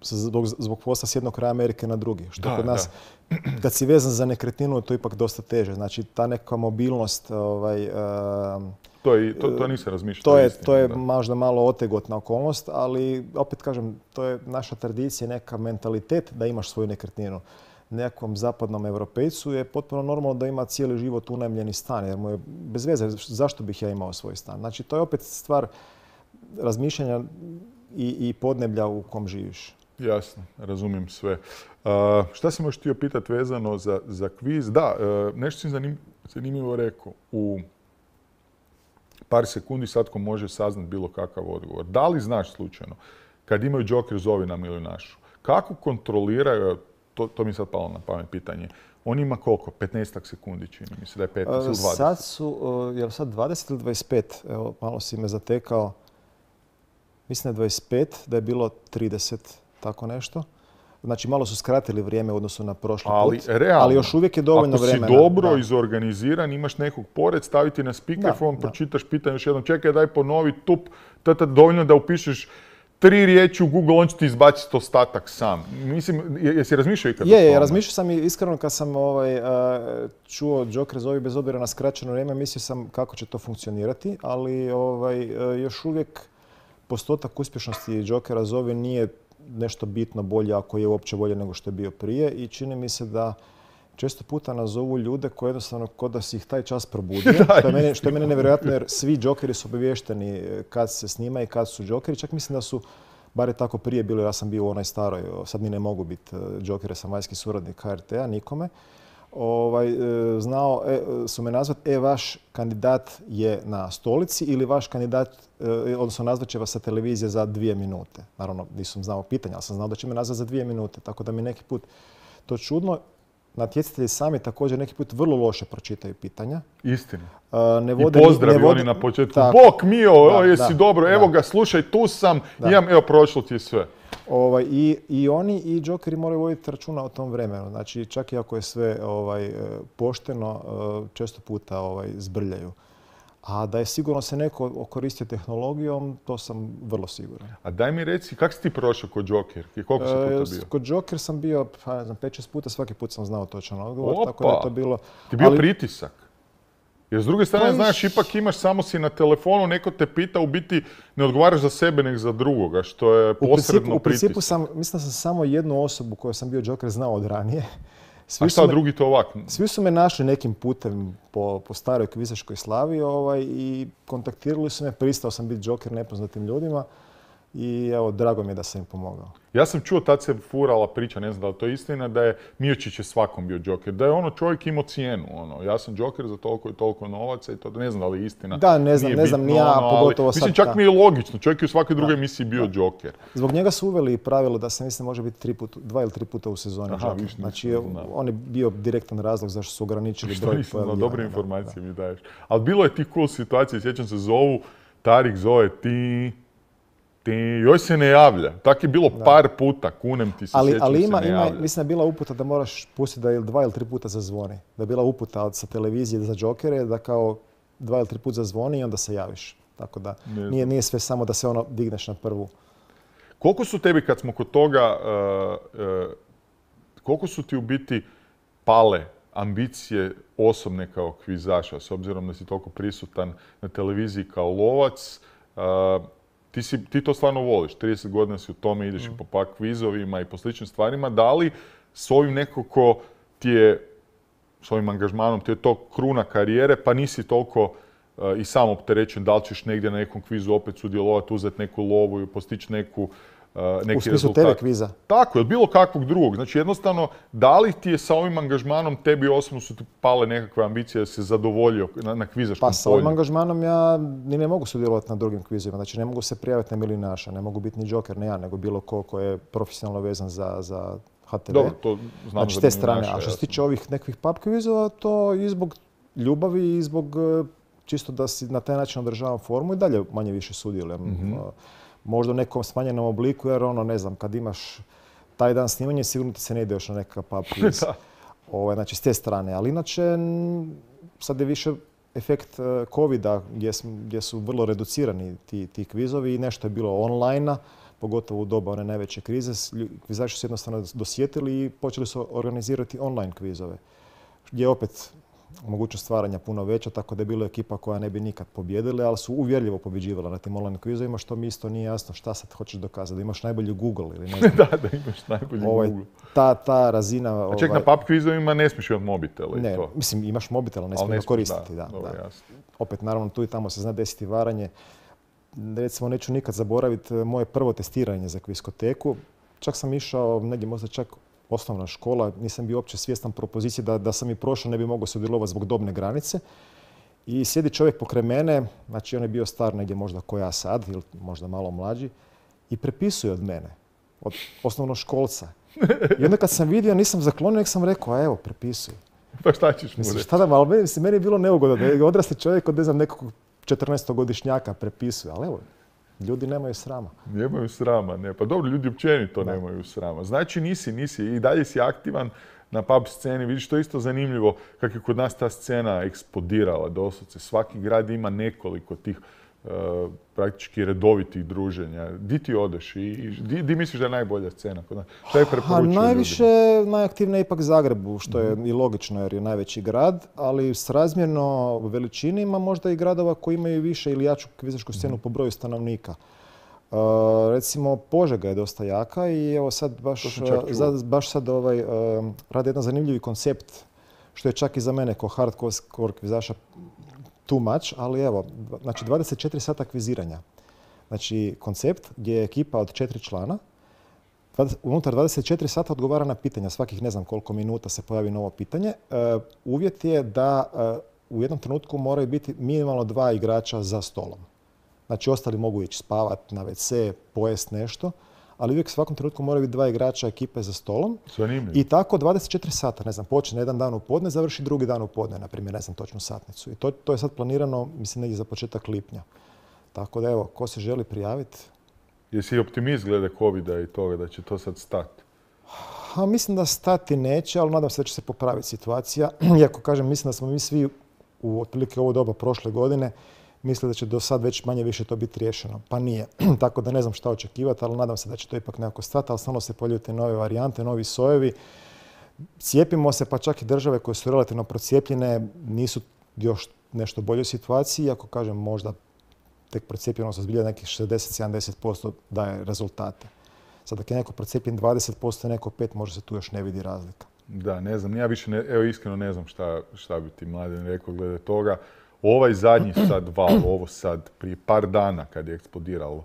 Zbog, zbog posla s jednog kraja Amerike na drugi. Što da, kod nas, da. Kad si vezan za nekretninu, to je ipak dosta teže. Znači, ta neka mobilnost... Ovaj, uh, to, je, to, to nisam razmišljao. To je, istina, to je da. možda malo otegotna okolnost, ali opet kažem, to je naša tradicija, neka mentalitet da imaš svoju nekretninu. Nekom zapadnom europejcu je potpuno normalno da ima cijeli život unajmljeni stan, jer mu je bez veze zašto bih ja imao svoj stan. Znači, to je opet stvar razmišljanja i, i podneblja u kom živiš. Jasno, razumijem sve. Uh, šta sam još htio pitati vezano za, za kviz? Da, uh, nešto sam zanim, zanimljivo rekao. U par sekundi svatko može saznati bilo kakav odgovor. Da li znaš slučajno, kad imaju Joker zovi nam ili našu, kako kontroliraju, to, to mi je sad palo na pamet pitanje, on ima koliko? petnaest sekundi čini mi se da je petnaest ili dvadeset. Sad su, je li sad dvadeset ili dvadeset pet? Evo, malo si me zatekao. Mislim da je dvadeset pet, da je bilo trideset. Tako nešto. Znači, malo su skratili vrijeme u odnosu na prošli ali, put. Realno, ali još uvijek je dovoljno vremena. Ako si dobro da. izorganiziran, imaš nekog pored, staviti na speakerphone, pročitaš pitanje još jednom, čekaj, daj ponovi, tup, tata, dovoljno da upišeš tri riječi u Google, on će ti izbaciti ostatak sam. Mislim, jesi razmišljao ikad? Je, je, razmišljao sam i iskreno kad sam ovaj, čuo Joker zovi bez obzira na skraćeno vrijeme, mislio sam kako će to funkcionirati, ali ovaj, još uvijek postotak uspješnosti Jokera zovi nije nešto bitno bolje, ako je uopće bolje nego što je bio prije, i čini mi se da često puta nazovu ljude koji jednostavno kod da si ih taj čas probudio, što je meni, što je meni nevjerojatno jer svi Jokeri su obavješteni kad se snima i kad su Jokeri. Čak mislim da su, bar je tako prije bilo, ja sam bio u onoj staroj, sad mi ne mogu biti Jokeri, sam vanjski suradnik H R T-a, nikome. Ovaj, znao e, su me nazvati, e, vaš kandidat je na stolici ili vaš kandidat, e, odnosno nazvat će vas sa televizije za dvije minute. Naravno, nisam znao pitanja, ali sam znao da će me nazvati za dvije minute, tako da mi neki put to čudno. Natjecatelji sami također neki put vrlo loše pročitaju pitanja. Istina. Ne vode, I pozdravi ne vode, oni na početku. tako, Bok mio, da, o, jesi da, dobro, da. Evo ga, slušaj, tu sam, Da. imam, evo, prošlo ti je sve. Ovaj, i, I oni i Jokeri moraju voditi računa o tom vremenu. Znači, čak i ako je sve ovaj, pošteno, često puta ovaj, zbrljaju. A da je sigurno se neko koristio tehnologijom, to sam vrlo siguran. A daj mi reci, kako si ti prošao kod Joker? I koliko si puta bio? E, kod Joker sam bio, pa, ne znam, pet šest puta, svaki put sam znao točan odgovor. Opa. Tako da je to bilo... Ti bio ali, pritisak? Jer s druge strane, Pa znaš, ipak imaš, samo si na telefonu, neko te pita, u biti ne odgovaraš za sebe, nego za drugoga, što je u posredno principu, u principu pritisak. sam, mislim da sam samo jednu osobu koju sam bio Joker znao od ranije. Svi A šta me, drugi to ovak? Svi su me našli nekim putem po, po staroj kvizaškoj slavi ovaj, i kontaktirali su me, pristao sam biti Joker nepoznatim ljudima i evo, drago mi je da sam im pomogao. Ja sam čuo, tad se furala priča, ne znam da li to je istina, da je Miočić je svakom bio Joker. Da je ono čovjek imao cijenu. Ono. Ja sam Joker za toliko i toliko novaca i to ne znam da li je istina. Da, ne znam, Nije ne znam, bitno, ni ja, ono, pogotovo ali, sad. Mislim, čak da. mi je logično. Čovjek je u svakoj drugoj emisiji bio Da. Joker. Zbog njega su uveli pravilo da se, mislim, može biti tri put, dva ili tri puta u sezoni Aha, Joker. viš, Znači, nisam znao. on je bio direktan razlog zašto su ograničili Što broj nisam znao, pojavljivanja. dobre Da, informacije da. mi daješ. Ali bilo je tih cool situacija, sjećam se, zovu, Tarik zove ti, ti, joj se ne javlja. Tak je bilo Da. par puta, kunem ti se, Ali, sjećam ali se ima, ne ima, javlja. mislim da je bila uputa da moraš pustiti da ili dva ili tri puta zazvoni. Da je bila uputa od, sa televizije za Jokere da kao dva ili tri puta zazvoni i onda se javiš. Tako da Ne nije, nije sve samo da se ono digneš na prvu. Koliko su tebi, kad smo kod toga, uh, uh, koliko su ti u biti pale ambicije osobne kao kvizaša, s obzirom da si toliko prisutan na televiziji kao lovac ti, si, ti to stvarno voliš, trideset godina si u tome, ideš mm. i po pak kvizovima i po sličnim stvarima. Da li s ovim nekako ti je, s ovim angažmanom, ti je to kruna karijere, pa nisi toliko uh, i sam opterećen, da li ćeš negdje na nekom kvizu opet sudjelovati, uzeti neku lovu i postići neku, uh, neki u smislu rezultat. tebe kviza? Tako, ili bilo kakvog drugog. Znači jednostavno, da li ti je sa ovim angažmanom, tebi osobno su ti pale nekakve ambicije da se zadovoljio na, na kvizaškom polju? Pa sa ovim angažmanom ja ni ne mogu sudjelovati na drugim kvizima. Znači ne mogu se prijaviti na Milinaša, ne mogu biti ni Joker, ne ja, nego bilo ko ko je profesionalno vezan za, za H T V. Dobro, to znam znači, za te strane. Milinaša. A što se tiče ovih nekakvih pub kvizova, to i zbog ljubavi i zbog čisto da si na taj način održavam formu i dalje manje više sudjelujem. Mm-hmm. Možda u nekom smanjenom obliku, jer ono, ne znam, kad imaš taj dan snimanje, sigurno ti se ne ide još na nekakav pub quiz. Ovaj, znači, s te strane. Ali inače, sad je više efekt covida gdje, gdje su vrlo reducirani ti, ti kvizovi i nešto je bilo online-a, pogotovo u doba one najveće krize. Kvizači su jednostavno dosjetili i počeli su organizirati online kvizove. Gdje je opet mogućnost stvaranja puno veća, tako da je bila ekipa koja ne bi nikad pobjedila, ali su uvjerljivo pobjeđivala na tim online kvizovima, što mi isto nije jasno šta sad hoćeš dokazati, da imaš najbolji Google ili ne znam. da, da imaš najbolji ovaj, Google. Ta, ta razina... A ček, ovaj, na pub kvizovima ne smiješ imati mobitel i ne, to? Mislim, imaš mobitel, ali ne smiješ ga koristiti. Da, da, dobro, da. Opet, naravno, tu i tamo se zna desiti varanje. Recimo, neću nikad zaboraviti moje prvo testiranje za kviskoteku. Čak sam išao, negdje možda čak osnovna škola, nisam bio uopće svjestan propozicije da, da sam i prošao, ne bi mogao sudjelovati zbog dobne granice. I sjedi čovjek pokraj mene, znači on je bio star negdje možda ko ja sad, ili možda malo mlađi, i prepisuje od mene, od osnovnoškolca. I onda kad sam vidio, nisam zaklonio, nek sam rekao, a evo, prepisuje. Pa šta ćeš mu reći? Šta da, ali meni, meni je bilo neugodno da je odrasli čovjek od, ne znam, nekog četrnaestogodišnjaka prepisuje, ali evo, ljudi nemaju srama. Nemaju srama, ne. Pa dobro, ljudi općenito da. nemaju srama. Znači nisi, nisi i dalje si aktivan na pub sceni. Vidiš, to je isto zanimljivo kako je kod nas ta scena eksplodirala doslovce. Svaki grad ima nekoliko tih uh, praktički redovitih druženja. Di ti odeš i di, di misliš da je najbolja scena kod nas? Šta je preporučio najviše, ljudima? najaktivnije je ipak Zagrebu, što je mm-hmm. i logično jer je najveći grad, ali s razmjerno veličini ima možda i gradova koji imaju više ili jaču kvizašku scenu mm-hmm. po broju stanovnika. Uh, recimo Požega je dosta jaka i evo sad baš, za, baš sad ovaj, uh, radi jedan zanimljivi koncept što je čak i za mene ko hardcore kvizaša too much, ali evo, znači dvadeset četiri sata kviziranja. Znači koncept gdje je ekipa od četiri člana, unutar dvadeset četiri sata odgovara na pitanja, svakih ne znam koliko minuta se pojavi novo pitanje. Uh, uvjet je da uh, u jednom trenutku moraju biti minimalno dva igrača za stolom. Znači, ostali mogu ići spavati na ve ce, pojest nešto, ali uvijek u svakom trenutku moraju biti dva igrača ekipe za stolom. Zanimljivo. I tako dvadeset četiri sata, ne znam, počne jedan dan u podne, završi drugi dan u podne, na primjer, ne znam točnu satnicu. I to, to je sad planirano, mislim, negdje za početak lipnja. Tako da, evo, ko se želi prijaviti? Jesi optimist glede covida i toga da će to sad stati? Ha, mislim da stati neće, ali nadam se da će se popraviti situacija. Iako, kažem, mislim da smo mi svi u otprilike ovo doba prošle godine misle da će do sad već manje više to biti riješeno. Pa nije. Tako da ne znam šta očekivati, ali nadam se da će to ipak nekako stati, ali stalno se pojavljuju te nove varijante, novi sojevi. Cijepimo se, pa čak i države koje su relativno procijepljene nisu još nešto bolje u situaciji, iako kažem možda tek procijepljenost zbilja nekih šezdeset do sedamdeset posto daje rezultate. Sad dok je neko procijepljen dvadeset posto, neko pet posto, možda se tu još ne vidi razlika. Da, ne znam. Ja više, ne, evo iskreno ne znam šta, šta bi ti Mladen rekao glede toga. Ovaj zadnji sad val, ovo sad, prije par dana kad je eksplodiralo,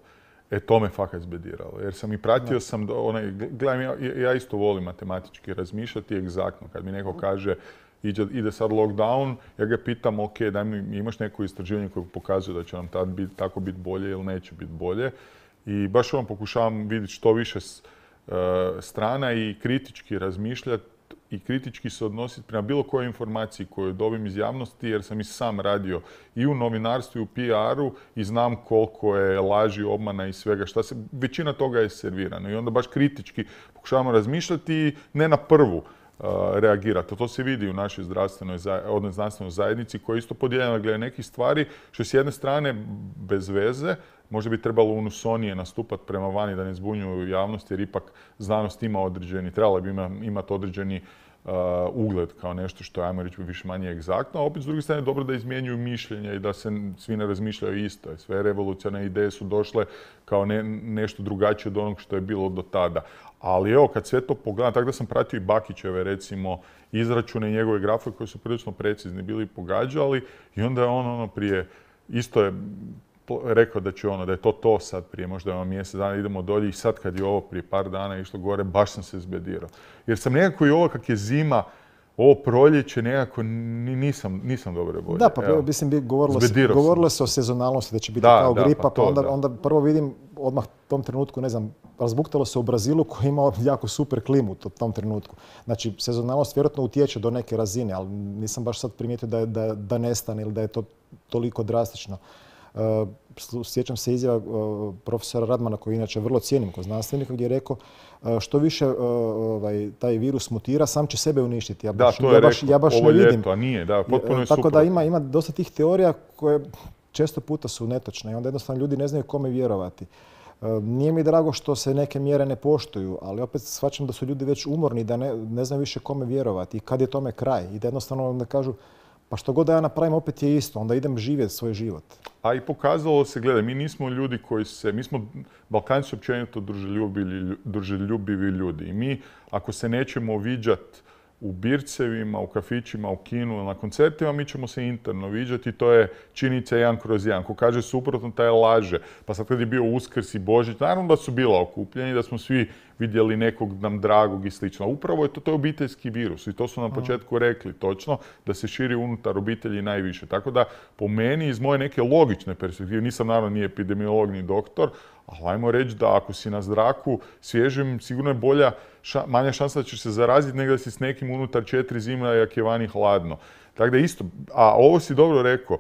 e to me fakat zbediralo. Jer sam i pratio no. sam, onaj, gledam, ja, ja isto volim matematički razmišljati egzaktno. Kad mi neko kaže ide, ide sad lockdown, ja ga pitam, ok, daj mi, imaš neko istraživanje koje pokazuje da će nam tad bit, tako biti bolje ili neće biti bolje. I baš vam pokušavam vidjeti što više uh, strana i kritički razmišljati i kritički se odnositi prema bilo kojoj informaciji koju dobim iz javnosti, jer sam i sam radio i u novinarstvu i u P R-u i znam koliko je laži, obmana i svega šta se, većina toga je servirano. I onda baš kritički pokušavamo razmišljati i ne na prvu uh, reagirati. To se vidi u našoj zdravstvenoj, odnosno znanstvenoj zajednici koja je isto podijeljena glede nekih stvari, što je s jedne strane bez veze, možda bi trebalo unusonije nastupati prema vani da ne zbunjuju javnost, jer ipak znanost ima određeni, trebala bi imati određeni uh, ugled kao nešto što je, ajmo reći, više manje egzaktno, a opet s druge strane dobro da izmjenjuju mišljenja i da se svi ne razmišljaju isto. Sve revolucionarne ideje su došle kao ne, nešto drugačije od onog što je bilo do tada. Ali evo, kad sve to pogledam, tako da sam pratio i Bakićeve, recimo, izračune i njegove grafove koji su prilično precizni bili pogađali i onda je on ono prije, isto je rekao da će ono, da je to to sad prije možda ono mjesec dana, idemo dolje i sad kad je ovo prije par dana išlo gore, baš sam se zbedirao. Jer sam nekako i ovo kak je zima, ovo proljeće nekako nisam, nisam dobro bolje. Da, pa evo, mislim, govorilo se, govorilo se o sezonalnosti, da će biti da, kao da, gripa, pa, to, pa onda, onda prvo vidim odmah u tom trenutku, ne znam, razbuktalo se u Brazilu koji ima jako super klimu u tom trenutku. Znači, sezonalnost vjerojatno utječe do neke razine, ali nisam baš sad primijetio da, je, da, da nestane ili da je to toliko drastično. Uh, sjećam se izjava uh, profesora Radmana, koji inače vrlo cijenim kao znanstvenika, gdje je rekao uh, što više uh, ovaj, taj virus mutira, sam će sebe uništiti. Ja baš, da, to je ja baš, rekao, ja baš ovo ne vidim. Ljeto, a nije, da, potpuno je Tako suprotno. da ima, ima dosta tih teorija koje često puta su netočne i onda jednostavno ljudi ne znaju kome vjerovati. Uh, nije mi drago što se neke mjere ne poštuju, ali opet shvaćam da su ljudi već umorni, da ne, ne znaju više kome vjerovati i kad je tome kraj. I da jednostavno onda kažu, pa što god da ja napravim, opet je isto, onda idem živjeti svoj život. A i pokazalo se, gledaj, mi nismo ljudi koji se, mi smo, Balkanci su općenito druželjubivi ljudi. I mi, ako se nećemo viđati u bircevima, u kafićima, u kinu, na koncertima, mi ćemo se interno viđati i to je činjenica jedan kroz jedan. Ko kaže suprotno, taj laže. Pa sad kad je bio Uskrs i Božić, naravno da su bila okupljeni, da smo svi vidjeli nekog nam dragog i slično. Upravo je to, to je obiteljski virus i to su na početku rekli točno, da se širi unutar obitelji najviše. Tako da, po meni, iz moje neke logične perspektive, nisam naravno ni epidemiolog ni doktor, ali ajmo reći da ako si na zraku svježim, sigurno je bolja, ša, manja šansa da ćeš se zaraziti nego da si s nekim unutar četiri zima jak je vani hladno. Tako da isto, a ovo si dobro rekao,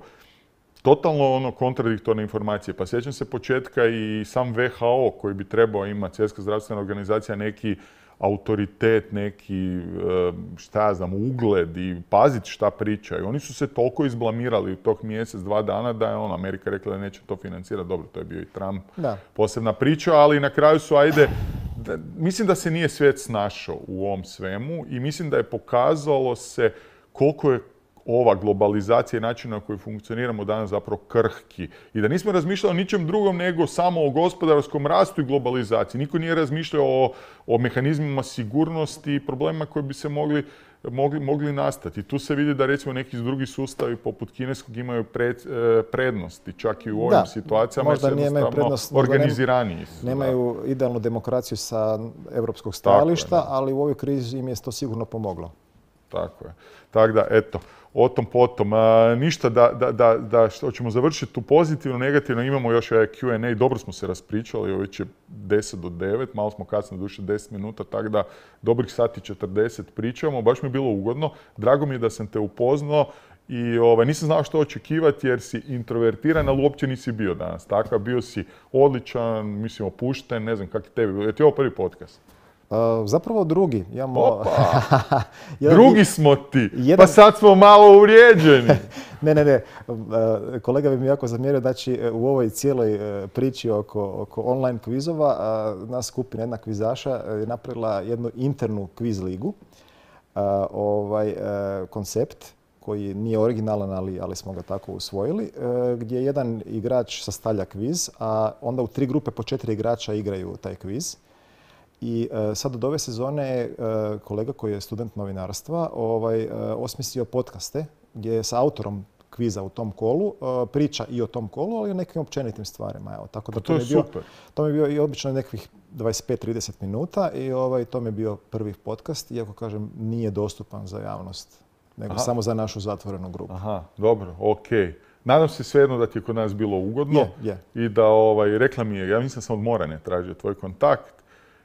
totalno ono kontradiktorne informacije. Pa sjećam se početka i sam V H O koji bi trebao imati, Svjetska zdravstvena organizacija, neki autoritet, neki, šta ja znam, ugled i paziti šta pričaju. Oni su se toliko izblamirali u tog mjesec, dva dana da je on, Amerika rekla da neće to financirati. Dobro, to je bio i Trump, da. Posebna priča, ali na kraju su, ajde, da, mislim da se nije svijet snašao u ovom svemu i mislim da je pokazalo se koliko je ova globalizacija i način na koji funkcioniramo danas zapravo krhki. I da nismo razmišljali o ničem drugom nego samo o gospodarskom rastu i globalizaciji. Niko nije razmišljao o, o mehanizmima sigurnosti i problemima koji bi se mogli, mogli, mogli nastati. Tu se vidi da recimo neki drugi sustavi poput kineskog imaju pred, prednosti, čak i u ovim da, situacijama. Možda nije imaju prednost, organiziraniji su. Nemaju da. idealnu demokraciju sa europskog stajališta, ali u ovoj krizi im je to sigurno pomoglo. Tako je. Tako da, eto, o tom potom. A, ništa da, da, da, da što ćemo završiti tu pozitivno, negativno. Imamo još ovaj Q and A, dobro smo se raspričali, ovo već je deset do devet, malo smo kasno duše deset minuta, tako da dobrih sati četrdeset pričamo. Baš mi je bilo ugodno. Drago mi je da sam te upoznao i ovaj, nisam znao što očekivati jer si introvertiran, ali uopće nisi bio danas. Tako, bio si odličan, mislim, opušten, ne znam kak je tebi. Je ti ovo prvi podcast? Uh, zapravo drugi. Imamo... Opa! Drugi smo ti! Jedan... Pa sad smo malo uvrijeđeni! ne, ne, ne. Uh, kolega bi mi jako zamjerio da će u ovoj cijeloj uh, priči oko, oko online kvizova uh, nas skupina jedna kvizaša je napravila jednu internu kviz ligu. Uh, ovaj uh, koncept koji nije originalan, ali, ali smo ga tako usvojili, uh, gdje jedan igrač sastavlja kviz, a onda u tri grupe po četiri igrača igraju taj kviz. I uh, sad od ove sezone je uh, kolega koji je student novinarstva ovaj, uh, osmislio podcaste gdje je sa autorom kviza u tom kolu uh, priča i o tom kolu, ali i o nekim općenitim stvarima. Evo, tako da to, to je bio, super. To mi je bio i obično nekih dvadeset pet do trideset minuta i ovaj, to mi je bio prvi podcast, iako kažem nije dostupan za javnost, nego Aha. samo za našu zatvorenu grupu. Aha, dobro, okej. Okay. Nadam se svejedno da ti je kod nas bilo ugodno yeah, yeah. i da ovaj, rekla mi je, ja mislim sam od Morane tražio tvoj kontakt.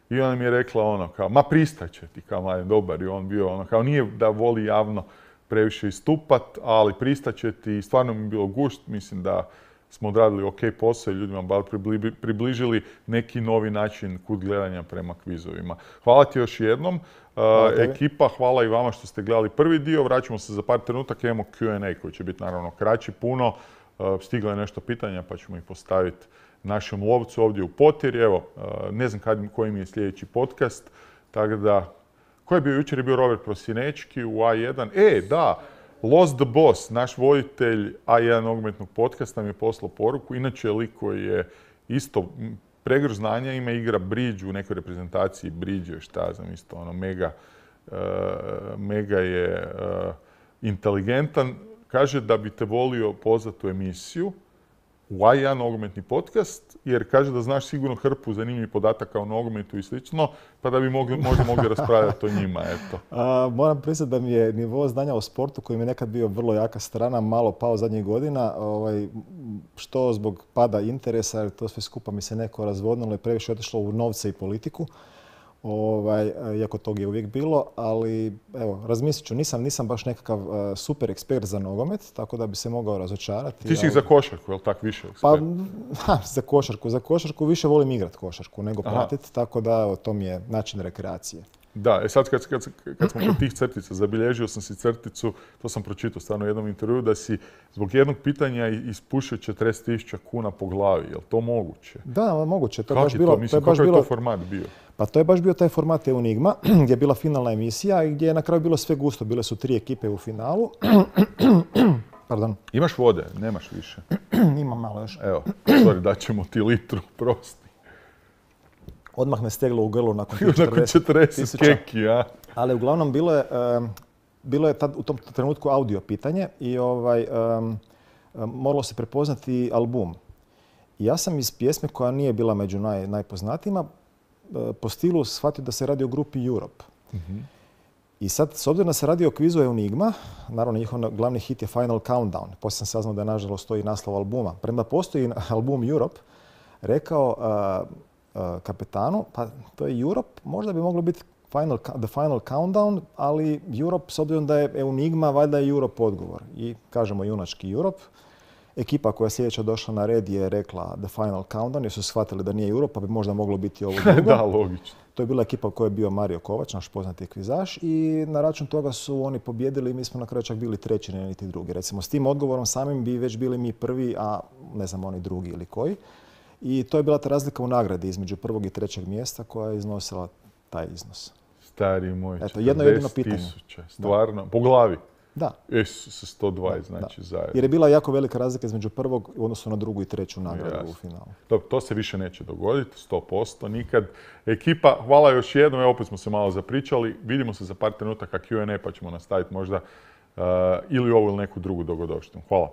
I ona mi je rekla ono kao, ma pristaće ti, kao mladen dobar. I on bio ono kao, nije da voli javno previše istupat, ali pristaće ti. I stvarno mi je bilo gušt, mislim da smo odradili ok posao i ljudima bar približili neki novi način kut gledanja prema kvizovima. Hvala ti još jednom. Hvala uh, ekipa, hvala i vama što ste gledali prvi dio. Vraćamo se za par trenutaka, imamo Q and A koji će biti naravno kraći puno. Uh, stiglo je nešto pitanja pa ćemo ih postaviti našem lovcu ovdje u Potjeri. Evo, ne znam kad, koji mi je sljedeći podcast, tako da Ko je bio jučer? Je bio Robert Prosinečki u A jedan. E, da, Lost the Boss, naš voditelj A jedan nogometnog podcasta, mi je poslao poruku. Inače je lik koji je isto pregrš znanja, ima, igra bridge u nekoj reprezentaciji, bridge, šta znam, isto ono, mega, uh, mega je uh, inteligentan. Kaže da bi te volio pozvati u emisiju u A jedan nogometni podcast, jer kaže da znaš sigurno hrpu zanimljivih podataka o nogometu i slično, pa da bi mogli, možda mogli raspravljati o njima, eto. A, moram priznati da mi je nivo znanja o sportu, koji mi je nekad bio vrlo jaka strana, malo pao zadnjih godina, ovaj, što zbog pada interesa, jer to sve skupa mi se neko razvodnilo i previše otišlo u novce i politiku. Ovaj, iako tog je uvijek bilo, ali evo, razmislit ću, nisam, nisam baš nekakav uh, super ekspert za nogomet, tako da bi se mogao razočarati. Ti si ali... za košarku, je li tak više ekspert? Pa, ha, za košarku. Za košarku više volim igrat košarku nego pratiti, tako da evo, to mi je način rekreacije. Da, e sad kad, kad, kad smo kod tih crtica, zabilježio sam si crticu, to sam pročitao stvarno u jednom intervjuu, da si zbog jednog pitanja ispušio četrdeset tisuća kuna po glavi. Je li to moguće? Da, moguće. To je Kako baš je bilo, to? Mislim, to je baš kakav je bilo... to format bio? Pa to je baš bio taj format Enigma, gdje je bila finalna emisija i gdje je na kraju bilo sve gusto. Bile su tri ekipe u finalu. Pardon. Imaš vode? Nemaš više? Imam malo još. Evo, sorry, daćemo ti litru, prosti. Odmah me steglo u grlu nakon četrdeset keki, a? Ali uglavnom bilo je, um, bilo je tad, u tom trenutku audio pitanje i ovaj, um, moralo se prepoznati album. I ja sam iz pjesme koja nije bila među naj, najpoznatijima po stilu shvatio da se radi o grupi Europe. Mm-hmm. I sad, s obzirom da se radi o kvizu Enigma, naravno njihov glavni hit je Final Countdown. Poslije sam saznao da je nažalost stoji naslov albuma. Premda postoji album Europe, rekao uh, uh, kapetanu, pa to je Europe, možda bi moglo biti final, The Final Countdown, ali Europe, s obzirom da je Enigma, valjda je Europe odgovor. I kažemo junački Europe. Ekipa koja je sljedeća došla na red je rekla The Final Countdown, jer su shvatili da nije Europa, pa bi možda moglo biti ovo drugo. Da, logično. To je bila ekipa u kojoj je bio Mario Kovač, naš poznati kvizaš, i na račun toga su oni pobjedili i mi smo na kraju čak bili treći, ne niti drugi. Recimo, s tim odgovorom samim bi već bili mi prvi, a ne znam oni drugi ili koji. I to je bila ta razlika u nagradi između prvog i trećeg mjesta koja je iznosila taj iznos. Stari moj, Eto, jedno jedino pitanje. tisuća, stvarno, da. Po glavi. Da. Jesu se sto dvadeset, znači da. zajedno. Jer je bila jako velika razlika između prvog u odnosu na drugu i treću nagradu Jasne. U finalu. Dobro, to se više neće dogoditi, sto posto, nikad. Ekipa, hvala još jednom, evo opet smo se malo zapričali. Vidimo se za par trenutaka Q and A pa ćemo nastaviti možda uh, ili ovu ili neku drugu dogodovštinu. Hvala.